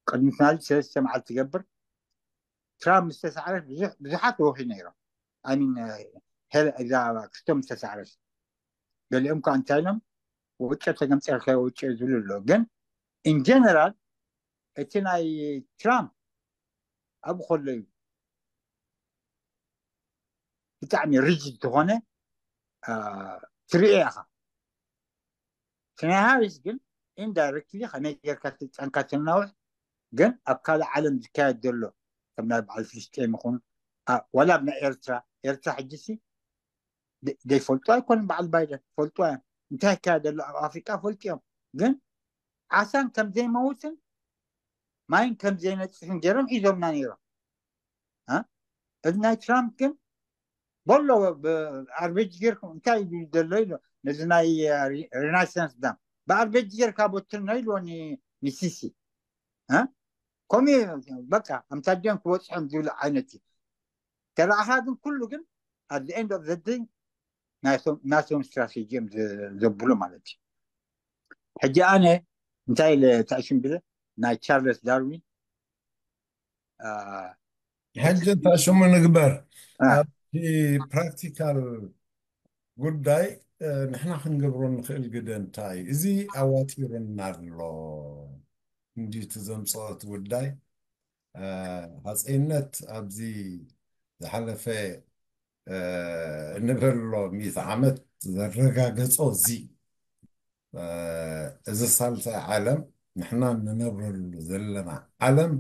ቅድሚ ትማሊ ሰለስተ መዓልቲ ትገብር ትራምፕ ምስ ተሳዕረት ብዙሓት ወኺ ነይሮም ኣሚን እዛ ክስቶም ዝተሳዕረት ገሊኦም ከዓ እንታይ ኢሎም ወጨ ተገምፀልካ ወጨ ዝብሉ ኣሎ ግን ኢን ጀነራል እቲ ናይ ትራምፕ ኣብኡ ከሎ እዩ ብጣዕሚ ሪጅድ ዝኾነ ትርኢ ኢኻ እቲ ናይ ሃሪስ ግን ኢንዳይረክትሊ ከመይ ጌርካ ስልጣንካ ተናውሕ ግን ኣብ ካልእ ዓለም ዝካየድ ዘሎ ከም ናይ በዓል ፍልስጤም ይኹን ዋላ ኣብ ናይ ኤርትራ ኤርትራ ሕጂሲ ዘይፈልጡ ኣይኮኑን በዓል ባይደን ፈልጡ እዮም እንታይ ይካየድ ዘሎ ኣብ ኣፍሪቃ ፈልጥዮም። ግን ዓሳን ከም ዘይመውትን ማይን ከም ዘይነፅፍን ገይሮም ሒዞምና ነይሮም። እ? እዚ ናይ ትራምፕ ግን በሎ ኣርቤጅ ጌርኩም እንታይ እዩ ዘሎ ኢሎ ነዚ ናይ ሪናይሰንስ ዳም ብኣርቤጅ ጌርካ በትኖ ኢልዎ ንሲሲ። እ? ከምኡ እዩ በቃ ኣምሳዲኦም ክበፅሖም ዝብሉ ዓይነት እዩ። ተረኣኻ ግን ኩሉ ግን at the end of the day ናቶም ስትራቴጂ እዮም ዘብሉ ማለት እዩ። ሕጂ ኣነ እንታይ ኢለ ተኣሽም ብለ ናይ ቻርለስ ዳርዊን ሕጂ እንታይ ሽሙ ንግበር ኣብቲ ፕራክቲካል ጉዳይ ንሕና ክንገብሮ ንኽእል ግደ እንታይ እዩ? እዚ ኣዋጢሩና ኣሎ። እንዲቲ ዘምፅኦ እቲ ጉዳይ ሃፀይነት ኣብዚ ዝሓለፈ ንበሎ ሚእቲ ዓመት ዘረጋገፆ እዚ እዚ ሳልሳይ ዓለም ንሕና ንነብረሉ ዘለና ዓለም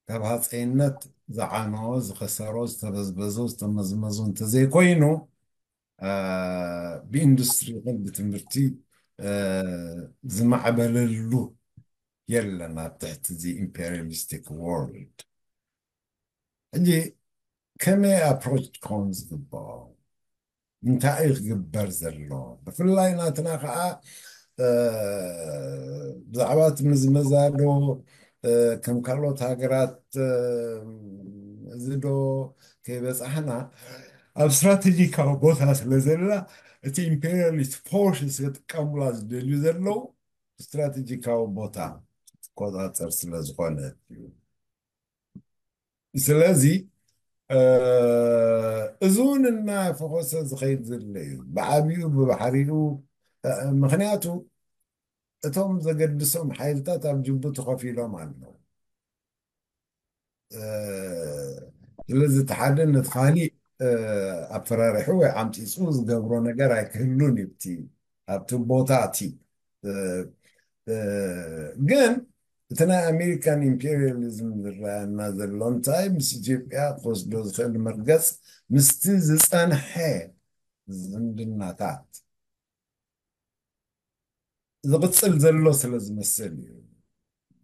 ካብ ሃፀይነት ዝዓነወ ዝኸሰሮ ዝተበዝበዙ ዝተመዝመዙ እንተዘይኮይኑ ብኢንዱስትሪ ይኹን ብትምህርቲ ዝማዕበለሉ የለን ኣብ ትሕቲ እዚ ኢምፔሪያሊስቲክ ወርልድ። ሕጂ ከመይ ኣፕሮች ክኸውን ዝግብኦ እንታይ እዩ ክግበር ዘሎ? ብፍላይ ናትና ከዓ ብዛዕባ እቲ ምዝመዛ ዶ ከም ካልኦት ሃገራት እዚ ዶ ከይበፃሕና ኣብ ስትራቴጂካዊ ቦታ ስለ ዘላ እቲ ኢምፔሪያሊስት ፎርስ ክጥቀሙላ ዝደልዩ ዘለዉ ስትራቴጂካዊ ቦታ ትቆፃፀር ስለ ዝኾነ እዩ። ስለዚ እዚ እውን እናፈኾሰ ዝኸይድ ዘሎ እዩ። ብዓብኡ ብባሕሪኡ ምክንያቱ እቶም ዘገድሶም ሓይልታት ኣብ ጅቡቲ ኮፍ ኢሎም ኣለዉ። ስለዚ እቲ ሓደ ነቲ ካሊእ ኣፈራሪሑ ወይ ዓምፂፁ ዝገብሮ ነገር ኣይክህሉን እዩ ኣብቲ ቦታ እቲ ግን እቲ ናይ ኣሜሪካን ኢምፔሪያሊዝም ዝረኣየና ዘሎ እንታይ ምስ ኢትዮጵያ ክወስዶ ዝኽእል መርገፅ ምስቲ ዝፀንሐ ዝምድናታት ዝቕፅል ዘሎ ስለ ዝመስል እዩ።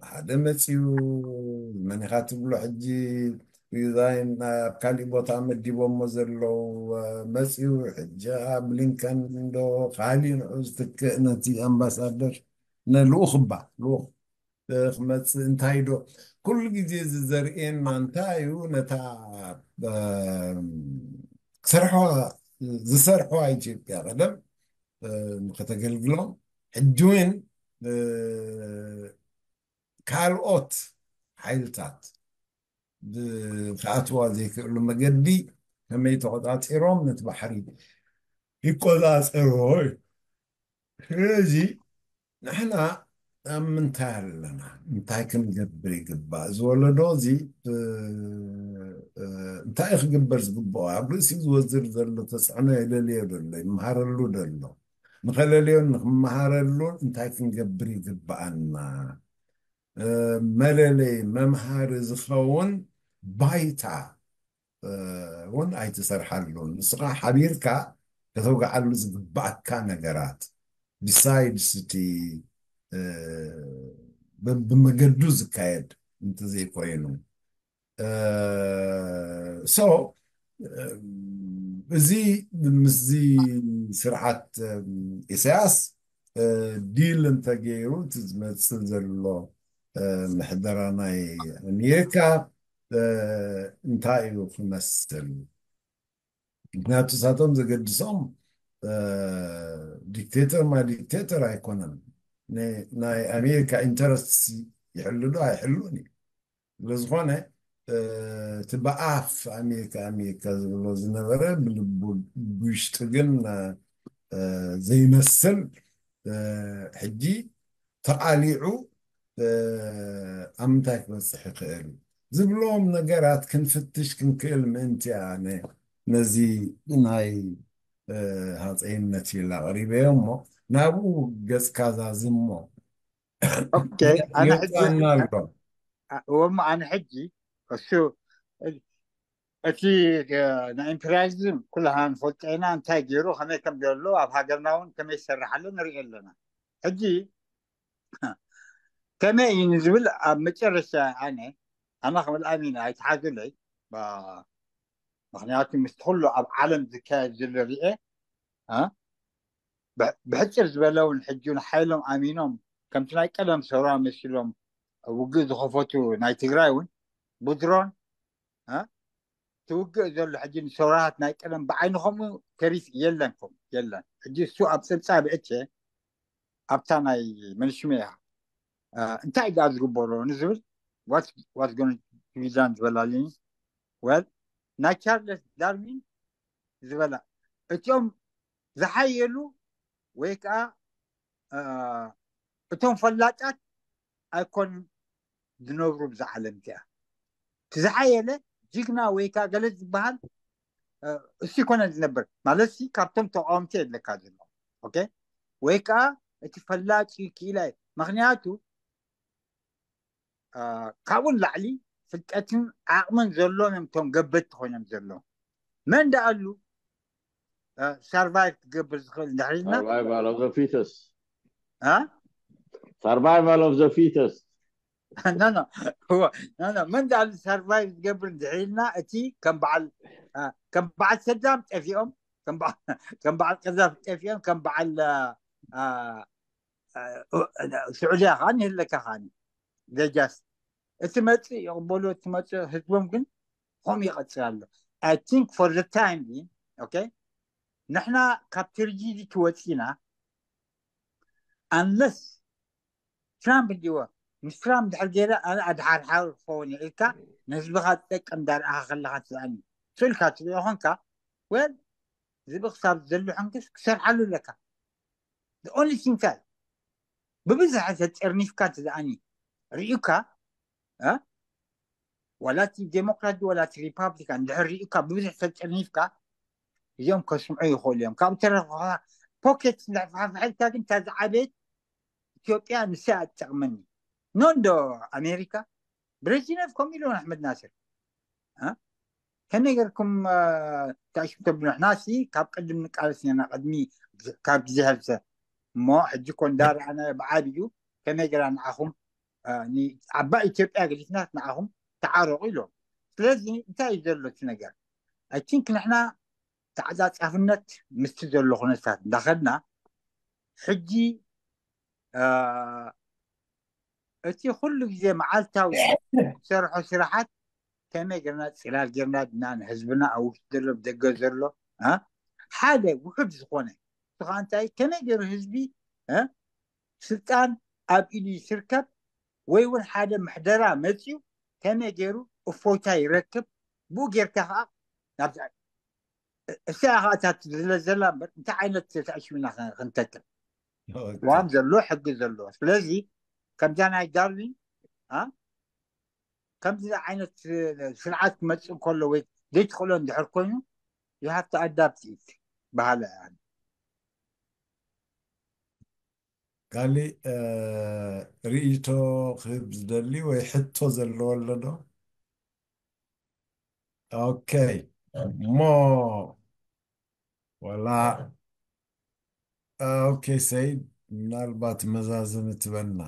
ሓደ መፅዩ መኒኻ ትብሎ ሕጂ ሪዛይን ኣብ ካሊእ ቦታ መዲቦሞ ዘለዉ መፅዩ ሕጂ ብሊንከን እንዶ ካሊእ ንዑ ዝትክእ ነቲ ኣምባሳደር ነልኡኽ እባ ልኡኽ ክመፅእ እንታይ ዶ ኩሉ ግዜ እዚ ዘርእየና እንታይ እዩ ነታ ክሰርሖ ዝሰርሖ ኢትዮጵያ ቀደም ከተገልግሎም ሕጂ እውን ካልኦት ሓይልታት ብክኣትዋ ዘይክእሉ መገዲ ከመይ ተቆፃፂሮም ነቲ ባሕሪ ይቆፃፀርዎ እዩ። ስለዚ ንሕና ኣብ ምንታይ ኣለና? እንታይ ክንገብር ይግባእ? ዝወለዶ እዚ እንታይ ክግበር ዝግብኦ? ኣብ ርእሲ ዝወዝር ዘሎ ተፅዕኖ የለልዮ ዘሎ ይመሃረሉ ዘሎ ንኸለልዮን ንክመሃረሉን እንታይ ክንገብር ይግብኣና? መለለይ መምሃሪ ዝኸውን ባይታ እውን ኣይትሰርሓሉን። ንስኻ ሓቢርካ ከተውግዓሉ ዝግባኣካ ነገራት besides እቲ ብመገዱ ዝካየድ እንተዘይኮይኑ so እዚ ምስዚ ስርዓት ኢሳያስ ዲል እንተገይሩ እቲ ዝመፅእ ዘሎ ምሕደራ ናይ ኣሜሪካ እንታይ እዩ ክመስል? ምክንያቱ እሳቶም ዘገድሶም ዲክቴተር ማ ዲክቴተር ኣይኮነን። ናይ ኣሜሪካ ኢንተረስት ይሕሉ ዶ ኣይሕሉን እዩ። ስለዝኾነ እቲ ብኣፍ ኣሜሪካ ኣሜሪካ ዝብሎ ዝነበረ ብልቡ ብውሽጢ ግን ዘይመስል ሕጂ ተቓሊዑ ኣብ ምንታይ ክበፅሕ ይኽእል ዝብሎም ነገራት ክንፍትሽ ክንክእል ምእንቲ ኣነ ነዚ ናይ ሃፀይነት ኢላ ኣቕሪበዮ እሞ ናብኡ ገፅካ ዛዝሞ ኦኬ ኣነ ሕጂ ይወፅኣና ኣሎ። ወማ ኣነ ሕጂ እሱ እቲ ናይ ኢምፔሪያሊዝም ኩላሃ ንፈልጦ ኢና፣ እንታይ ገይሩ፣ ከመይ ከም ዘሎ፣ ኣብ ሃገርና እውን ከመይ ይሰርሕ ኣሎ ንርኢ ኣለና። ሕጂ ከመይ እዩ ንዝብል ኣብ መጨረሻ ኣነ ኣና ክብል ኣሚን ኣይትሓዙለይ። ምክንያቱ ምስ ኩሉ ኣብ ዓለም ዝካየድ ዘሎ ርኤ ብሕፅር ዝበለ እውን ሕጂ ሓይሎም ኣሚኖም ከምቲ ናይ ቀደም ሰውራ መሲሎም ውግእ ዝኸፈቱ ናይ ትግራይ እውን ብድሮን ትውግእ ዘሎ ሕጂ ንሰውራሃት ናይ ቀደም ብዓይኒ ከምኡ ተሪፍ የለን ከም የለን። ሕጂ እሱ ኣብ ፀብፃብ እቼ ኣብታ ናይ መንሽሜ እያ እንታይ ዳ ዝግበሮ ንዝብል ዋት ጎነ ቢዳን ዝበላልኒ ወል ናይ ቻርለስ ዳርዊን ዝበላ እቲኦም ዝሓየሉ ወይ ከዓ እቶም ፈላጣት ኣይኮን ዝነብሩ ብዛ ዓለም እቲኣ። እቲ ዝሓየለ ጅግና ወይ ከዓ ገለ ዝበሃል እሱ ይኮነ ዝነብር ማለት ሲ ካብቶም ተቃወምቲ የድለካ ዘሎ ኦኬ ወይ ከዓ እቲ ፈላጭ ክኢላ እዩ። ምክንያቱ ካብኡን ላዕሊ ፍልጠትን ዓቕምን ዘሎም እዮም እቶም ገበቲ ኮይኖም ዘለዉ። መን ደኣሉ ሳርቫይቭ ክገብር ዝኽእል እንድሕር ኢልና Survival of the fittest. እ? Survival of the fittest. No, no. እወ፣ no, no. መን ደኣሉ ሳርቫይቭ ዝገብር እንድሕር ኢልና እቲ ከም በዓል እ፣ ከም በዓል ሰዳም ጠፊኦም ከም በዓ- ከም በዓል ቀዛፊ ጠፊኦም ከም በዓል እ፣ እ፣ እ፣ ስዑድያ ከዓ ንህለካ ከዓ ጀስት እቲ መፅእ ይቕበሉ እቲ መፅእ ህዝቦም ግን ከምኡ ይቐፅል ኣሎ። I think for the time being okay ንሕና ካብ ትርጂዲቲ ወፂና unless ትራምፕ እንዲዎ ምስ ትራምፕ ድሕር ገይረ ኣነ ኣድሓርሓር ክኸውን ኢልካ ንህዝብኻ ዝጠቅም እንዳርኣኻ ከለኻ ትዛኒ ስልካ ትሪኦ ኾንካ ወል ዝብቕሳብ ዘሎ ሕንክስ ክሰርሓሉ ኣለካ። The only thing እንታይ ብብዝሒ ተጠርኒፍካ እንተዝኣኒ ርኢካ እ? ዋላ እቲ ዴሞክራት ዋላ እቲ ሪፓብሊካን ድሕር ርኢካ ብብዝሒ ተጠርኒፍካ እዚኦም ከስምዑ ይኽእሉ እዮም። ካብ ተረፈ ፖኬት እንዳፋሕፋሕልካ ግን እታ ዝዓበየት ኢትዮጵያ ንሳ እያ ትጠቕመኒ። ኖ እንዶ ኣሜሪካ ብሬዚነቭ ከምኡ ኢሉ ኣሕመድ ናስር እ? ከመይ ገርኩም ታሽም ተብሉ ንሕናሲ ካብ ቅድም ንቃለስ ኔና ቅድሚ ካብ ግዜ ሀልሰ እሞ ሕጂ ኮ እንዳረኣና ብዓብዩ ከመይ ገራ ንዓኹም ዓባይ ኢትዮጵያ ገዲፍናት ንዓኹም ተዓረቑ ኢሎም። ስለዚ እንታይ እዩ ዘሎ እቲ ነገር? I think ንሕና ተዓፃፃፍነት ምስቲ ዘሎ ኩነታት እንዳኸድና ሕጂ እቲ ኩሉ ግዜ መዓልታዊ ዝሰርሖ ስራሓት ከመይ ጌርና ፅላል ጌርና ድና ንህዝብና ኣብ ውሽጢ ዘሎ ብደገ ዘሎ ሓደ ውሑድ ዝኾነ ከዓ እንታይ ከመይ ገይሩ ህዝቢ ስልጣን ኣብ ኢዱ ይስርከብ ወይ እውን ሓደ ምሕደራ መፅዩ ከመይ ገይሩ እፎይታ ይረክብ ብኡ ጌርካ ከዓ ናብ እሳ ከኣታት ዝለ ዘላ እምበር እንታይ ዓይነት ተኣሽምና ክንተክል ዋም ዘሎ ሕጊ ዘለዎ ስለዚ ከምዛ ናይ ዳርዊን ከምዚ ዓይነት ስርዓት ክመፅእ ከሎ ወይ ዘይትኽእሎ እንድሕር ኮይኑ you have to adapt it በሃለ ካሊእ ርእይቶ ክህብ ዝደሊ ወይ ሕቶ ዘለዎ ኣሎ ዶ? ኦኬ እሞ ወላ ኦኬ ሰይድ ምናልባት መዛዘሚ ትበና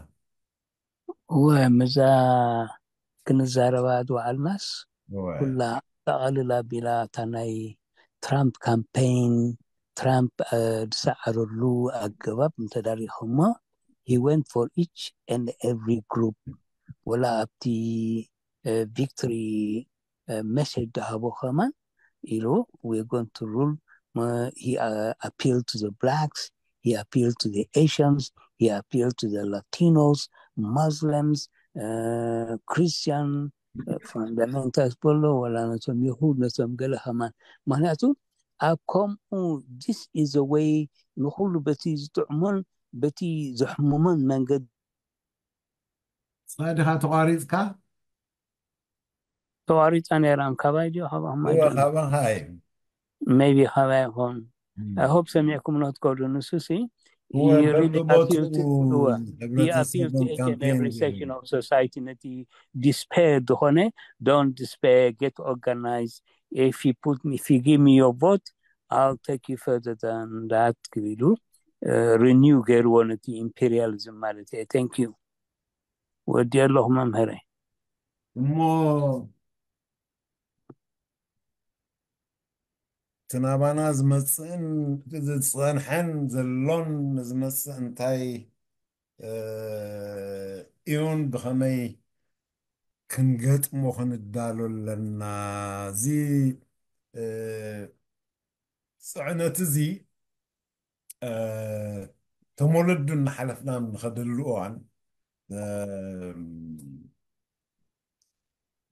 እወ ምዛ ክንዛረባ ዝወዓልናስ ኩላ ጠቓልል ኣቢላ እታ ናይ ትራምፕ ካምፔይን ትራምፕ ዝሰዓረሉ ኣገባብ እንተዳሪኹሞ he went for each and every group ወላ ኣብቲ victory message ዝሃቦ ከማን ኢሉ we're going to rule he appealed to the blacks he appealed to the Asians he appealed to the Latinos Muslims Christian fundamentals በሎ ወላ ነቶም ይሁድ ነቶም ገለ ከማን ምክንያቱ ኣብ ከምኡ this is a way ንኩሉ በቲ ዝጥዕሞን በቲ ዘሕምሞን መንገዲ ሳድኻ ተቋሪፅካ ተቋሪፃ ነይራን ካባይ ድዮ ካባኹም ካባኻ እዩ maybe ካባይ ይኸውን I hope ሰሚዕኩም ንክትከዱ ንሱ ሲ he really appealed to he appealed to each and every section of society ነቲ despair ዝኾነ don't despair get organized if you put me, if you give me your vote, I'll take you further than that ክብል ኢሉ renew ገይርዎ ነቲ imperialism ማለት እየ። Thank you። ወዲ ኣለኹ መምህረይ። እሞ እቲ ናባና ዝመፅእን ዝፀንሐን ዘሎን ዝመፅእ እንታይ እዩን ብኸመይ ክንገጥሞ ክንዳሎ ኣለና? እዚ ፅዕነት እዚ ተሞለዱ እናሓለፍና ንኸደሉ እዋን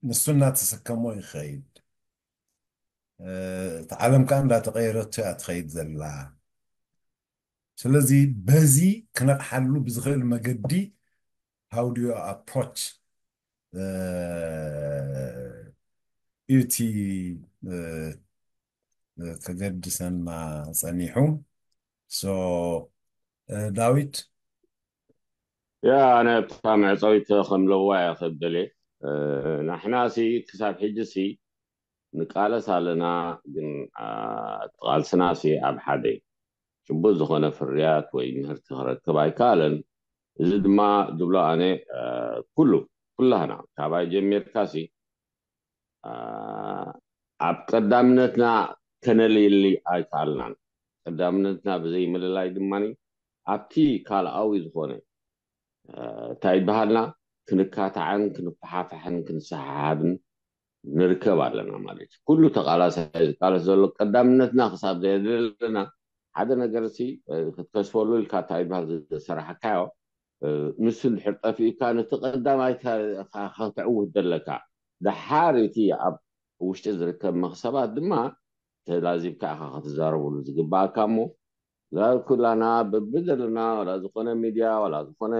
ንሱ እናተሰከሞ ይኸይድ። እቲ ዓለም ከዓ እንዳተቐየረቶ እያ ትኸይድ ዘላ። ስለዚ በዚ ክነቕሓሉ ብዝኽእል መገዲ how do you approach እቲ ከገድሰና ጸኒሑ። So ዳዊት ያ ኣነ ኣብታ መዕፀዊት ከም ለዋያ ክብል ደልየ። ንሕና ሲ ክሳብ ሕጂ ሲ ንቃለስ ኣለና፣ ግን ቃልስና ሲ ኣብ ሓደ ጭቡጥ ዝኾነ ፍርያት ወይ ምህርቲ ክረክብ ኣይከኣለን። እዚ ድማ ዝብሎ ኣነ ኩሉ ኩላህና ካባይ ጀሚርካ ሲ ኣብ ቀዳምነትና ከነልይሊ ኣይከኣልናን። ቀዳምነትና ብዘይ ምልላይ ድማ ኣብቲ ካልኣዊ ዝኾነ እንታይ ይበሃልና ክንካታዕን ክንፈሓፋሕን ክንሰሓሓብን ንርከብ ኣለና ማለት እዩ። ኩሉ ተቃላሳይ ዝቃለስ ዘሎ ቀዳምነትና ክሳብ ዘየድለና ሓደ ነገር ሲ ክትከስፈሉ ኢልካ እንታይ ይበሃል ዝሰራሕካዮ ንሱ እንድሕር ጠፊኡካ ነቲ ቀዳማይ ከተዕውት ዘለካ ደሓር እቲ ኣብ ውሽጢ ዝርከብ መክሰባት ድማ ተላዚብካ ኢኻ ክትዛረብሉ ዝግባኣካ እሞ ኩላና በብዘለና ዋላ ዝኾነ ሚድያ ዋላ ዝኾነ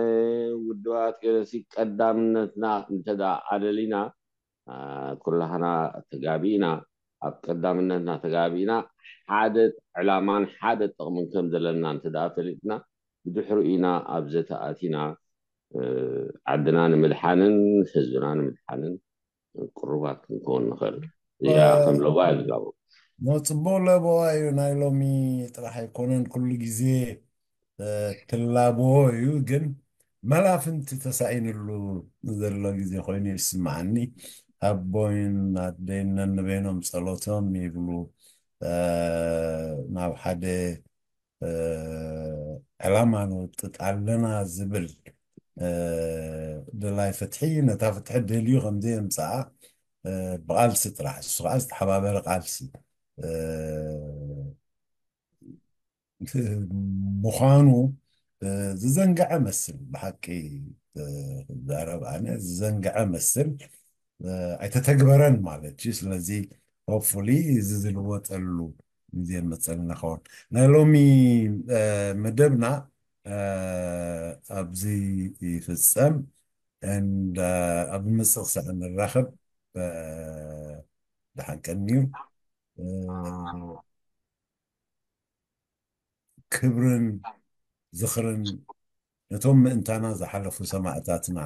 ውድባት ገለሲ ቀዳምነትና እንተዳ ኣለሊና ኩላህና ተጋቢእና ኣብ ቀዳምነትና ተጋቢእና ሓደ ዕላማን ሓደ ጥቕምን ከም ዘለና እንተዳ ፈሊጥና ብድሕሩ ኢና ኣብ ዘተኣቲና ዓድና ንምድሓንን ህዝብና ንምድሓንን ቅሩባት ክንከውን ንኽእል። እዚኣ ከም ለዋ ይልጋቡ። ጽቡቕ ለበዋ እዩ። ናይ ሎሚ ጥራሕ ኣይኮነን፣ ኩሉ ግዜ ትላበዎ እዩ። ግን መላፍንቲ ተሳኢንሉ ዘሎ ግዜ ኮይኑ ይስምዓኒ። ኣቦይን ኣደይን ነንበይኖም ጸሎቶም ይብሉ ናብ ሓደ ዕላማ ንወጥጥ ኣለና ዝብል ደላይ ፍትሒ ነታ ፍትሒ ደልዩ ከምዘየምፅኣ ብቃልሲ ጥራሕ እሱ ከዓ ዝተሓባበረ ቃልሲ ምዃኑ ዝዘንግዐ መስል ብሓቂ ዛረብ ኣነ ዝዘንግዐ መስል ኣይተተግበረን ማለት እዩ። ስለዚ hopefully እዚ ዝልወጠሉ ግዜ መፀልና ኸውን ናይ ሎሚ መደብና ኣብዚ ይፍፀም። And ኣብ መፅእ ክሳዕ ንራኸብ ደሓን ቀንዩ። ክብርን ዝኽርን ነቶም ምእንታና ዝሓለፉ ሰማእታትና